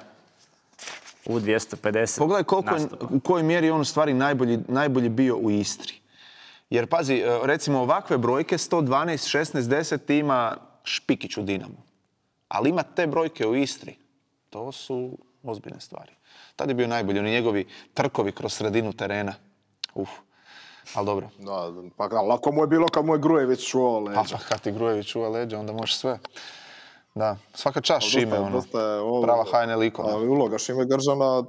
u dvjesto pedeset Pogledaj koliko je, nastupa. u kojoj mjeri je on u stvari najbolji, najbolji bio u Istri. Jer pazi, e, recimo ovakve brojke, sto dvanaest, šesnaest, deset ima Špikić u Dinamu. Ali ima te brojke u Istri. To su ozbiljne stvari. Tad je bio najbolji, oni njegovi trkovi kroz sredinu terena. Uf, ali dobro. Da, pa da, lako mu je bilo kad mu je Grujević čuvao leđa. Pa, pa kad ti Grujević čuva leđa, onda možeš sve. Da, svaka čast Dosta je- Šime, ono, dosta je ovo- prava H N L ikona. Ali uloga Šime Gržana,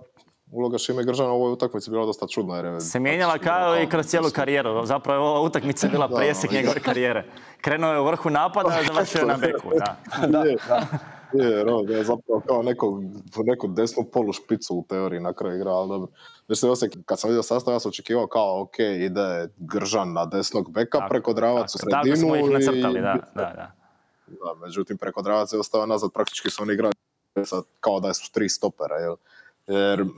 uloga Šime Gržana u ovoj utakmici bila dosta čudna. Jer je Se mijenjala kao i kroz cijelu karijeru. Zapravo je ova utakmica bila Da, presjek da. njegove karijere. Krenuo je u vrhu napada, a završio je na beku. Da. Je, je, jer on je zapravo kao neko, neku desnu polu špicu u teoriji na kraju igra, ali dobro. Mislim, Osijek, kad sam vidio sastav, ja sam očekivao kao, ok, ide Gržan na desnog beka, Tako, preko Dravac u tako, sredinu. tako smo ih i- nacrtali, da, da, da. Da, međutim, preko Dravac je ostao nazad, praktički su oni igrali sad kao da su tri stopera, jel? Jer mm,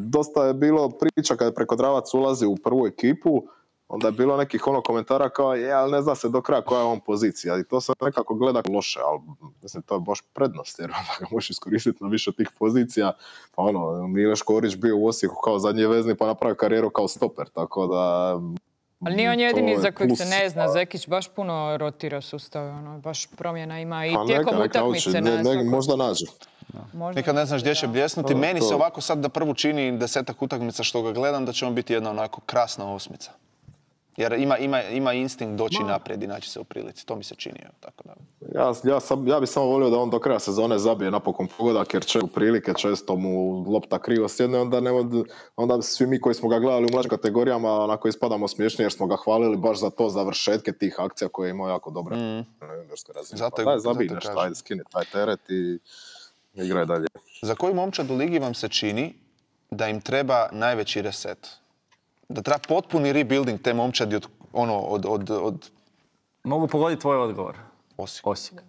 dosta je bilo priča kada je preko Dravac ulazi u prvu ekipu, onda je bilo nekih ono komentara kao, je, ali ne zna se do kraja koja je on pozicija. I to se nekako gleda loše, ali mislim, to je baš prednost, jer onda ga možeš iskoristiti na više tih pozicija. Pa ono, Mile Škorić bio u Osijeku kao zadnji vezni, pa napravio karijeru kao stoper, tako da... Ali nije on to jedini je za kojeg se plus. ne zna. Zekić baš puno rotira sustav, ono, baš promjena ima i Pa tijekom neka, neka utakmice. uči, na ne, ne, svakoj- možda nađe. možda Nikad ne znaš gdje će da. bljesnuti. To- Meni to- se ovako sad da prvu čini desetak utakmica što ga gledam, da će on biti jedna onako krasna osmica. Jer ima, ima, ima instinkt doći naprijed i naći se u prilici. To mi se čini. Evo, tako da. Ja, ja, sam, ja bi samo volio da on do kraja sezone zabije napokon pogodak, jer će u prilike često mu lopta krivo sjedne, onda, nema, onda svi mi koji smo ga gledali u mlađim kategorijama onako ispadamo smiješni jer smo ga hvalili baš za to završetke tih akcija koje je imao jako dobre. Mm. Zato Pa je- daj, zato zabij kažem. nešto, ajde, skini taj teret i igraj dalje. Za koju momčad u ligi vam se čini da im treba najveći reset? Da treba potpuni rebuilding te momčadi od, ono, od, od, od Mogu pogoditi tvoj odgovor. Osijeka. Osijek.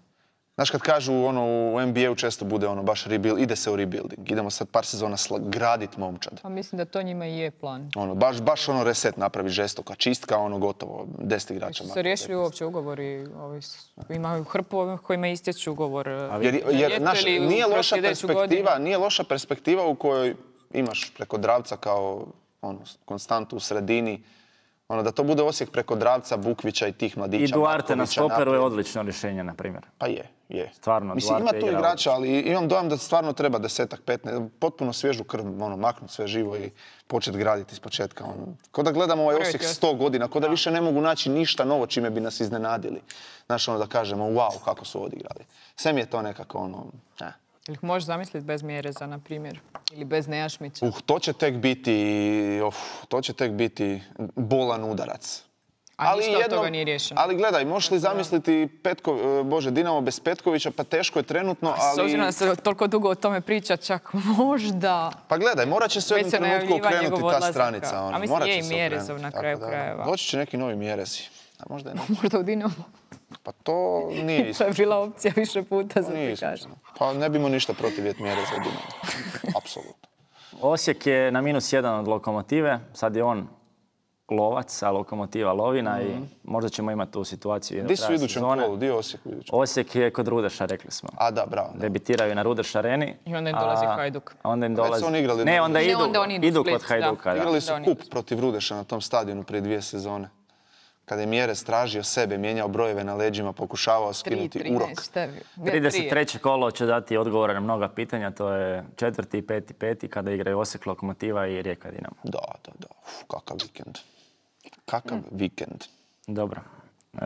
Znaš kad kažu ono, u N B A-u često bude ono baš rebuild, ide se u rebuilding. Idemo sad par sezona sla- gradit momčad. Pa mislim da to njima i je plan. Ono, baš, baš ono reset napravi žestoka, čistka, ono gotovo, deset igrača. Su makar. se riješili uopće ugovori, ovi, s- imaju hrpu ovih kojima istječu ugovor. Jer, na jer ljeto znaš, ili u- nije kroz loša sljedeću perspektiva, godinu. nije loša perspektiva u kojoj imaš preko Dravca kao ono, konstantu u sredini. Ono, da to bude Osijek preko Dravca, Bukvića i tih mladića. I Duarte na Matkovića stoperu je naprijed. odlično rješenje, na primjer. Pa je, je. Stvarno, Mislim, ima Duarte tu igra igrača, ali imam dojam da stvarno treba desetak, petnaest, potpuno svježu krv, ono, maknuti sve živo i početi graditi iz početka. Ono. Ko da gledamo ovaj Moraju Osijek ti sto godina, ko da više ne mogu naći ništa novo čime bi nas iznenadili. Znaš, ono da kažemo, wow, kako su odigrali. Sve mi je to nekako, ono, ne. Ili ih možeš zamisliti bez Mjereza, na primjer. Ili bez Nejašmića. Uh, to će tek biti, of, to će tek biti bolan udarac. A ništa od toga nije riješeno. Ali gledaj, možeš li zamisliti Petko, e, Bože, Dinamo bez Petkovića, pa teško je trenutno, S obzirom da ali... se toliko dugo o tome priča, čak možda... Pa gledaj, morat će se u Već jednom se trenutku najavljiva okrenuti njegov ta odlazak. stranica. A Ono, mislim, morat je će i se Mjerezov okrenuti, na tako kraju da, krajeva. Doći će neki novi Mjerezi. A možda i ne. Možda u Dinamo. Pa to nije To iskreno. je bila opcija više puta, za Nije ti iskreno. kažem. Pa ne bimo ništa protiv jet Mjereza u Dinamo. Apsolutno. Osijek je na minus jedan od Lokomotive. Sad je on lovac, a Lokomotiva lovina i možda ćemo imati tu situaciju i do Di su u kraja idućem sezone. kolu? Di je Osijek u idućem? Osijek je kod Rudeša, rekli smo. A da, bravo. Da. Debitiraju na Rudeš areni. I onda im dolazi a Hajduk. Onda im Već su dolazi... oni igrali Ne, na onda Rudešu. idu, Ne, onda oni idu u idu Split, kod Hajduka. da. Da. Igrali su Da, oni- kup protiv Rudeša na tom stadionu prije dvije sezone. Kada je Mjerez tražio sebe, mijenjao brojeve na leđima, pokušavao skinuti urok. trideset treće kolo će dati odgovore na mnoga pitanja. To je četvrti i peti, peti kada igraju Osijek, Lokomotiva i Rijeka Dinamo. Da, da, da. Uf, kakav vikend. Kakav vikend. Dobro. E,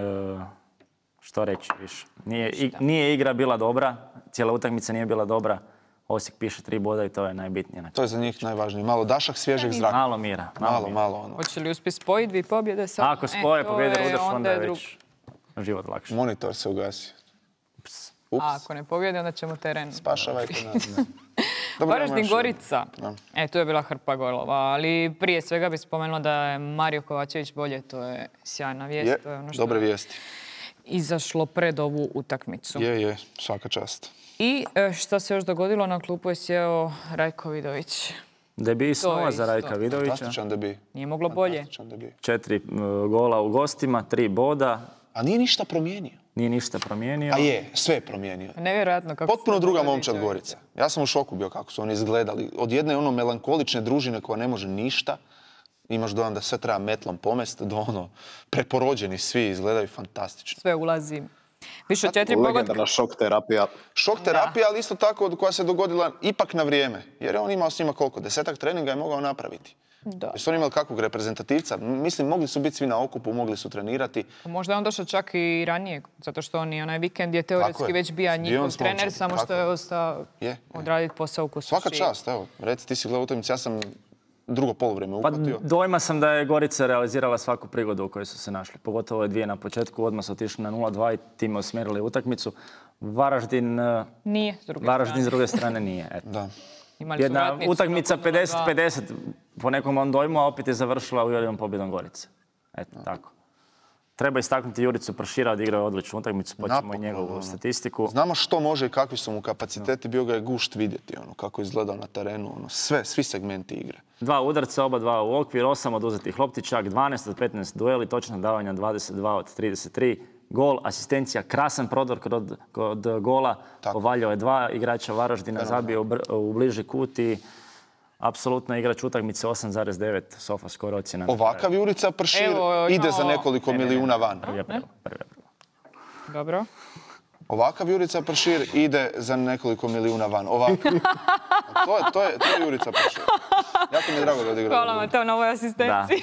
što reći više? Nije, i- nije igra bila dobra, cijela utakmica nije bila dobra. Osijek piše tri boda i to je najbitnije. na To je za njih najvažnije. Malo dašak svježeg zraka. Malo mira. Malo, Malo, mira. malo ono. Hoće li uspjeti spojiti dvije pobjede sad? Ako spoje E, to pobjede je- Rudeš, onda je drug- već život lakši. Monitor se ugasio. Ups. A ako ne pobjede, onda ćemo teren. Pašavajte nas. Dobro, Varaždin imamo još Gorica. E, tu je bila hrpa golova, ali prije svega bih spomenula da je Mario Kovačević bolje, to je sjajna vijest. Je, to je ono što dobre je vijesti. izašlo pred ovu utakmicu. Je, je, svaka čast. I e, što se još dogodilo, na klupu je sjeo Rajko Vidović. Debi To snova je za isto. Rajka Vidovića. Fantastičan debi. Nije moglo bolje. Fantastičan debi. Četiri e, gola u gostima, tri boda. A nije ništa promijenio. Nije ništa promijenio. A je, sve je promijenio. Nevjerojatno kako Potpuno se druga dogodi momčad čovječe. Gorica. Ja sam u šoku bio kako su oni izgledali. Od jedne ono melankolične družine koja ne može ništa, imaš dojam da sve treba metlom pomest, do ono preporođeni svi izgledaju fantastično. Sve ulazi. Više od četiri pogotka. Legendarna šok terapija. Šok terapija, ali isto tako koja se dogodila ipak na vrijeme. Jer je on imao s njima koliko? Desetak treninga je mogao napraviti. Da. Jesu oni imali kakvog reprezentativca? Mislim, mogli su biti svi na okupu, mogli su trenirati. Možda je on došao čak i ranije, zato što on i onaj vikend je teoretski je. već bio njihov s trener, momčadi, samo tako što je je. ostao Je, je. odraditi posao u Kustošiji. Svaka čast, evo. Reci, ti si gledao utakmicu, ja sam drugo poluvrijeme Pa uhvatio. dojma sam da je Gorica realizirala svaku prigodu u kojoj su se našli. Pogotovo ove dvije na početku, odmah su otišli na nula dva i time usmjerili utakmicu. Varaždin, eh, Nije, s druge Varaždin s strane. druge strane nije. Eto. Da. Imali su Jedna vratnicu utakmica nakon pedeset nula dva. pedeset po nekom mom dojmu, a opet je završila uvjerljivom pobjedom Gorice. Eto, tako. Treba istaknuti Juricu Pršira, odigrao je odličnu utakmicu, počemo i Napokon, njegovu ono. statistiku. Znamo što može i kakvi su mu kapaciteti, bio ga je gušt vidjeti, ono, kako je izgledao na terenu, ono, sve, svi segmenti igre. Dva udarca, oba dva u okvir, osam oduzetih loptića, dvanaest od petnaest dueli, točna davanja dvadeset dva od trideset tri. Gol, asistencija, krasan prodor kod, kod gola, Tako. povaljao je dva igrača Varaždina, zabio u, br- u bliži kut i apsolutno igrač utakmice osam zarez devet, Sofa skoro ocjena. Ovakav Jurica Pršir Evo, ide no. za nekoliko milijuna van. Prvi april, prvi april. Dobro. Ovakav Jurica Pršir ide za nekoliko milijuna van. Ovakav. To je, to je, to je Jurica Pršir. Jako mi je drago da odigrao. Hvala vam to na ovoj asistenciji.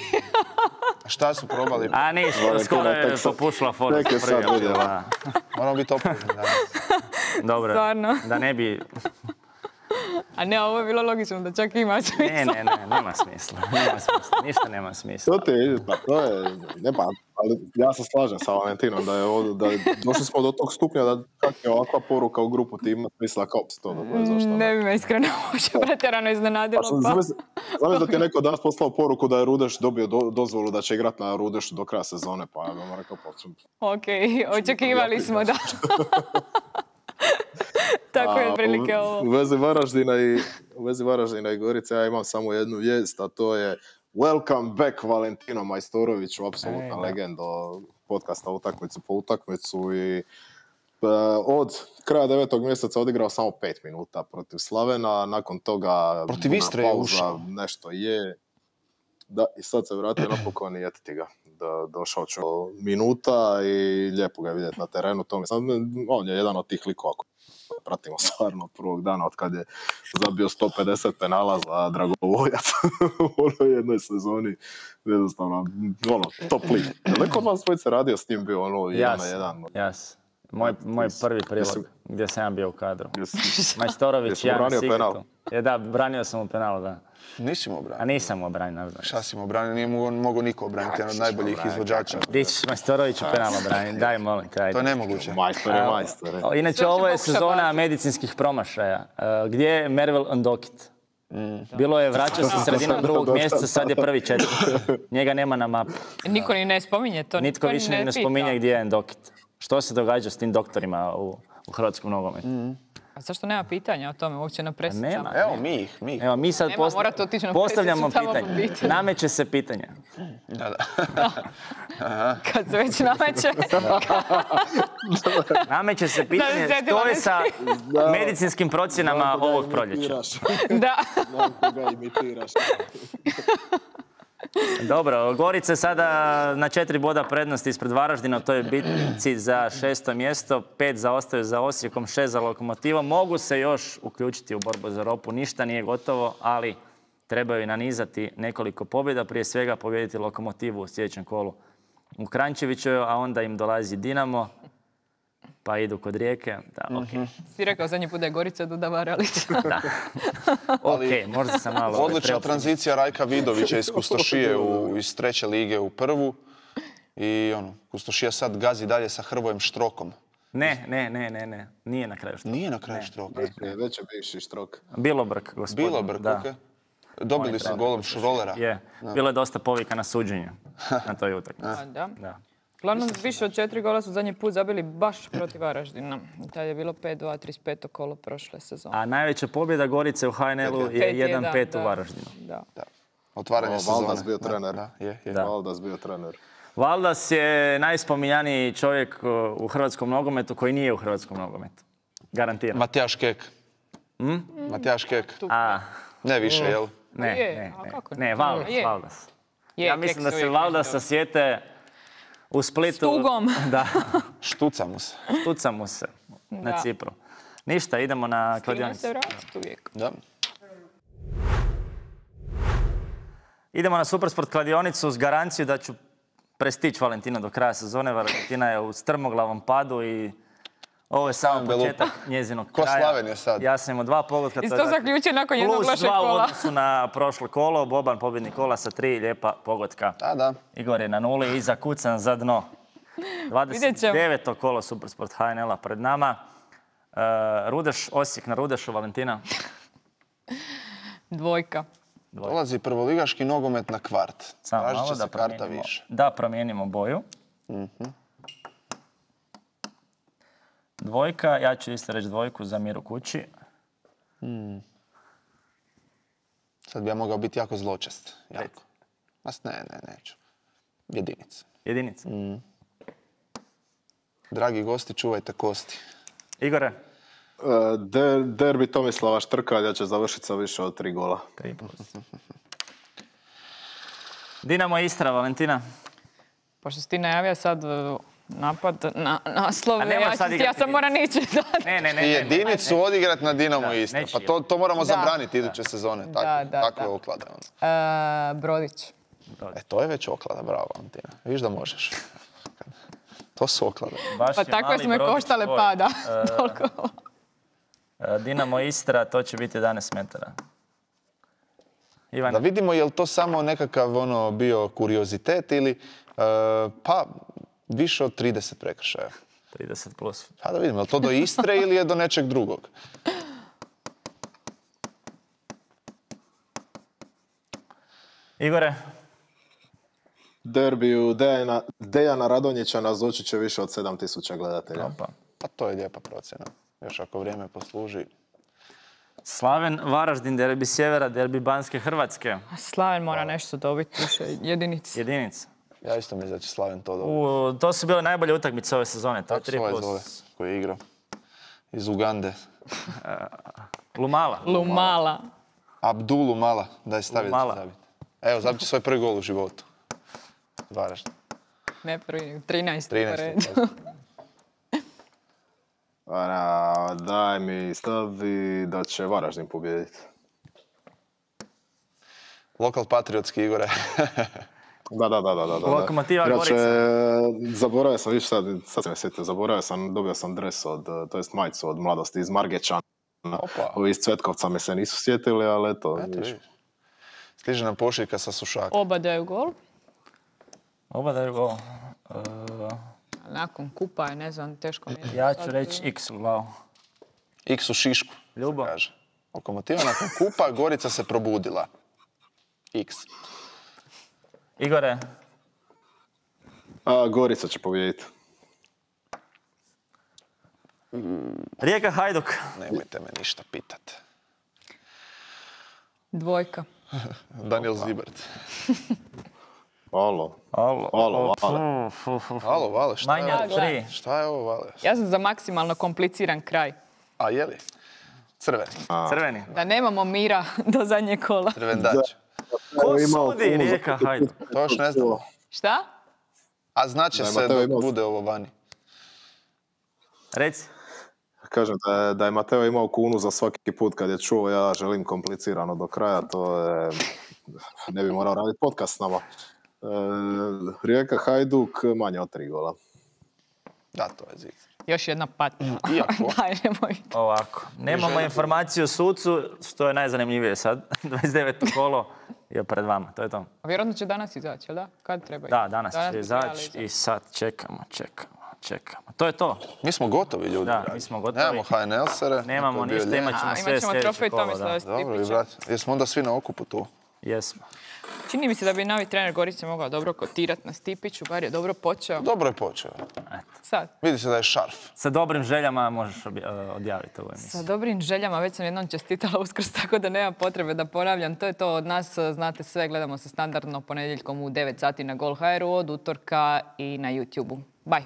Šta su probali? A nisu, Valentina, skoro je tek sad- popušila forma. tek je za sad prvi april, vidjela. da. Moramo biti oprezni danas. Dobro, Stvarno. da ne bi... A ne, ovo je bilo logično da čak ima smisla. Ne, ne, ne, nema smisla, nema smisla, ništa nema smisla. To ti je, pa to je, ne pa, ali ja se slažem sa Valentinom da je ovo, da je, došli smo do tog stupnja da čak je ovakva poruka u grupu ti ima smisla kao se to dogodi, zašto ne? Ne bi me iskreno uopće pretjerano iznenadilo. Pa, Pa. zamisli zamisli da ti je neko danas poslao poruku da je Rudeš dobio do, dozvolu da će igrati na Rudešu do kraja sezone, pa ja bih vam rekao, pa Ok, očekivali smo da. Tako je A, otprilike u, ovo. u vezi Varaždina i u vezi Varaždina i Gorice ja imam samo jednu vijest, a to je welcome back Valentino Majstoroviću, apsolutna Ej, da. legenda podcasta Utakmicu po utakmicu i e, od kraja devetog mjeseca odigrao samo pet minuta protiv Slavena, nakon toga Protiv burna Istre je pauza, ušao. nešto je. Da, i sad se vratio napokon i etiti ga. Da, došao ću minuta i lijepo ga je vidjeti na terenu. To mi sad, on je jedan od tih likova koji pratimo stvarno od prvog dana od kad je zabio sto pedeset penala za Dragovoljac u onoj jednoj sezoni. Jednostavno, ono, top lig. Je li neko od vas dvojice radio s tim bio ono jedan na Jas, jedan? jas. Moj, moj prvi prilog Jesi- gdje sam ja bio u kadru. Jesi- Majstorović, Jesi ja na branio Sigritu. penal? Je, da, branio sam u penalu, da. Nisi mu A obranio. nisam mu obranio, ne znam. Šta si mu obranio? Nije mu on mogao niko obraniti, jedan od najboljih izvođača. Di ćeš Majstorović u penalu braniti? Daj, molim te, To je ajde. nemoguće. Majstor je majstor. je. Inače, Sve ovo se je pokuša sezona baciti. medicinskih promašaja. E, Gdje je Mervel Ndokit? Bilo je, vraćao se sredinom drugog mjeseca, sad je prvi četvrti. Njega nema na mapi. Niko ni ne spominje to. Nitko ni više ne, ne pita. spominje gdje je Ndokit. Što se događa s tim doktorima u, u hrvatskom nogometu? A zašto nema pitanja o tome uopće na presicama? Nema. Evo, mi ih, mi ih. Evo, mi sad Nema, posta- morate otići na postavljamo presicu tamo pitanje. popitati. Nameće se pitanje. Da, da. Kad se već nameće. Nameće se pitanje sjetila što je me sa medicinskim procjenama ovog proljeća. Da. Znam koga imitiraš. Dobro, Gorica je sada na četiri boda prednosti ispred Varaždina, to je bitci za šesto mjesto, pet zaostaju za Osijekom, šest za Lokomotivom. Mogu se još uključiti u borbu za Europu, ništa nije gotovo, ali trebaju nanizati nekoliko pobjeda, prije svega pobijediti Lokomotivu u sljedećem kolu u Kranjčeviću, a onda im dolazi Dinamo, pa idu kod Rijeke. Da, okej. Si rekao zadnji put da je Gorica Duda Varalica. Da. Okej, možda sam malo... Odlična preoptimist. tranzicija Rajka Vidovića iz Kustošije u, iz treće lige u prvu. I ono, Kustošija sad gazi dalje sa Hrvojem Štrokom. Ne, ne, ne, ne, ne. Nije na kraju što. Nije na kraju Štroka. Već je bivši Štrok. Bilobrk, gospodin. Bilo brk, da. okej. Dobili On je su trener golom Šrolera. Je. Bilo je dosta povika na suđenje na toj utakmici. A, da. Da. Uglavnom, više od četiri gola su zadnji put zabili baš protiv Varaždina. Tad je bilo pet dva, trideset peto kolo prošle sezone. A najveća pobjeda Gorice u H N L-u je Pet jedan pet jedan, u da. Varaždinu. Da. Da. Otvaranje O, sezone. Valdas bio Da, trener. Da, je, je. Da. Valdas bio trener. Valdas je najspominjaniji čovjek u hrvatskom nogometu koji nije u hrvatskom nogometu. Garantiram. Matijaš Kek. Hm? Matijaš Kek. A, Ne više, jel? ne, Je, ne, a ne. kako? Ne, Valdas, Je. Valdas. Je, Ja Kek mislim se da se uvijek Valdasa nešto- sjete U Splitu... S tugom. Da. Štuca mu se. Štuca mu se na Da. Cipru. Ništa, idemo na Stigne kladionicu. se vratiti uvijek. Da. Idemo na Supersport kladionicu uz garanciju da ću prestići Valentinu do kraja sezone. Valentina je u strmoglavom padu i ovo je samo Belupa. početak njezinog Ko kraja. Slavenija sad. Ja sam imao dva pogotka. I to je to dakle zaključuje nakon jednog plus lošeg dva u kola. odnosu na prošlo kolo. Boban pobjednik kola sa tri lijepa pogotka. Da, da. Igor je na nuli i zakucan za dno. Vidjet ćemo. dvadeset deveto kolo Supersport H N L-a pred nama. E, Rudeš, Osijek na Rudešu, Valentina. Dvojka. Dolazi prvoligaški nogomet na kvart. Samo Tražit malo će da se karta promijenimo, više. da promijenimo boju. Dvojka, ja ću isto reći dvojku za Miru Kući. Sad bi ja mogao biti jako zločest. Jako. Mas ne, ne, neću. Jedinica. Jedinica. Dragi gosti, čuvajte kosti. Igore? E, der- derbi Tomislava Štrkalja će završiti sa više od tri gola. Tri plus. Dinamo Istra, Valentina. Pošto si ti najavio sad uh, napad na naslov, A nema ja, ću- sad ja igrati sam moram ići. Ne, ne, ne. I ne, jedinicu ne, ne. odigrat na Dinamo Da, Istra. neće Pa to, to moramo Da. zabraniti iduće sezone. Tako, Da, da, takve da. oklade. ono. Uh, Brodić. E, to je već oklada, bravo Valentina. Viš da možeš. To su oklade. Baš Pa je tako mali smo i brodić koštale tvoj. pada. E, Toliko. e, Dinamo Istra, to će biti jedanaest metara. Ivan, Da vidimo je li to samo nekakav ono bio kuriozitet ili e, pa više od trideset prekršaja. trideset plus. Pa da vidimo, je li to do Istre ili je do nečeg drugog? Igore? Derbiju Dejana, Dejana Radonjića nazočit će više od sedam tisuća gledatelja. Opa. Pa to je lijepa procjena. Još ako vrijeme posluži. Slaven, Varaždin, derbi Sjevera, derbi Banske Hrvatske. A Slaven mora nešto dobiti više jedinici. Jedinica. Ja isto mislim da će Slaven to dobiti. U, to su bile najbolje utakmice ove sezone. To je Kako tri se ovaj plus. zove koji je igrao? Iz Ugande. Lumala. Lumala. Abdulu Mala. Daj stavi da Mala. će zabiti. Evo, zabit će svoj prvi gol u životu. Varaždin. Ne prvi, trinaest. trinaest. A, daj mi stavi da će Varaždin pobijediti. Lokal patriotski Igore. Da, da, da, da, da. da. Lokomotiva Inače, Gorica. zaboravio sam, viš sad, sad sam me sjetio, zaboravio sam, dobio sam dres od, to jest majicu od mladosti iz Margećana. Opa. Ovi iz Cvetkovca me se nisu sjetili, ali eto, Eto, viš. vidiš. Stiže nam pošiljka sa sušaka. Oba daju gol. Oba daju gol. E, Nakon kupa je, ne znam, teško mi je. ja ću reći X u glavu. X u Šišku. Ljubo. Kaže. Lokomotiva nakon kupa, Gorica se probudila. X. Igore? A, Gorica će pobijediti. Rijeka Hajduk. Nemojte me ništa pitat. Dvojka. Daniel Zibert. Alo. Alo, Alo, Vale. Fu, fu, fu. Alo, Vale, šta je Manja ovo? tri. Šta je ovo, Vale? Ja sam za maksimalno kompliciran kraj. A je li? Crveni. Crveni. Da nemamo mira do zadnjeg kola. Crvendač. Ko Evo, imao sudi kunu za- Rijeka Hajduk? To još ne znamo. Šta? A znaće Da, se Mateo dok imao- bude ovo vani. Reci. Kažem da je, da je Mateo imao kunu za svaki put kad je čuo ja želim komplicirano do kraja, to je, ne bi morao raditi podcast s nama. E, Rijeka Hajduk manje od tri gola. Da, to je zic. Još jedna patnja. Iako. Daj, nemoj. Ovako. Nemamo želite- informaciju o sucu, što je najzanimljivije sad. dvadeset deveto kolo je pred vama. To je to. A vjerojatno će danas izaći, jel da? Kad treba Da, izaći? danas bi će trebali izaći i sad čekamo, čekamo, čekamo. To je to. Mi smo gotovi, ljudi. Da, dragi. mi smo gotovi. Nemamo H N L sere. Nemamo to je bio ništa, lijep. imat ćemo A, sve imat ćemo sljedeće trofej kolo. Tomislava Da. Dobro, i Stipića. brat. Jesmo onda svi na okupu tu? Jesmo. Čini mi se da bi novi trener Gorice mogao dobro kotirati na Stipiću, bar je dobro počeo. Dobro je počeo. Sad. Vidi se da je šarf. Sa dobrim željama možeš obja- odjaviti ovu emisiju. Sa dobrim željama, već sam jednom čestitala Uskrs, tako da nema potrebe da ponavljam. To je to od nas, znate sve, gledamo se standardno ponedjeljkom u devet sati na Gol dot h r, od utorka i na YouTubeu. Bye!